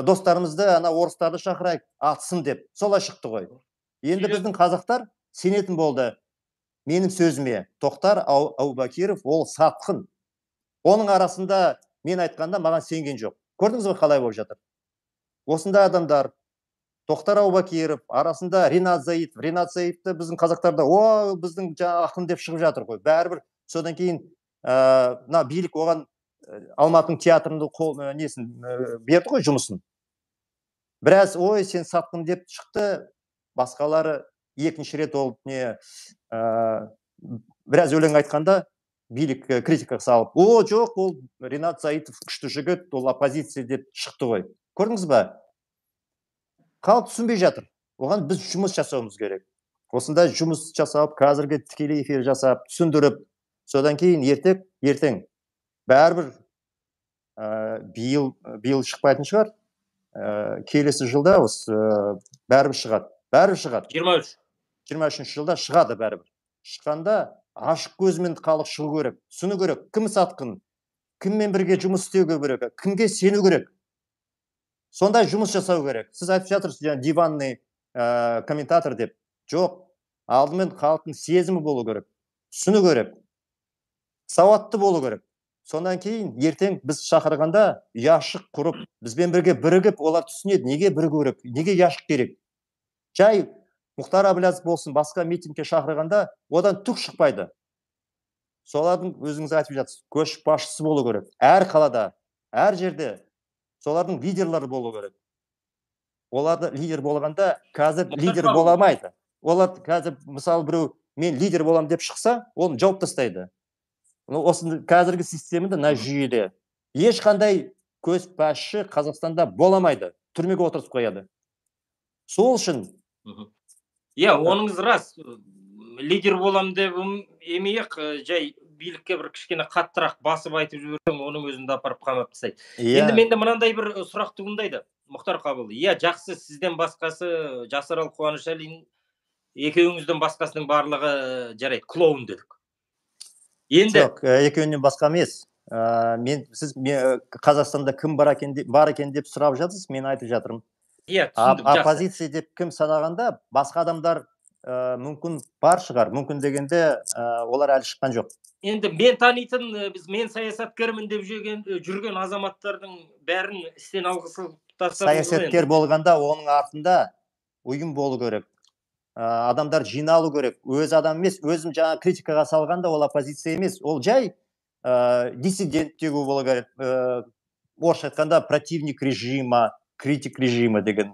[SPEAKER 2] достарымызды, ана орыстарды шақырайық, атсын деп. Солай шықты ғой. Енді біздің қазақтар сенетін болды менің сөзіме. Тоқтар Әубәкіров ол сатқын. Оның арасында мен айтқанда маған сенген жоқ. Көрдіңіз ғой қалай болып жатыр? Осындай адамдар, Тоқтар Әубәкіров арасында Ринат Заитов, Ринат Заитовты біздің қазақтарда, о, біздің жаңа ақын деп шығып жатыр ғой. Бәрібір содан кейін мына билік оған Алматының театрында несін берді ғой жұмысын. Біраз, ой, сен сатқын деп шықты, басқалары екінші рет ол не біраз өлең айтқанда билік критика салып, о, жоқ, ол Ринат Заитов күшті жігіт, ол оппозиция деп шықты ғой. Көрдіңіз ба? Халық түсінбей жатыр. Оған біз жұмыс жасауымыз керек. Осындай жұмыс жасап, қазіргі тікелей эфир жасап, түсіндіріп, содан кейін ертең, ертең бәрібір биыл биыл шықпайтын шығар. Келесі жылда осы бәрібір шығады. Бәрібір шығады.
[SPEAKER 1] жиырма үш.
[SPEAKER 2] жиырма үшінші жылда шығады бәрібір. Шыққанда ашық көзімен халық шығу керек, түсіну керек, кім сатқын, кіммен бірге жұмыс істеуге керек, кімге сену керек. Сондай жұмыс жасау керек. Сіз айтып жатырсыз, жаңа диванный ә, комментатор деп. Жоқ, алдымен халықтың сезімі болу керек, түсіну керек, сауатты болу керек. Сондан кейін ертең біз шақырғанда ұяшық құрып, бізбен бірге бірігіп, олар түсінеді, неге бірігу керек, неге ұяшық керек. Жай Мұхтар Әбіләзов болсын, басқа митингке шақырғанда одан түк шықпайды. Солардың өзіңіз айтып жатсыз, көшбасшысы болу керек. Әр қалада, әр жерде солардың лидерлері болу керек. Оларды лидер болғанда қазір лидер бола алмайды. Олар қазір мысалы біреу мен лидер болам деп шықса, оны жауып тастайды. Осы қазіргі системада, мына жүйеде ешқандай көшбасшы Қазақстанда боламайды. Түрмеге отырып қояды. Сол үшін
[SPEAKER 1] иә, оныңыз рас. Лидер болам деп емейік, жай билікке бір кішкене қаттырақ басып айтып жіберсең, оның өзінде апарып қамап тастайды. Енді менде мынандай бір сұрақ туындайды, Мұхтар Қабылұлы. Иә, жақсы, сізден басқасы Жасарал Қуанышәлин, екеуіңізден басқасының барлығы жарайды, клоун дедік.
[SPEAKER 2] Енді жоқ, екеуінен басқа емес. Мен сіз Қазақстанда кім бар екен деп сұрап жатырсыз, мен айтып жатырмын.
[SPEAKER 1] Иә, түсіндім, жақсы.
[SPEAKER 2] Оппозиция деп кім санағанда басқа адамдар мүмкін бар шығар, мүмкін дегенде олар әлі шыққан жоқ.
[SPEAKER 1] Енді мен танитын, біз мен саясаткермін деп жүрген азаматтардың бәрін істен алғысы тастап.
[SPEAKER 2] Саясаткер болғанда оның артында ұйым болу керек. Адамдар жиналу керек. Өз адам емес, өзім жаңа критикаға салғанда ол оппозиция емес. Ол жай диссидент деуге болу керек. Орысша айтқанда противник режима, критик режима деген.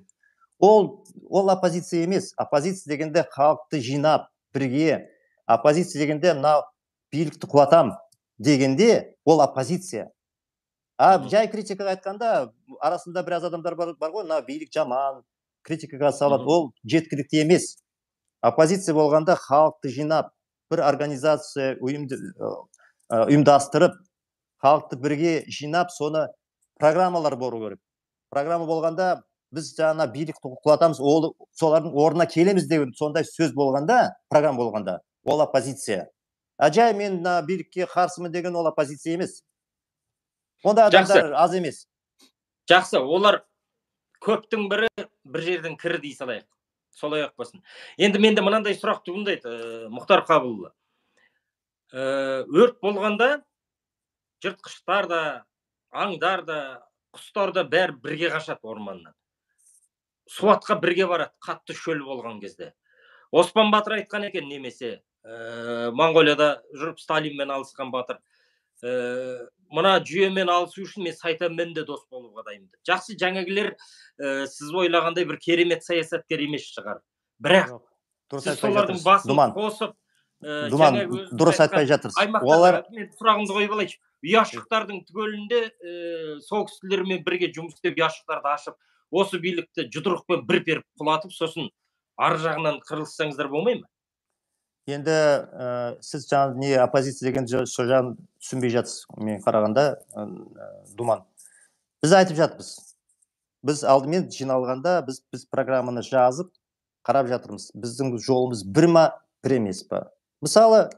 [SPEAKER 2] Ол ол оппозиция емес. Оппозиция дегенде халықты жинап, бірге. Оппозиция дегенде мына билікті құлатам дегенде ол оппозиция. А жай критикаға айтқанда арасында біраз адамдар бар ғой, мына билік жаман, критикаға салады. Ол жеткілікті емес. Оппозиция болғанда халықты жинап, бір организация ұйымдастырып, халықты бірге жинап, соны программалар болу керек. Программа болғанда біз жаңа билікті құлатамыз, солардың орнына келеміз деген сондай сөз болғанда, программа болғанда, ол оппозиция. А жай мен билікке қарсымын деген ол оппозиция емес. Онда адамдар аз емес.
[SPEAKER 1] Жақсы, олар көптің бірі бір жерден кірі дей салайық. Солай ақ болсын. Енді менде мынандай сұрақ туындайды, Мұхтар Қабылұлы. Өрт болғанда жыртқыштар да, аңдар да, құстар да бәрі бірге қашады орманнан. Суатқа бірге барады, қатты шөл болған кезде. Оспан Батыр айтқан екен, немесе Монғолияда жүріп Сталинмен алысқан Батыр. Мына жүйемен алысу үшін мен сайтанмен де дос болуға дайынмын. Жақсы, жаңағылар сіз ойлағандай бір керемет саясаткер емес шығар. Бірақ сіз солардың басын қосып,
[SPEAKER 2] дұрыс айтпай жатырсыз.
[SPEAKER 1] Олар мен сұрағымды қойып алайыншы. Ұяшықтардың түгелінде сол кісілермен бірге жұмыс істеп, ұяшықтарды ашып, осы билікті жұдырықпен бір періп құлатып, сосын ар жағынан қырылыссаңыздар болмай ма?
[SPEAKER 2] Енді сіз жаңа не оппозиция деген сол жағын түсінбей жатсыз. Мен қарағанда, Думан. Біз айтып жатырмыз. Біз алдымен жиналғанда біз біз программаны жазып қарап жатырмыз. Біздің жолымыз бір ма, бір емес па? Мысалы,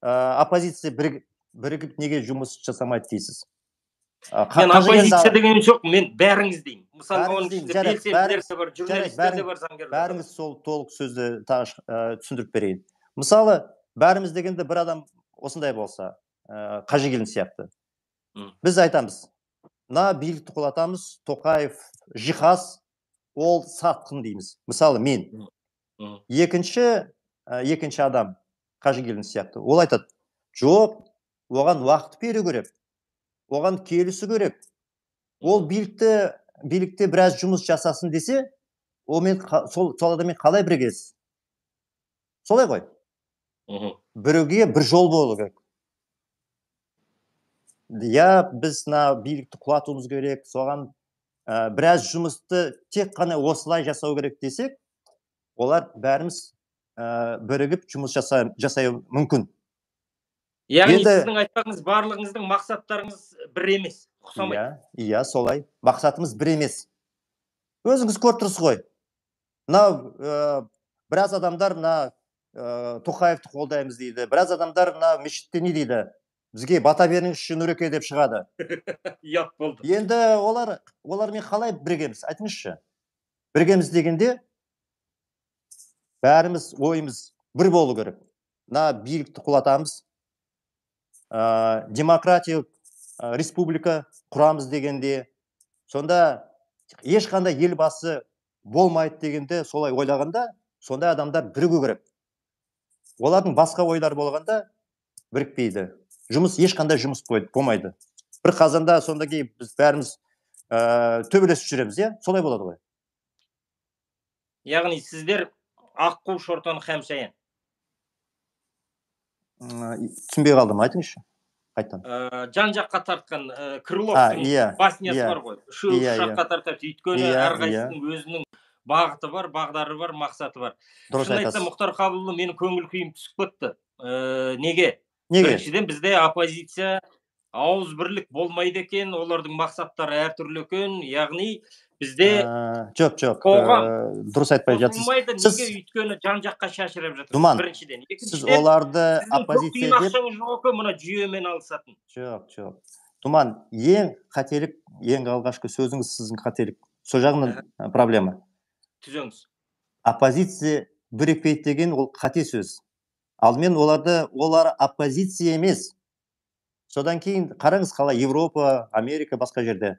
[SPEAKER 2] оппозиция бірігіп неге жұмыс жасамайды дейсіз?
[SPEAKER 1] Мен оппозиция деген жоқ, мен бәріңіз деймін. Мысалы, оның ішінде белсенділер де бар, журналистер де бар, заңгерлер де бар.
[SPEAKER 2] Бәріңіз сол толық сөзді түсіндіріп берейін. Мысалы, бәріміз дегенде бір адам осындай болса, Қажыгелдин сияқты. Біз айтамыз, мына билікті құлатамыз, Тоқаев жиһаз, ол сатқын дейміз. Мысалы, мен. Екінші, екінші адам Қажыгелдин сияқты. Ол айтады, жоқ, оған уақыт беру керек. Оған келісу керек. Ол билікті, билікте біраз жұмыс жасасын десе, сол адаммен қалай біргесіз? Солай ғой. Біреуге бір жол болу керек. Я біз билікті құлатуымыз керек, соған біраз жұмысты тек қана осылай жасау керек десек, олар бәріміз бірігіп жұмыс жасай мүмкін.
[SPEAKER 1] Яғни сіздің айтпағыңыз, барлығыңыздың мақсаттарыңыз бір емес, ұқсамайды.
[SPEAKER 2] Иә, солай. Мақсатымыз бір емес. Өзіңіз көріп тұрсыз ғой. Мынау біраз адамдар мына Тоқаевты қолдаймыз дейді, біраз адамдар мына мешітте не дейді, бізге бата беріңізші Нұреке деп шығады.
[SPEAKER 1] Ұят болды.
[SPEAKER 2] Енді олар олармен қалай біргеміз, айтыңызшы. Біргеміз дегенде бәріміз ойымыз бір болу керек. Мына билікті құлатамыз, демократиялық республика құрамыз дегенде, сонда ешқандай елбасы болмайды дегенде, солай ойлағанда, сондай адамдар бірігу керек. Олардың басқа ойлар болғанда бірікпейді. Жұмыс ешқандай жұмыс болмайды. Бір қазанда сонда кейін біз бәріміз төбелесіп жүреміз, иә? Солай болады ғой.
[SPEAKER 1] Яғни сіздер аққу шортан қамшаян.
[SPEAKER 2] Түсінбей қалдым, айтыңызшы. Қайтан.
[SPEAKER 1] Жан-жаққа тартқан Крыловтың баснясы бар ғой. Үшеу үш жаққа тартады. Өйткені әрқайсының өзінің бағыты бар, бағдары бар, мақсаты бар. Шын айтса, Мұхтар Қабылұлы менің көңіл күйім түсіп кетті. Неге? Біріншіден бізде оппозиция ауыз бірлік болмайды екен, олардың мақсаттары әртүрлі екен. Яғни бізде
[SPEAKER 2] жоқ, жоқ, дұрыс айтпай жатсыз.
[SPEAKER 1] Қосылмайды, неге? Өйткені жан-жаққа шашырап жатыр.
[SPEAKER 2] Думан,
[SPEAKER 1] біріншіден.
[SPEAKER 2] сіз оларды оппозиция деп...
[SPEAKER 1] Ақшаңыз жоқ, мына жүйемен алысатын.
[SPEAKER 2] Жоқ, жоқ. Думан, ең қателік, ең алғашқы сөзіңіз сіздің қателік. Сол жағынан проблема.
[SPEAKER 1] Түзеңіз.
[SPEAKER 2] Оппозиция бірікпейді деген ол қате сөз. Алдымен оларды, олар оппозиция емес. Содан кейін қараңыз қалай Европа, Америка, басқа жерде.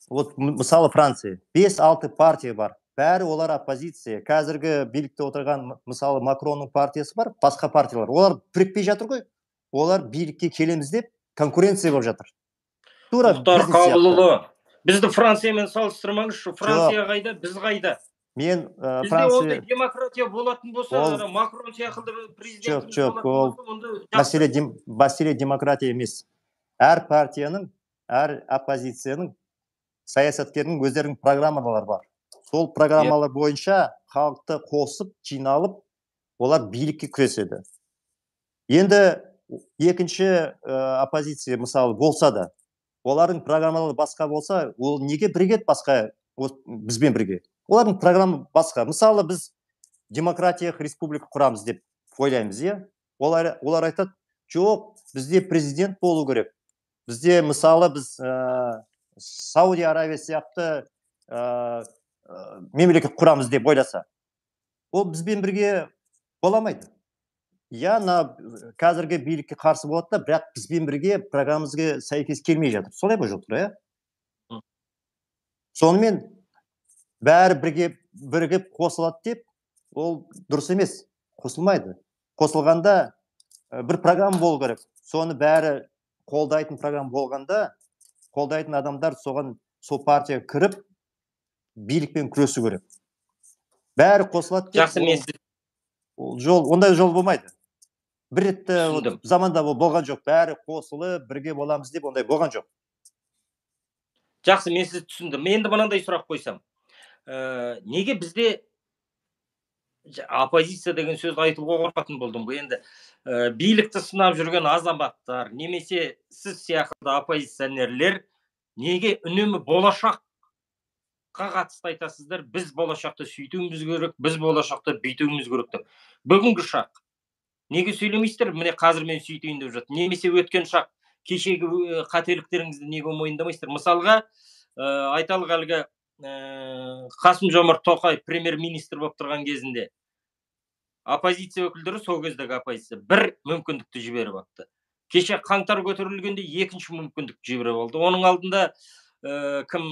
[SPEAKER 2] Вот мысалы Франция, бес алты партия бар. Бәрі олар оппозиция. Қазіргі билікте отырған, мысалы Макронның партиясы бар, басқа партиялар. Олар бірікпей жатыр ғой. Олар билікке келеміз деп конкуренция болып жатыр.
[SPEAKER 1] Мұхтар Қабылұлы, бізді Франциямен салыстырмаңызшы. Франция қайда, біз қайда?
[SPEAKER 2] Мен
[SPEAKER 1] Франция... Бізде ондай демократия болатын болса, Макрон сияқылды президентіміз болатын болса,
[SPEAKER 2] мәселе демократия емес. Әр партияның, әр оппозицияның, саясаткердің өздерінің программалары бар. Сол программалар бойынша халықты қосып, жиналып, олар билікке күреседі. Енді екінші оппозиция мысалы болса да, олардың программалары басқа болса, ол неге бірігеді басқа бізбен бірге? Олардың программы басқа. Мысалы біз демократиялық республика құрамыз деп ойлаймыз, иә? Олар олар айтады, жоқ, бізде президент болу керек. Бізде мысалы біз Саудия Аравия сияқты мемлекет құрамыз деп ойласа. Ол бізбен бірге боламайды. Я на қазіргі билікке қарсы болады да, бірақ бізбен бірге программамызға сәйкес келмей жатыр. Солай ба жоқ, иә? Сонымен бәрі бірге бірігіп қосылады деп, ол дұрыс емес, қосылмайды. Қосылғанда бір программа болу керек. Соны бәрі қолдайтын программа болғанда, қолдайтын адамдар соған сол партияға кіріп, билікпен күресу керек. Бәрі қосылады деп,
[SPEAKER 1] жақсы мен
[SPEAKER 2] ол жол, ондай жол болмайды. Бір ретті заманда болған жоқ. Бәрі қосылып, бірге боламыз деп, ондай болған жоқ.
[SPEAKER 1] Жақсы, мен сізді түсіндім. Мен енді мынандай сұрақ қойсам. Неге бізде оппозиция деген сөз айтуға қорқатын болдым ғой. Енді билікті сынап жүрген азаматтар, немесе сіз сияқты оппозиционерлер неге үнемі болашаққа қатысты айтасыздар? Біз болашақты сөйтуіміз керек, біз болашақты бүйтуіміз керек деп. Бүгінгі шақ неге сөйлемейсіздер? Міне қазір мен сөйтейін деп жатыр. Немесе өткен шақ, кешегі қателіктеріңізді неге мойындамайсыздар? Мысалға, айталық әлгі Қасым-Жомарт Тоқаев премьер-министр болып тұрған кезінде оппозиция өкілдері, сол кездегі оппозиция бір мүмкіндікті жіберіп алды. Кеше қаңтар көтерілгенде екінші мүмкіндікті жіберіп алды. Оның алдында кім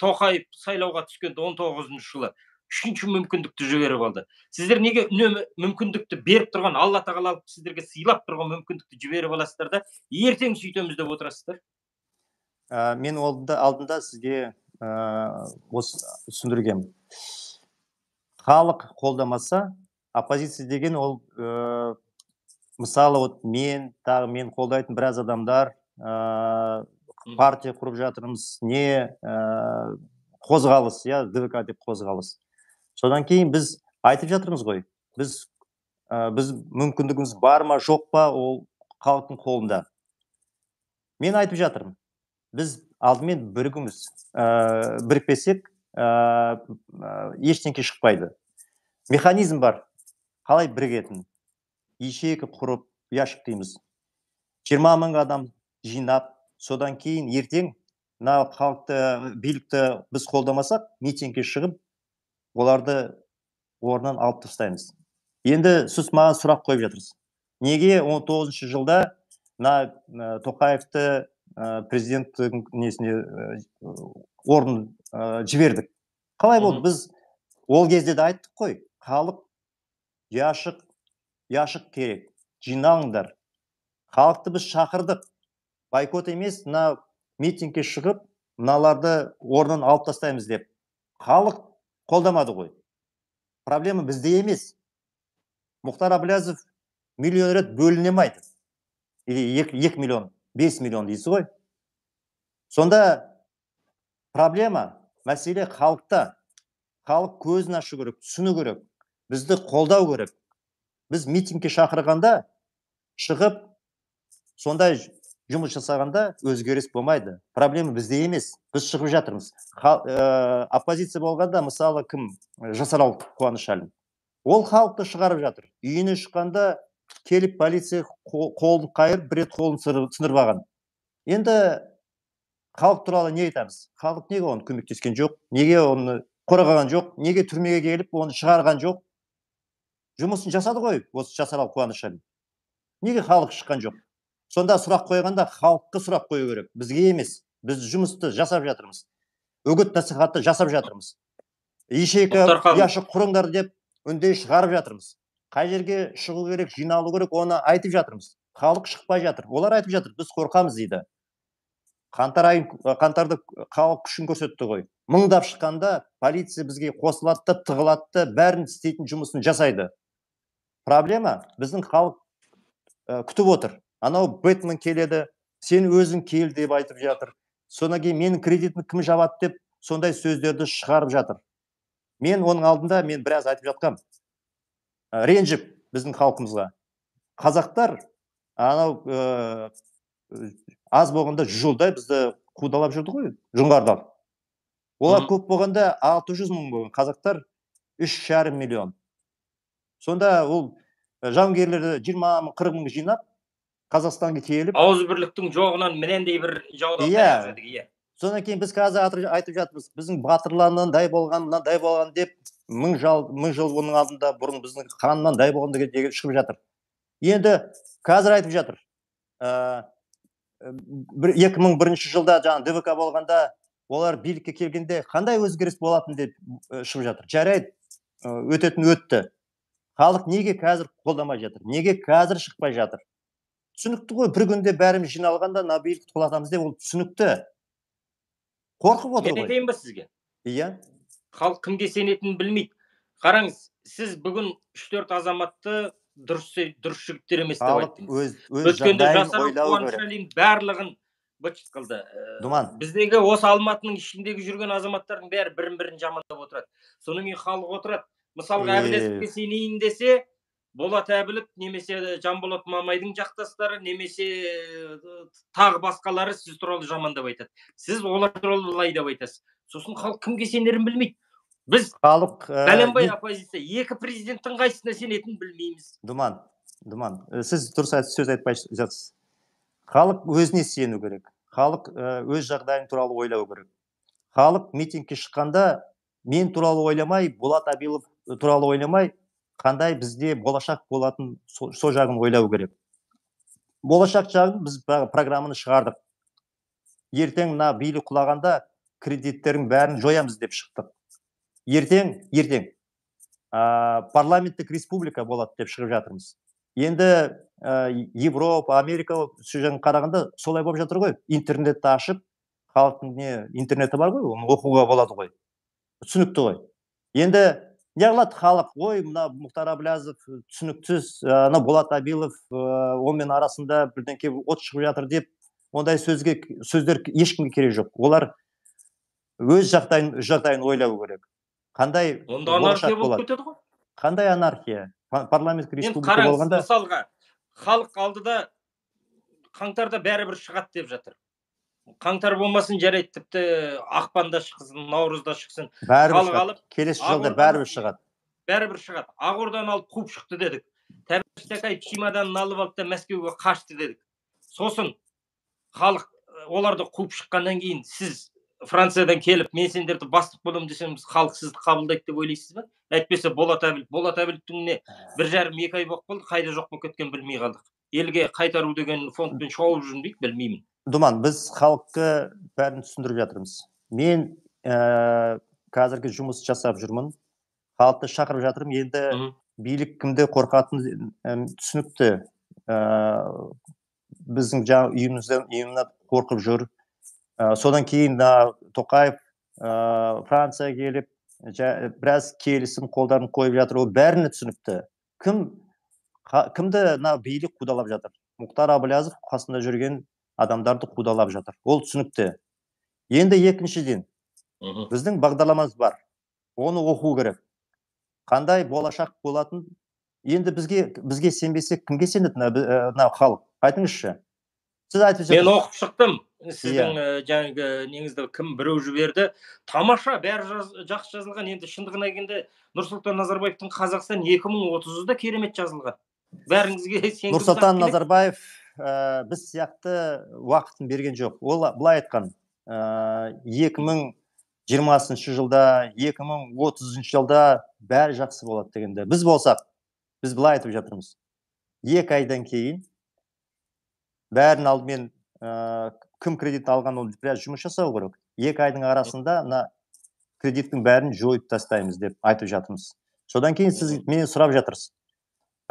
[SPEAKER 1] Тоқаев сайлауға түскенде он тоғызыншы жылы үшінші мүмкіндікті жіберіп алды. Сіздер неге үнемі мүмкіндікті беріп тұрған, Алла тағала алып сіздерге сыйлап тұрған мүмкіндікті жіберіп аласыздар да, ертең сөйтеміз деп отырасыздар?
[SPEAKER 2] Мен алдында сізге осы түсіндіргем. Халық қолдамаса, оппозиция деген ол мысалы мен, тағы мен қолдайтын біраз адамдар партия құрып жатырмыз, не қозғалыс, я ДВК деп қозғалыс. Содан кейін біз айтып жатырмыз ғой, біз біз мүмкіндігіміз бар ма, жоқ па, ол халықтың қолында. Мен айтып жатырмын, біз алдымен бірігіміз, бірікпесек, ештеңке шықпайды. механизм бар. Қалай бірігетін? Ячейка құрып, яшық дейміз. жиырма мың адам жинап, содан кейін ертең мына халықты, билікті біз қолдамасақ, митингке шығып, оларды орнынан алып тастаймыз. Енді сіз маған сұрақ қойып жатырсыз. Неге он тоғызыншы жылда мына Тоқаевты президенттің несіне орын жібердік? Қалай болды? Біз ол кезде де айттық қой, халық яшық, яшық керек, жинаңдар. Халықты біз шақырдық. Байкот емес, мына митингке шығып, мыналарды орнынан алып тастаймыз деп. Халық қолдамады ғой. Проблема бізде емес. Мұхтар Әблязов миллион рет бөлінемайды. Или екі миллион, бес миллион дейсіз ғой. Сонда проблема, мәселе халықта. Халық көзін ашу керек, түсіну керек. Бізді қолдау керек. Біз митингке шақырғанда, шығып, сондай жұмыс жасағанда өзгеріс болмайды. Проблема бізде емес. Біз шығып жатырмыз. Оппозиция болғанда, мысалы, кім? Жасарал Қуанышәлі. Ол халықты шығарып жатыр. Үйіне шыққанда келіп полиция қолын қайырып, бір рет қолын сындырып алған. Енді халық туралы не айтамыз? Халық неге оны көмектескен жоқ? Неге оны қорғаған жоқ? Неге түрмеге келіп, оны шығарған жоқ? Жұмысын жасады ғой, осы Жасарал Қуанышәлі. Неге халық шыққан жоқ? Сонда сұрақ қойғанда халыққа сұрақ қою керек. Бізге емес. Біз жұмысты жасап жатырмыз. Үгіт насихатты жасап жатырмыз. Ячейка, яшық құрыңдар деп үндеу шығарып жатырмыз. Қай жерге шығу керек, жиналу керек, оны айтып жатырмыз. Халық шықпай жатыр. Олар айтып жатыр, біз қорқамыз дейді. Қаңтар айын, қаңтарды халық күшін көрсетті ғой. Мыңдап шыққанда полиция бізге қосылатты, тығылатты, бәрін істейтін жұмысын жасайды. Проблема, біздің халық күтіп отыр. Анау Бэтмен келеді, сен өзің кел деп айтып жатыр. Содан кейін менің кредитімді кім жабады деп сондай сөздерді шығарып жатыр. Мен оның алдында мен біраз айтып жатқам. Ренжіп біздің халқымызға. Қазақтар анау аз болғанда жүз жылдай бізді қудалап жүрді ғой, жоңғарлар. Олар көп болғанда алты жүз мың болған, қазақтар үш жарым миллион. Сонда ол жауынгерлерді жиырма мың, қырық мың жинап, Қазақстанға келіп,
[SPEAKER 1] ауыз бірліктің жоғынан менендей бір жаудан таяқ жедік, иә.
[SPEAKER 2] Содан кейін біз қазір айтып жатырмыз, біздің батырларынан дай болған, дай болған деп мың жыл оның алдында бұрын біздің ханнан дай болған деген шығып жатыр. Енді қазір айтып жатыр. екі мың бірінші жылда жаңа Д В К болғанда, олар билікке келгенде қандай өзгеріс болатын деп шығып жатыр. Жарайды, өтетін өтті. Халық неге қазір қолдамай жатыр? Неге қазір шықпай жатыр? Түсінікті ғой, бір күнде бәріміз жиналғанда мына билікті құлатамыз деп, ол түсінікті. Қорқып отыр ғой.
[SPEAKER 1] Мен айтайын ба сізге?
[SPEAKER 2] Иә.
[SPEAKER 1] Халық кімге сенетінін білмейді. Қараңыз, сіз бүгін үш төрт азаматты дұрыс жігіттер емес деп айттыңыз. Өткенде Жасарал Қуанышәлінің барлығын быт-шыт қылды. Біздегі осы Алматының ішіндегі жүрген азаматтардың бәрі бірін-бірін жамандап отырады. Содан кейін халық отырады. Мысалға Әблязовқа сенейін десе, Болат Әбілов немесе Жанболат Мамайдың жақтастары, немесе тағы басқалары сіз туралы жамандап айтады. Сіз олар туралы былай деп айтасыз. Сосын халық кімге сенерін білмейді. Біз бәленбай оппозиция, екі президенттің қайсысына сенетінін білмейміз.
[SPEAKER 2] Думан, Думан, сіз дұрыс сөз айтпай жатсыз. Халық өзіне сену керек. Халық өз жағдайын туралы ойлау керек. Халық митингке шыққанда мен туралы ойламай, Болат Әбілов туралы ойламай, қандай бізде болашақ болатын сол жағын ойлау керек. Болашақ жағын біз программаны шығардық. Ертең мына билік құлағанда кредиттердің бәрін жоямыз деп шықтық. Ертең, ертең парламенттік республика болады деп шығып жатырмыз. Енді Европа, Америка сөзін қарағанда солай болып жатыр ғой. Интернетті ашып, халықтың не интернеті бар ғой, оны оқуға болады ғой. Түсінікті ғой. Енді не қылады халық? Ой, мына Мұхтар Әблязов түсініксіз, ана Болат Әбілов онымен арасында бірдеңке от шығып жатыр деп, ондай сөздер ешкімге керек жоқ. Олар өз жағдайын ойлау керек. Қандай болашақ болады? Қандай анархия? Парламент республика болғанда...
[SPEAKER 1] Мысалға, халық алдыда қаңтарда бәрібір шығады деп жатыр. Қаңтар болмасын, жарайды, тіпті ақпанда шықсын, наурызда шықсын.
[SPEAKER 2] Бәрібір шығады. Келесі жылда бәрібір шығады.
[SPEAKER 1] бәрібір шығады. Ақорданы алып қуып шықты дедік. Тәбіш Тәкаев чемоданын алып алды да Мәскеуге қашты дедік. Сосын халық оларды қуып шыққаннан кейін сіз Франциядан келіп, мен сендерді бастық боламын десеңіз, халық сізді қабылдайды деп ойлайсыз ба? Әйтпесе Болат Әбіл, Болат Әбіловтің не бір жарым екі ай болып қалды, қайда жоқ болып кеткен білмей қалдық. Елге қайтару деген фондпен шауып жүрмін дейді, білмеймін.
[SPEAKER 2] Думан, біз халыққа бәрін түсіндіріп жатырмыз. Мен ә, қазіргі жұмыс жасап жүрмін. Халықты шақырып жатырмын. Енді билік кімде қорқатын түсінікті. Ә, біздің жаңа үйімізден үйімнен қорқып жүр. Ә, содан кейін да Тоқаев ә, Франция келіп, жа, біраз келісім қолдарын қойып жатыр. Ол бәріне түсінікті. Кім қа, кімді на билік қудалап жатыр? Мұхтар Әбіләзов қасында жүрген адамдарды қудалап жатыр. Ол түсінікті. Енді екіншіден, біздің бағдарламамыз бар. Оны оқу керек. Қандай болашақ болатын? Енді бізге бізге сенбесе кімге сенеді на халық? Айтыңызшы. Сіз айтып
[SPEAKER 1] жатырсыз. Мен оқып шықтым. Сіздің yeah. жаңағы неңізді кім біреу жіберді. Тамаша, бәрі жақсы жазылған. Енді шындығына келгенде Нұрсұлтан Назарбаевтың Қазақстан екі мың отызда керемет жазылған. Бәріңізге сенгім.
[SPEAKER 2] Нұрсұлтан Назарбаев ә, біз сияқты уақытын берген жоқ. Ол былай айтқан, ә, екі мың жиырмасыншы жылда, екі мың отызыншы жылда бәрі жақсы болады дегенде. Біз болсақ, біз былай айтып жатырмыз. Екі айдан кейін бәрін алдымен ә, кім кредит алған, ол біраз жұмыс жасау керек. Екі айдың арасында на кредиттің бәрін жойып тастаймыз деп айтып жатырмыз. Содан кейін сіз мені сұрап жатырсыз.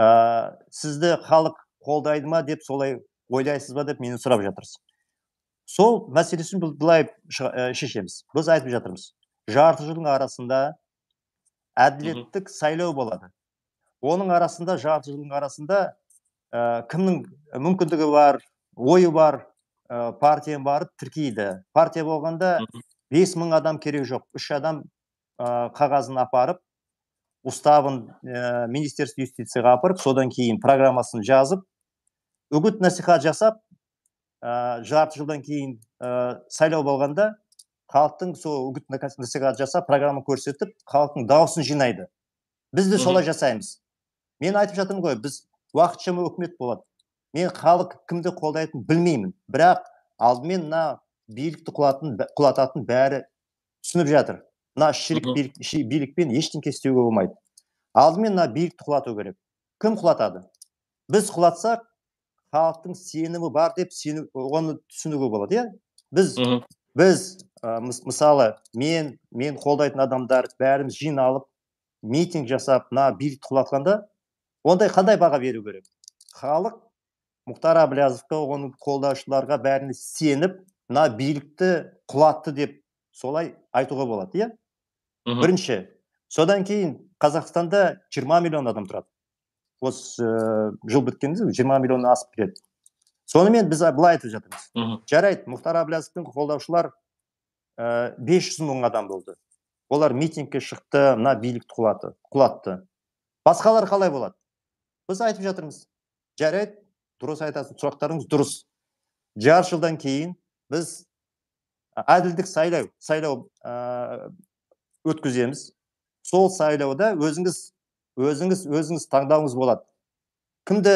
[SPEAKER 2] Ә, сізді халық қолдайды ма деп солай ойлайсыз ба деп мені сұрап жатырсыз. Сол мәселесін біз былай шешеміз. Біз айтып жатырмыз. Жарты жылдың арасында әділеттік сайлау болады. Оның арасында, жарты жылдың арасында ә, кімнің мүмкіндігі бар, ойы бар, ә, партия бар, тіркейді. Партия болғанда бес мың адам керек жоқ. Үш адам ә, қағазын апарып, уставын ә, Министерство юстицияға апарып, содан кейін программасын жазып, үгіт насихат жасап, ә, жарты жылдан кейін ә, сайлау болғанда халықтың сол үгіт насихат жасап, программа көрсетіп, халықтың дауысын жинайды. Біз де солай жасаймыз. Мен айтып жатырмын ғой, біз уақытша өкімет болады. Мен халық кімді қолдайтын білмеймін. Бірақ алдымен на билікті құлататын бәрі түсініп жатыр. На ширік билік, билікпен ештеңе істеуге болмайды. Алдымен на билікті құлату керек. Кім құлатады? Біз құлатсақ, халықтың сенімі бар деп сені, оны түсінуге болады. Иә? Біз, біз ә, мысалы, мен, мен қолдайтын адамдар бәріміз жиналып, митинг жасап, на билікті құлатқанда, ондай қандай баға беру керек? Халық Мұхтар Әбіләзовқа, оның қолдаушыларға бәріне сеніп, на билікті құлатты деп солай айтуға болады, иә? Бірінші. Содан кейін Қазақстанда жиырма миллион адам тұрады. Осы ә, жыл біткенде жиырма миллионнан асып кетеді. Сонымен біз былай айтып жатырмыз. Жарайды, Мұхтар Әбіләзовтың қолдаушылар ә, бес жүз мың адам болды. Олар митингке шықты, на билікті құлатты, құлатты. Басқалар қалай болады? Біз айтып жатырмыз. Жарайды, дұрыс айтасың, сұрақтарыңыз дұрыс. Жарты жылдан кейін біз әділдік сайлау, сайлау ә, өткіземіз. Сол сайлауда өзіңіз, өзіңіз, өзіңіз таңдауыңыз болады. Кімді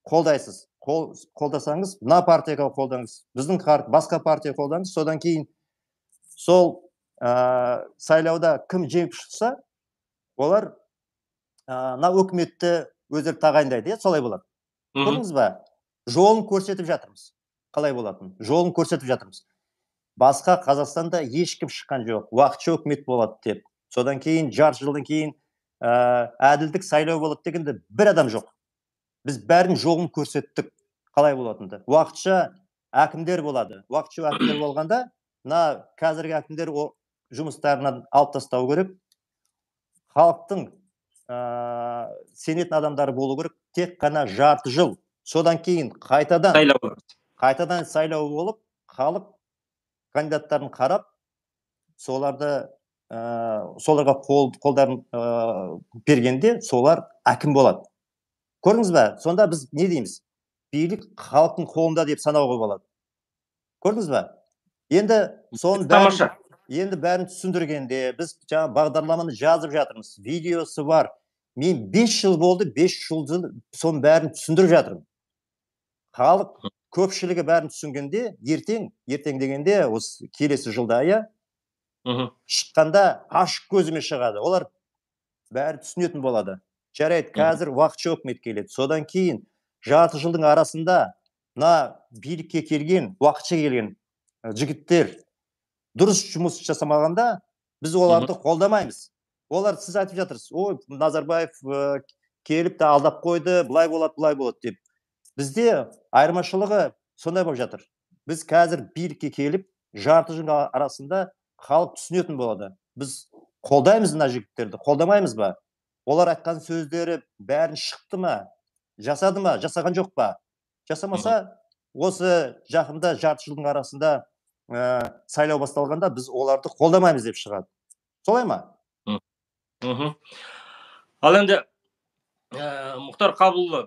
[SPEAKER 2] қолдайсыз? Қол, қолдасаңыз, мына партияға қолдаңыз. Біздің басқа партия қолдаңыз. Содан кейін сол ә, сайлауда кім жеңіп шықса, олар мына ә, өкіметті өздері тағайындайды, солай болады. Көрдіңіз ба? Жолын көрсетіп жатырмыз. Қалай болатын? Жолын көрсетіп жатырмыз. Басқа Қазақстанда ешкім шыққан жоқ. Уақытша өкімет болады деп. Содан кейін жарты жылдан кейін ә, әділдік сайлау болады дегенде бір адам жоқ. Біз бәрін жолын көрсеттік. Қалай болатынды? Уақытша әкімдер болады. Уақытша әкімдер болғанда, мына қазіргі әкімдер жұмыстарынан алып тастау керек. Халықтың ә, сенетін адамдары болу керек. Тек қана жарты жыл. Содан кейін қайтадан
[SPEAKER 1] сайлау,
[SPEAKER 2] қайтадан сайлау болып, халық кандидаттарын қарап, соларды ә, соларға қол, қолдарын ә, бергенде солар әкім болады. Көрдіңіз бе? Сонда біз не дейміз? Билік халықтың қолында деп санауға болады. Көрдіңіз бе? Енді соның бәрін, енді бәрін түсіндіргенде біз жаңа бағдарламаны жазып жатырмыз. Видеосы бар. мен бес жыл болды, бес жыл соның бәрін түсіндіріп жатырмын. Халық көпшілігі бәрін түсінгенде, ертең, ертең дегенде осы келесі жылда иә шыққанда ашық көзіме шығады. Олар бәрі түсінетін болады. Жарайды, қазір уақытша өкімет келеді. Содан кейін жарты жылдың арасында мына билікке келген, уақытша келген жігіттер дұрыс жұмыс жасамағанда біз оларды қолдамаймыз. Олар сіз айтып жатырсыз, ой, Назарбаев келіп те алдап қойды, былай болады, былай болады деп. Бізде айырмашылығы сондай болып жатыр. Біз қазір билікке келіп, жарты жыл арасында халық түсінетін болады. Біз қолдаймыз мына жігіттерді, қолдамаймыз ба? Олар айтқан сөздері бәрін шықты ма? Жасады ма? Жасаған жоқ па? Жасамаса, осы жақында жарты жылдың арасында сайлау басталғанда біз оларды қолдамаймыз деп шығады. Солай ма?
[SPEAKER 1] Ал енді Мұхтар Қабылұлы,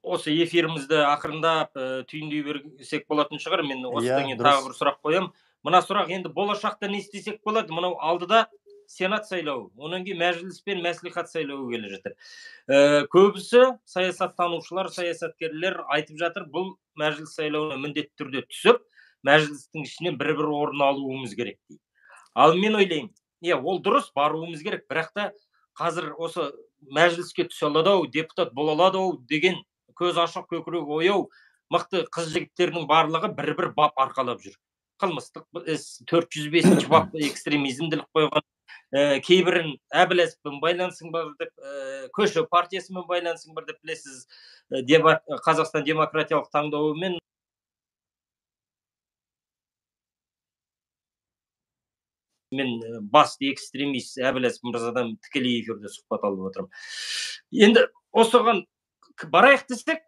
[SPEAKER 1] осы эфирімізді ақырындап түйіндей берсек болатын шығар. Мен осыдан кейін тағы бір сұрақ қоям. Мына сұрақ енді болашақта не істесек болады? Мынау алдыда сенат сайлауы, онан кейін мәжіліс пен мәслихат сайлауы келе жатыр. Көбісі саясаттанушылар, саясаткерлер айтып жатыр, бұл мәжіліс сайлауына міндетті түрде түсіп, мәжілістің ішінен бір-бір орын алуымыз керек дейді. Ал мен ойлаймын, е, ол дұрыс, баруымыз керек, бірақ та қазір осы мәжіліске түсе алады-ау, депутат бола алады-ау деген көз ашық, көкірек ояу мықты қыз жігіттердің барлығы бір-бір бап арқалап жүр. Қылмыстық іс, төрт жүз бесінші бап экстремизмділік қойған, кейбірін Әбіләзовпен байланысың бар деп, көші партиясымен байланысың бар деп білесіз, Қазақстан демократиялық таңдауымен мен басты экстремист Әбіләзов мырзадан тікелей эфирде сұхбат алып отырмын. Енді осыған барайық десек,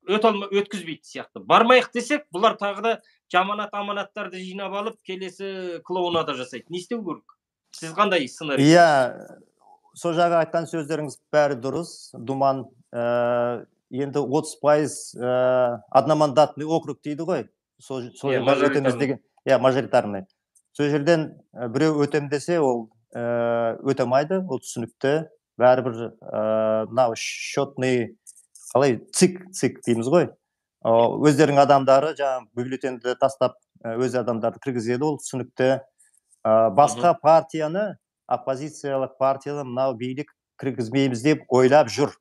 [SPEAKER 1] өткізбейді сияқты. Бармайық десек, бұлар тағы да жаманат аманаттарды жинап алып, келесі клоунада жасайды. Не істеу керек? Сіз қандай сценарий?
[SPEAKER 2] Иә, сол жағы айтқан сөздеріңіз бәрі дұрыс. Думан, енді отыз пайыз одномандатный округ дейді ғой. Сол жерден өтеміз деген. Иә, мажоритарный. Сол жерден біреу өтем десе, ол өтемайды, ол түсінікті. Бәрібір мынау счетный, қалай, цик, цик дейміз ғой. Өздерінің адамдары жаңағы бюллетенді тастап, өз адамдарды кіргізеді, ол түсінікті. Басқа партияны, оппозициялық партияны мынау билік кіргізмейміз деп ойлап жүр.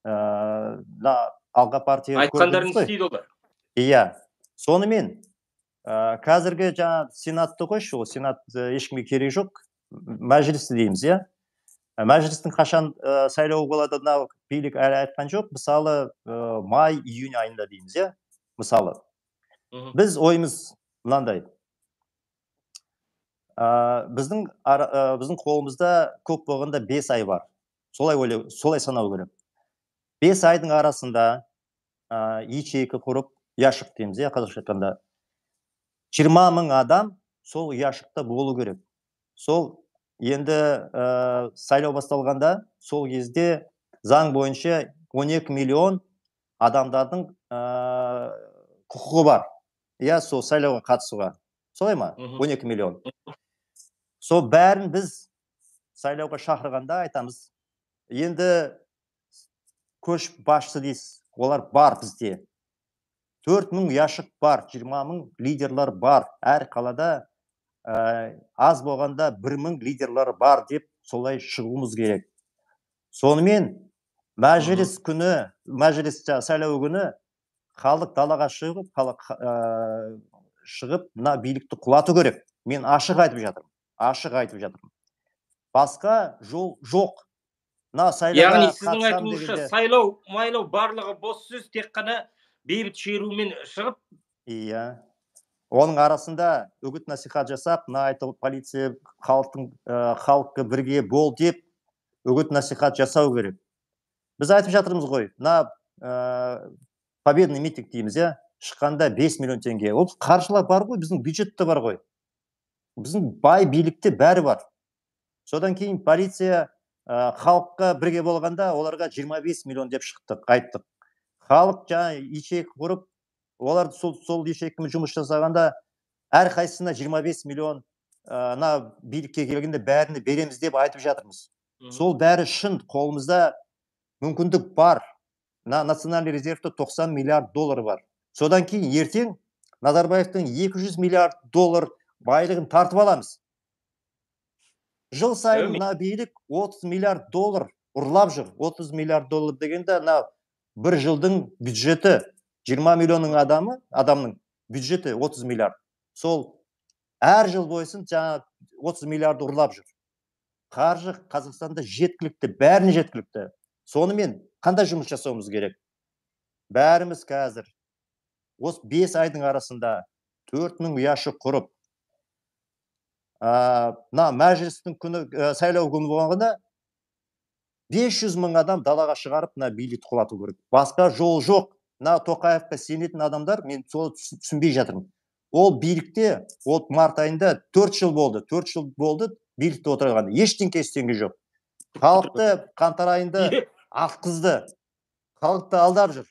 [SPEAKER 2] Алға партия
[SPEAKER 1] айтқандарын істейді олар.
[SPEAKER 2] Иә. Сонымен қазіргі жаңа сенатты қойшы, ол сенат ешкімге керек жоқ. Мәжілісті дейміз, иә. Мәжілістің қашан сайлауы болады, мынау билік әлі айтқан жоқ. Мысалы, май, июнь айында дейміз, иә. Мысалы. Біз ойымыз мынандай. Біздің біздің қолымызда көп болғанда бес ай бар. Солай ойлау, солай санау керек. бес айдың арасында ячейка құрып, яшық дейміз, иә, қазақша айтқанда. жиырма мың адам сол яшықта болу керек. Сол енді сайлау басталғанда, сол кезде заң бойынша он екі миллион адамдардың құқығы бар. Иә, сол сайлауға қатысуға. Солай ма? он екі миллион. Сол бәрін біз сайлауға шақырғанда айтамыз. Енді көш басшысы дейсіз, олар бар бізде. төрт мың яшық бар, жиырма мың лидерлар бар. Әр қалада аз болғанда бір мың лидерлар бар деп солай шығуымыз керек. Сонымен мәжіліс күні, мәжіліс сайлау күні халық далаға шығып, шығып, мына билікті құлату керек. Мен ашық айтып жатырмын. Ашық айтып жатырмын. Басқа жол жоқ.
[SPEAKER 1] Яғни сіздің айтуыңызша сайлау, майлау барлығы бос сөз, тек қана бейбіт шерумен шығып?
[SPEAKER 2] Иә. Оның арасында үгіт насихат жасап, мына айтылып полиция халыққа бірге бол деп үгіт насихат жасау керек. Біз айтып жатырмыз ғой, мына победный митинг дейміз, иә, шыққанда бес миллион теңге. Ол қаржылар бар ғой, біздің бюджетте бар ғой. Біздің бай билікте бәрі бар. Содан кейін полиция халыққа бірге болғанда, оларға жиырма бес миллион деп шықтық, айттық. Халық жаңа ячейка құрып, олар сол ячейкамен жұмыс жасағанда, әр қайсысына жиырма бес миллион билікке келгенде бәріне береміз деп айтып жатырмыз. Сол бәрі шын, қолымызда мүмкіндік бар. Национальный резервте тоқсан миллиард доллар бар. Содан кейін ертең Назарбаевтың екі жүз миллиард доллар байлығын тартып аламыз. Жыл сайын мына билік отыз миллиард доллар ұрлап жүр. отыз миллиард доллар дегенде мына бір жылдың бюджеті жиырма миллионның адамы, адамның бюджеті отыз миллиард. Сол әр жыл бойсын жаңа отыз миллиард ұрлап жүр. Қаржы Қазақстанда жеткілікті, бәріне жеткілікті. Сонымен қандай жұмыс жасауымыз керек? Бәріміз қазір осы бес айдың арасында төрт мың ұяшы құрып, мына мәжілістің күні, сайлау күні болғанда бес жүз мың адам далаға шығарып, мына билікті құлату керек. Басқа жол жоқ. Мына Тоқаевқа сенетін адамдар, мен соны түсінбей жатырмын. Ол билікте, ол март айында төрт жыл болды, төрт жыл болды билікте отырған. Ештеңке істеген жоқ. Халықты қаңтар айында атқызды. Халықты алдап жүр.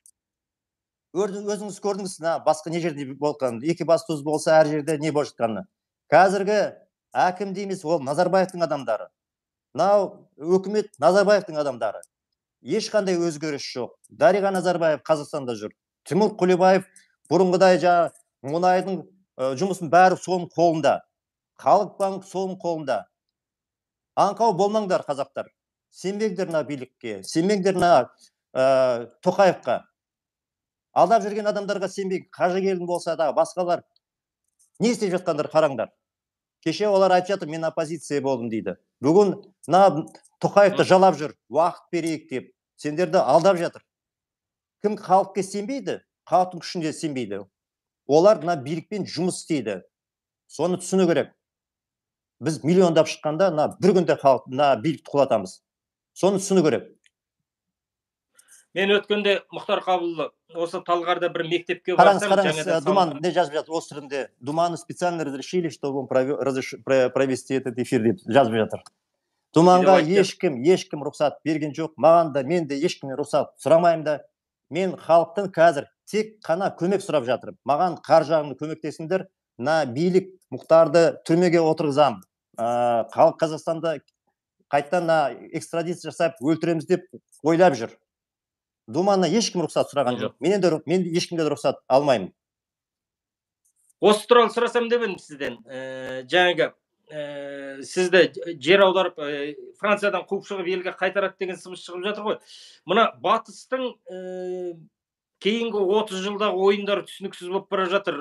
[SPEAKER 2] Өзіңіз көрдіңіз, басқа не жерде болған, екібастұз болса әр жерде не болып жатқаны. Қазіргі әкім дейміз, ол Назарбаевтың адамдары. Мынау өкімет Назарбаевтың адамдары. Ешқандай өзгеріс жоқ. Дариға Назарбаев Қазақстанда жүр. Тимур Құлыбаев бұрынғыдай жаңа мұнайдың жұмысын бәрі соның қолында. Халық банк соның қолында. Аңқау болмаңдар, қазақтар. Сенбеңдер мына билікке, сенбеңдер мына Тоқаевқа. Алдап жүрген адамдарға сенбей, Қажыгелдин болса да басқалар не істеп жатқандар қараңдар. Кеше олар айтып жатыр, мен оппозиция болдым дейді. Бүгін мына Тоқаевты жалап жүр, уақыт берейік деп. Сендерді алдап жатыр. Кім халыққа сенбейді, халықтың күшіне сенбейді. Олар мына билікпен жұмыс істейді. Соны түсіну керек. Біз миллиондап шыққанда бір күнде халық мына билікті құлатамыз. Соны түсіну керек.
[SPEAKER 1] Мен өткенде Мұхтар Қабылұлы осы Талғарда бір мектепке барсам,
[SPEAKER 2] қараңыз, қараңыз, Думан не жазып жатыр осы түрінде? Думаны специально разрешили, чтобы он провести этот эфир деп жазып жатыр. Думанға ешкім, ешкім рұқсат берген жоқ. Маған да, мен де ешкім рұқсат сұрамаймын да. Мен халықтың қазір тек қана көмек сұрап жатырмын. Маған қар жағында көмектесіңдер. Мына билік Мұхтарды түрмеге отырғызам. Халық Қазақстанда қайтадан экстрадиция жасап өлтіреміз деп ойлап жүр. Думанна ешкім рұқсат сұраған жоқ. Мен де мен ешкімден рұқсат алмаймын.
[SPEAKER 1] Осы туралы сұрасам деп едім сізден. Жаңағы сізді жер аударып Франциядан қуып шығып елге қайтарады деген сыбыс шығып жатыр ғой. Мына батыстың кейінгі отыз жылдағы ойындары түсініксіз болып бара жатыр.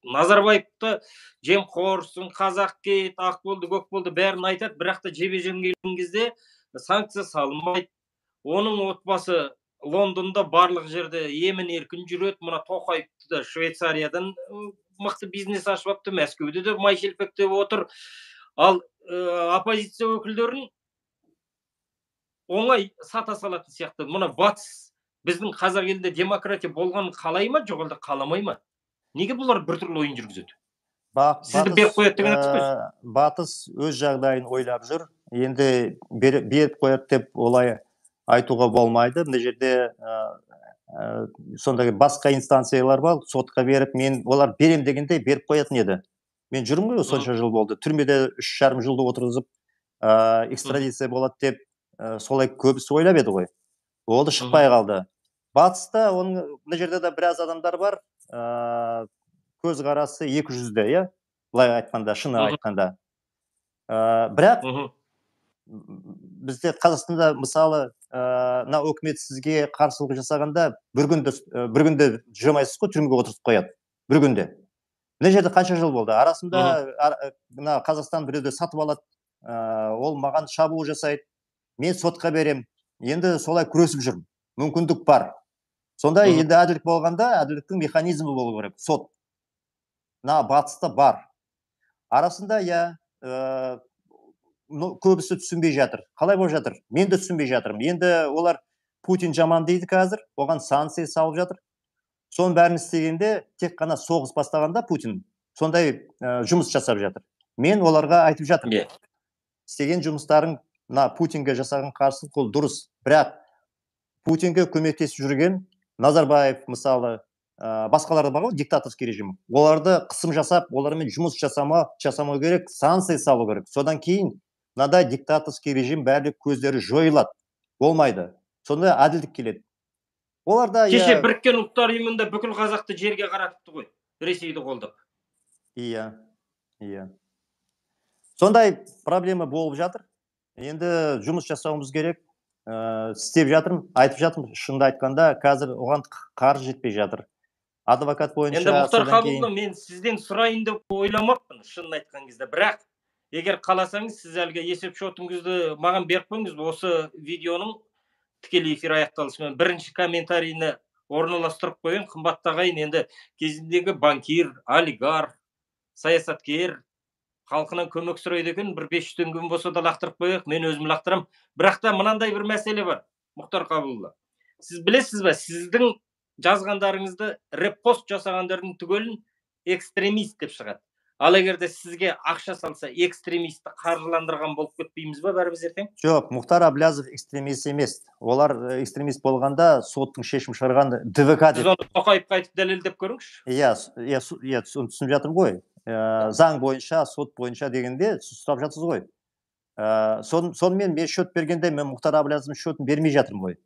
[SPEAKER 1] Назарбаевты жемқорсың, қазақ кет, ақ болды, көк болды бәрін айтады, бірақ та жебе-жем келген кезде санкция салынбайды. Оның отбасы Лондонда барлық жерде емін-еркін жүреді. Мына Тоқаевты да Швейцариядан мықты бизнес ашып апты, Мәскеуде де май шелпектеп отыр. Ал оппозиция өкілдерін оңай сата салатын сияқты. Мына батыс біздің қазақ елінде демократия болғанын қалай ма, жоқ әлде қаламай ма? Неге бұлар біртүрлі ойын жүргізеді? Сізді беріп қояды деген айтып.
[SPEAKER 2] Батыс өз жағдайын ойлап жүр. Енді беріп қояды деп олай айтуға болмайды. Мына жерде сондай басқа инстанциялар бар, сотқа беріп, мен олар берем дегенде беріп қоятын еді. Мен жүрмін ғой, сонша жыл болды. Түрмеде үш жарым жылды отырғызып, экстрадиция болады деп, солай көбісі ойлап еді ғой. Ол да шықпай қалды. Батыста оның мына жерде де біраз адамдар бар, көзқарасы екі жүзді, иә? Былай айтқанда, шыны айтқанда. Бірақ бізде Қазақстанда мысалы мына өкімет сізге қарсылық жасағанда бір күнде жүрмайсыз ғой, түрмеге отырғызып қояды. Бір күнде. Мына жерде қанша жыл болды? Арасында мына Қазақстан біреуді сатып алады, ол маған шабуыл жасайды, мен сотқа берем. Енді солай күресіп жүрмін. Мүмкіндік бар. Сонда енді әділдік болғанда, әділдіктің механизмі болу керек. Сот. Мына батыста бар. Арасында я көбісі түсінбей жатыр. Қалай болып жатыр? Мен де түсінбей жатырмын. Енді олар Путин жаман дейді қазір, оған санкция салып жатыр. Соның бәрін істегенде тек қана соғыс бастағанда Путин сондай жұмыс жасап жатыр. Мен оларға айтып жатырмын. Істеген жұмыстарын мына Путинге жасаған қарсылық ол дұрыс. Бірақ Путинге көмектесіп жүрген Назарбаев мысалы, басқалары бар ғой, диктаторский режим. Оларды қысым жасап, олармен жұмыс жасамау керек, санкция салу керек. Содан кейін мынандай диктаторский режим барлық көздері жойылады, болмайды. Сонда әділдік келеді. Оларда
[SPEAKER 1] Кеше
[SPEAKER 2] иә
[SPEAKER 1] біріккен ұлттар ұйымында бүкіл қазақты жерге қаратыпты ғой, Ресейді қолдап.
[SPEAKER 2] Иә, иә. Сондай проблема болып жатыр. Енді жұмыс жасауымыз керек. Ә, істеп жатырмын, айтып жатырмын, шынды айтқанда, қазір оған қаржы жетпей жатыр. Адвокат бойынша
[SPEAKER 1] Енді Мұхтар
[SPEAKER 2] содан кейін
[SPEAKER 1] Қабылұлы, мен сізден сұрайын деп ойламаппын, шынын айтқан кезде. Бірақ егер қаласаңыз, сіз әлгі есеп шотыңызды маған беріп қойыңыз, осы видеоның тікелей эфир аяқталысымен бірінші комментарийні орналастырып қойын. Қымбатты ағайын, енді кезіндегі банкир, олигарх, саясаткер, халқынан көмек сұрайды екен, бір бес жүз теңге болса да лақтырып қояйық, мен өзім лақтырам. Бірақ та мынандай бір мәселе бар, Мұхтар Қабылұлы. Сіз білесіз бе, сіздің жазғандарыңызды репост жасағандардың түгелін экстремист деп шығады. Ал егер де сізге ақша салса, экстремистті қаржыландырған болып кетпейміз ба бәріміз ертең?
[SPEAKER 2] Жоқ, Мұхтар Әблязов экстремист емес. Олар экстремист болғанда соттың шешім шығарған ДВК
[SPEAKER 1] Сіз
[SPEAKER 2] деп.
[SPEAKER 1] оны Тоқаевқа айтып дәлелдеп көріңізші.
[SPEAKER 2] Иә, иә, иә, түсініп жатырмын ғой. Ә, заң бойынша, сот бойынша дегенде сұрап жатсыз ғой. Ә, сон, сонымен мен шөт бергенде мен Мұхтар Әблязовтың шөтін бермей жатырмын ғой.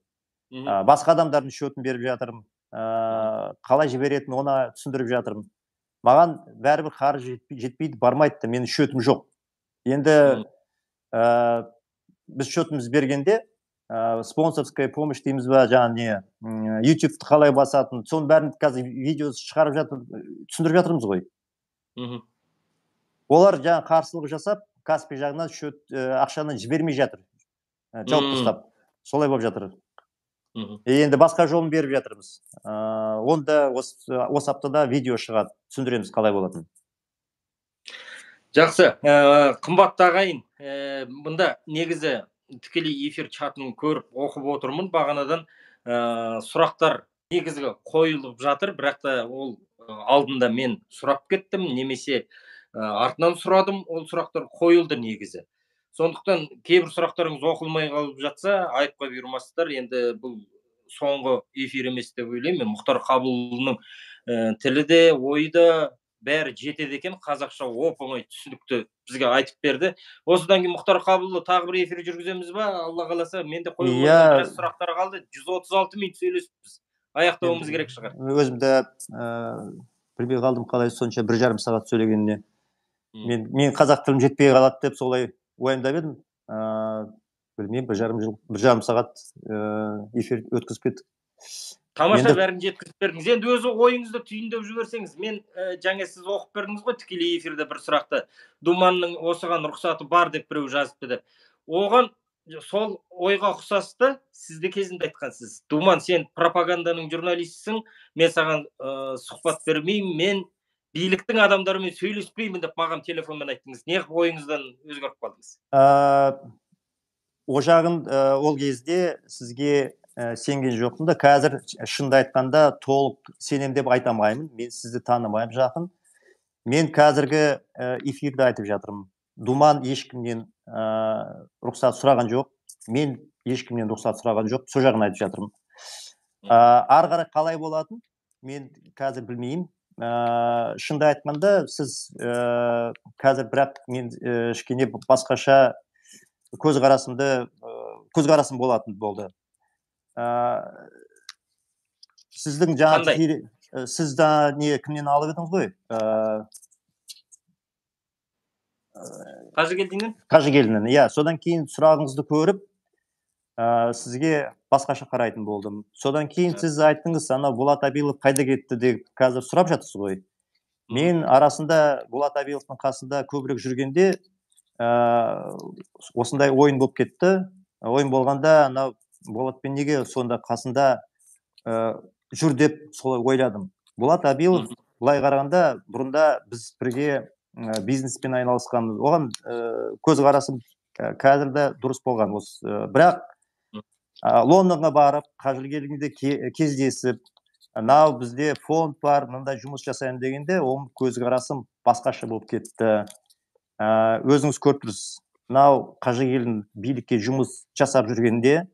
[SPEAKER 2] Ә, басқа адамдардың шөтін беріп жатырмын. Ә, қалай жіберетін оны түсіндіріп жатырмын. Маған бәрібір қаржы жетпейді, бармайды, менің шөтім жоқ. Енді ә, біз шөтіміз бергенде ә, спонсорская помощь дейміз ба, жаңа не, ютубты қалай басатын, соның бәрін қазір видеосы шығарып жатыр, түсіндіріп жатырмыз ғой. Олар жаңа қарсылық жасап, Каспий жағынан шөт ақшаны жібермей жатыр. Жауып тастап. Солай болып жатыр. Енді басқа жолын беріп жатырмыз. Онда осы аптада видео шығады, түсіндіреміз қалай болатын.
[SPEAKER 1] Жақсы, қымбатты ағайын, мұнда негізі тікелей эфир чатын көріп оқып отырмын. Бағанадан сұрақтар негізгі қойылып жатыр, бірақ та ол алдында мен сұрап кеттім, немесе артынан сұрадым, ол сұрақтар қойылды негізі. Сондықтан кейбір сұрақтарыңыз оқылмай қалып жатса, айыпқа бұйырмасыздар. Енді бұл соңғы эфир емес деп ойлаймын. Мұхтар Қабылұлының тілі де, ойы да бәрі жетеді екен, қазақша оп-оңай түсінікті бізге айтып берді. Осыдан кейін Мұхтар Қабылұлы тағы бір эфир жүргіземіз ба? Алла қаласа, менде қойып отырған біраз сұрақтар қалды. жүз отыз алты минут сөйлесіппіз. Аяқтауымыз керек шығар.
[SPEAKER 2] Өзімді білмей қалдым, қалай сонша бір жарым сағат сөйлегеніне. Мен, мен қазақ тілім жетпей қалады деп солай уайымдап едім. Білмеймін, бір жарым жыл, бір жарым сағат эфир өткізіп кеттік.
[SPEAKER 1] Тамаша, бәрін жеткізіп бердіңіз. Енді өзі ойыңызды түйіндеп жіберсеңіз, мен жаңа сіз оқып бердіңіз ғой тікелей эфирде бір сұрақты. Думанның осыған рұқсаты бар деп біреу жазыпты деп. Оған сол ойға ұқсасты, сізді кезінде айтқансыз. Думан, сен пропаганданың журналистісің, мен саған сұхбат бермеймін, мен биліктің адамдарымен сөйлеспеймін деп маған телефонмен айттыңыз. Не ойыңыздан өзгеріп қалдыңыз?
[SPEAKER 2] О жағын ол кезде сізге сенген жоқпын да, қазір шынды айтқанда толық сенем деп айтамаймын. Мен сізді танымаймын жақын. Мен қазіргі эфирді айтып жатырмын. Думан ешкімнен рұқсат сұраған жоқ. Мен ешкімнен рұқсат сұраған жоқ. Сол жағын айтып жатырмын. Ары қарай қалай болатын? Мен қазір білмеймін. Шынды айтқанда сіз қазір бірақ мен кішкене басқаша көзқарасымды көзқарасым болатын болды. Сіздің жаңа сіз да не кімнен алып едіңіз ғой?
[SPEAKER 1] Қажыгелдиннен?
[SPEAKER 2] Қажыгелдиннен, иә. Содан кейін сұрағыңызды көріп, сізге басқаша қарайтын болдым. Содан кейін сіз айттыңыз, ана Болат Абилов қайда кетті деп қазір сұрап жатсыз ғой. Мен арасында Болат Абиловтың қасында көбірек жүргенде осындай ойын болып кетті. Ойын болғанда, ана Болатпен неге сонда қасында жүр деп солай ойладым. Болат Абилов былай қарағанда бұрында біз бірге бизнеспен айналысқанбыз. Оған көзқарасым қазір де дұрыс болған. Бірақ Лондонға барып, Қажыгелдинде кездесіп, мынау бізде фонд бар, мынандай жұмыс жасайын дегенде, оның көзқарасым басқаша болып кетті. Өзіңіз көріп тұрсыз. Мынау Қажыгелдин билікке жұмыс жасап жүргенде,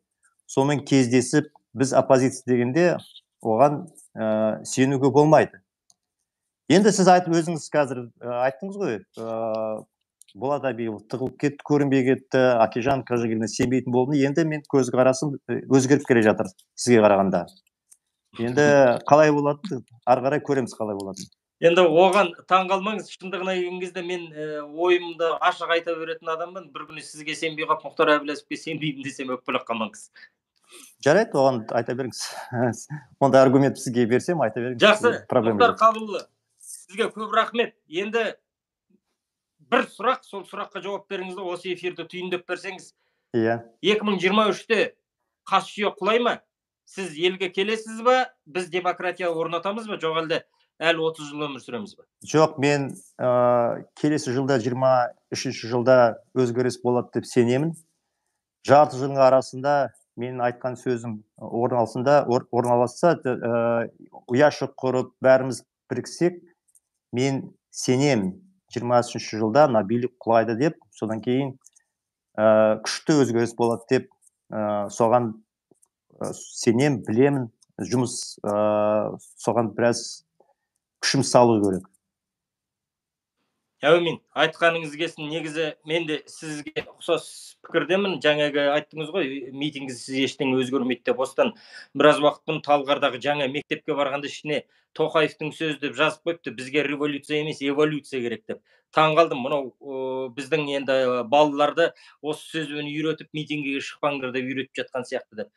[SPEAKER 2] сонымен кездесіп, біз оппозиция дегенде, оған сенуге болмайды. Енді сіз айтып өзіңіз қазір айттыңыз ғой, Болат Абиев тығылып кетті, көрінбей кетті, Акежан Қажыгелдіні сенбейтін болдым. Енді мен көзқарасым өзгеріп келе жатыр сізге қарағанда. Енді қалай болады? Ары қарай көреміз қалай болатынын.
[SPEAKER 1] Енді оған таң қалмаңыз, шындығына келген кезде мен ойымды ашық айта беретін адаммын. Bir күні сізге сенбей қалып, Мұхтар Әбіләзовке сенбеймін десем өкпелеп қалмаңыз.
[SPEAKER 2] Жарайды, оған айта беріңіз. Онда аргумент сізге берсем айта беріңіз.
[SPEAKER 1] Жақсы, Мұхтар Қабылұлы, сізге көп рахмет. Енді бір сұрақ, сол сұраққа жауап беріңіз, осы эфирді түйіндеп берсеңіз.
[SPEAKER 2] Иә.
[SPEAKER 1] екі мың жиырма үште қас жүйе құлай ма? Сіз елге келесіз ба? Біз демократия орнатамыз ба? Жоқ әлде әлі отыз жыл өмір сүреміз ба?
[SPEAKER 2] Жоқ, мен келесі жылда жиырма үшінші жылда өзгеріс болады деп сенемін. Жарты жылдың арасында менің айтқан сөзім орын алсында, орын алса, ұяшық құрып бәріміз біріксек, мен сенемін жиырма үшінші жылда мына билік құлайды деп, содан кейін күшті өзгеріс болады деп, соған сенем, білемін, жұмыс соған біраз күшім салу керек.
[SPEAKER 1] Әумин, айтқаныңыз келсін. Негізі мен де сізге ұқсас пікірдемін. Жаңағы айттыңыз ғой, митингісіз ештеңе өзгермейді деп. Осыдан біраз уақыт Талғардағы жаңа мектепке барғанда ішіне Тоқаевтың сөзі деп жазып қойыпты, бізге революция емес, эволюция керек деп. Таң қалдым, мынау біздің енді балаларды осы сөзбен үйретіп, митингіге шықпаңдар деп үйретіп жатқан сияқты деп.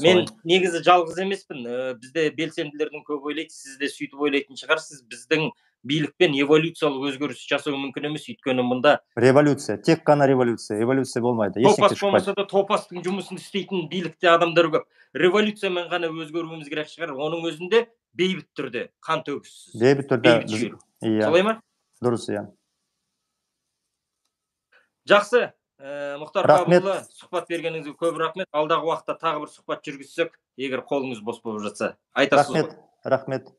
[SPEAKER 1] Мен негізі жалғыз емеспін. Бізде белсенділердің көп ойлайды, сіз де сөйтіп ойлайтын шығарсыз. Біздің билікпен эволюциялық өзгеріс жасау мүмкін емес, өйткені мұнда
[SPEAKER 2] революция, тек қана революция, эволюция болмайды.
[SPEAKER 1] Топас болмаса да топастың жұмысын істейтін билікте адамдар көп. Революциямен ғана өзгеруіміз керек шығар. Оның өзінде бейбіт түрде, қан төгіссіз.
[SPEAKER 2] Бейбіт түрде.
[SPEAKER 1] Солай ма?
[SPEAKER 2] Дұрыс, иә.
[SPEAKER 1] Жақсы, Мұхтар Қабылұлы, сұхбат бергеніңізге көп рахмет. Алдағы уақытта тағы бір сұхбат жүргізсек, егер қолыңыз бос болып жатса, айтасыз ғой.
[SPEAKER 2] Рахмет, рахмет.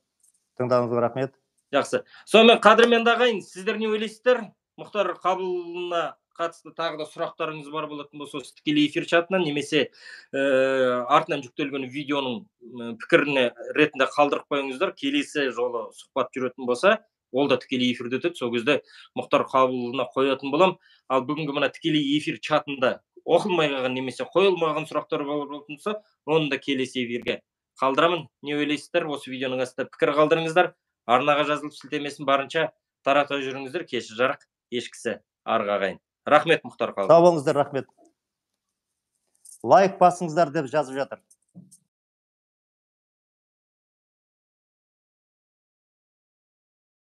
[SPEAKER 2] Тыңдауыңызға рахмет.
[SPEAKER 1] Жақсы. Сонымен қадірменді ағайын, сіздер не ойлайсыздар? Мұхтар Қабылұлына қатысты тағы да сұрақтарыңыз бар болатын болса, осы тікелей эфир чатынан немесе артынан жүктелген видеоның пікіріне ретінде қалдырып қойыңыздар. Келесі жолы сұхбат жүретін болса, ол да тікелей эфирде өтеді. Сол кезде Мұхтар Қабылұлына қоятын болам. Ал бүгінгі мына тікелей эфир чатында оқылмай қалған немесе қойылмаған сұрақтар болатын болса, оны да келесі эфирге қалдырамын. Не ойлайсыздар? Осы видеоның астында пікір қалдырыңыздар. Арнаға жазылып сілтемесін барынша тарата жүріңіздер. Кеші жарық, ешкісі арғы ағайын. Рахмет, Мұхтар Қабылұлы.
[SPEAKER 2] Сау болыңыздар, рахмет. Лайк басыңыздар деп жазып жатыр.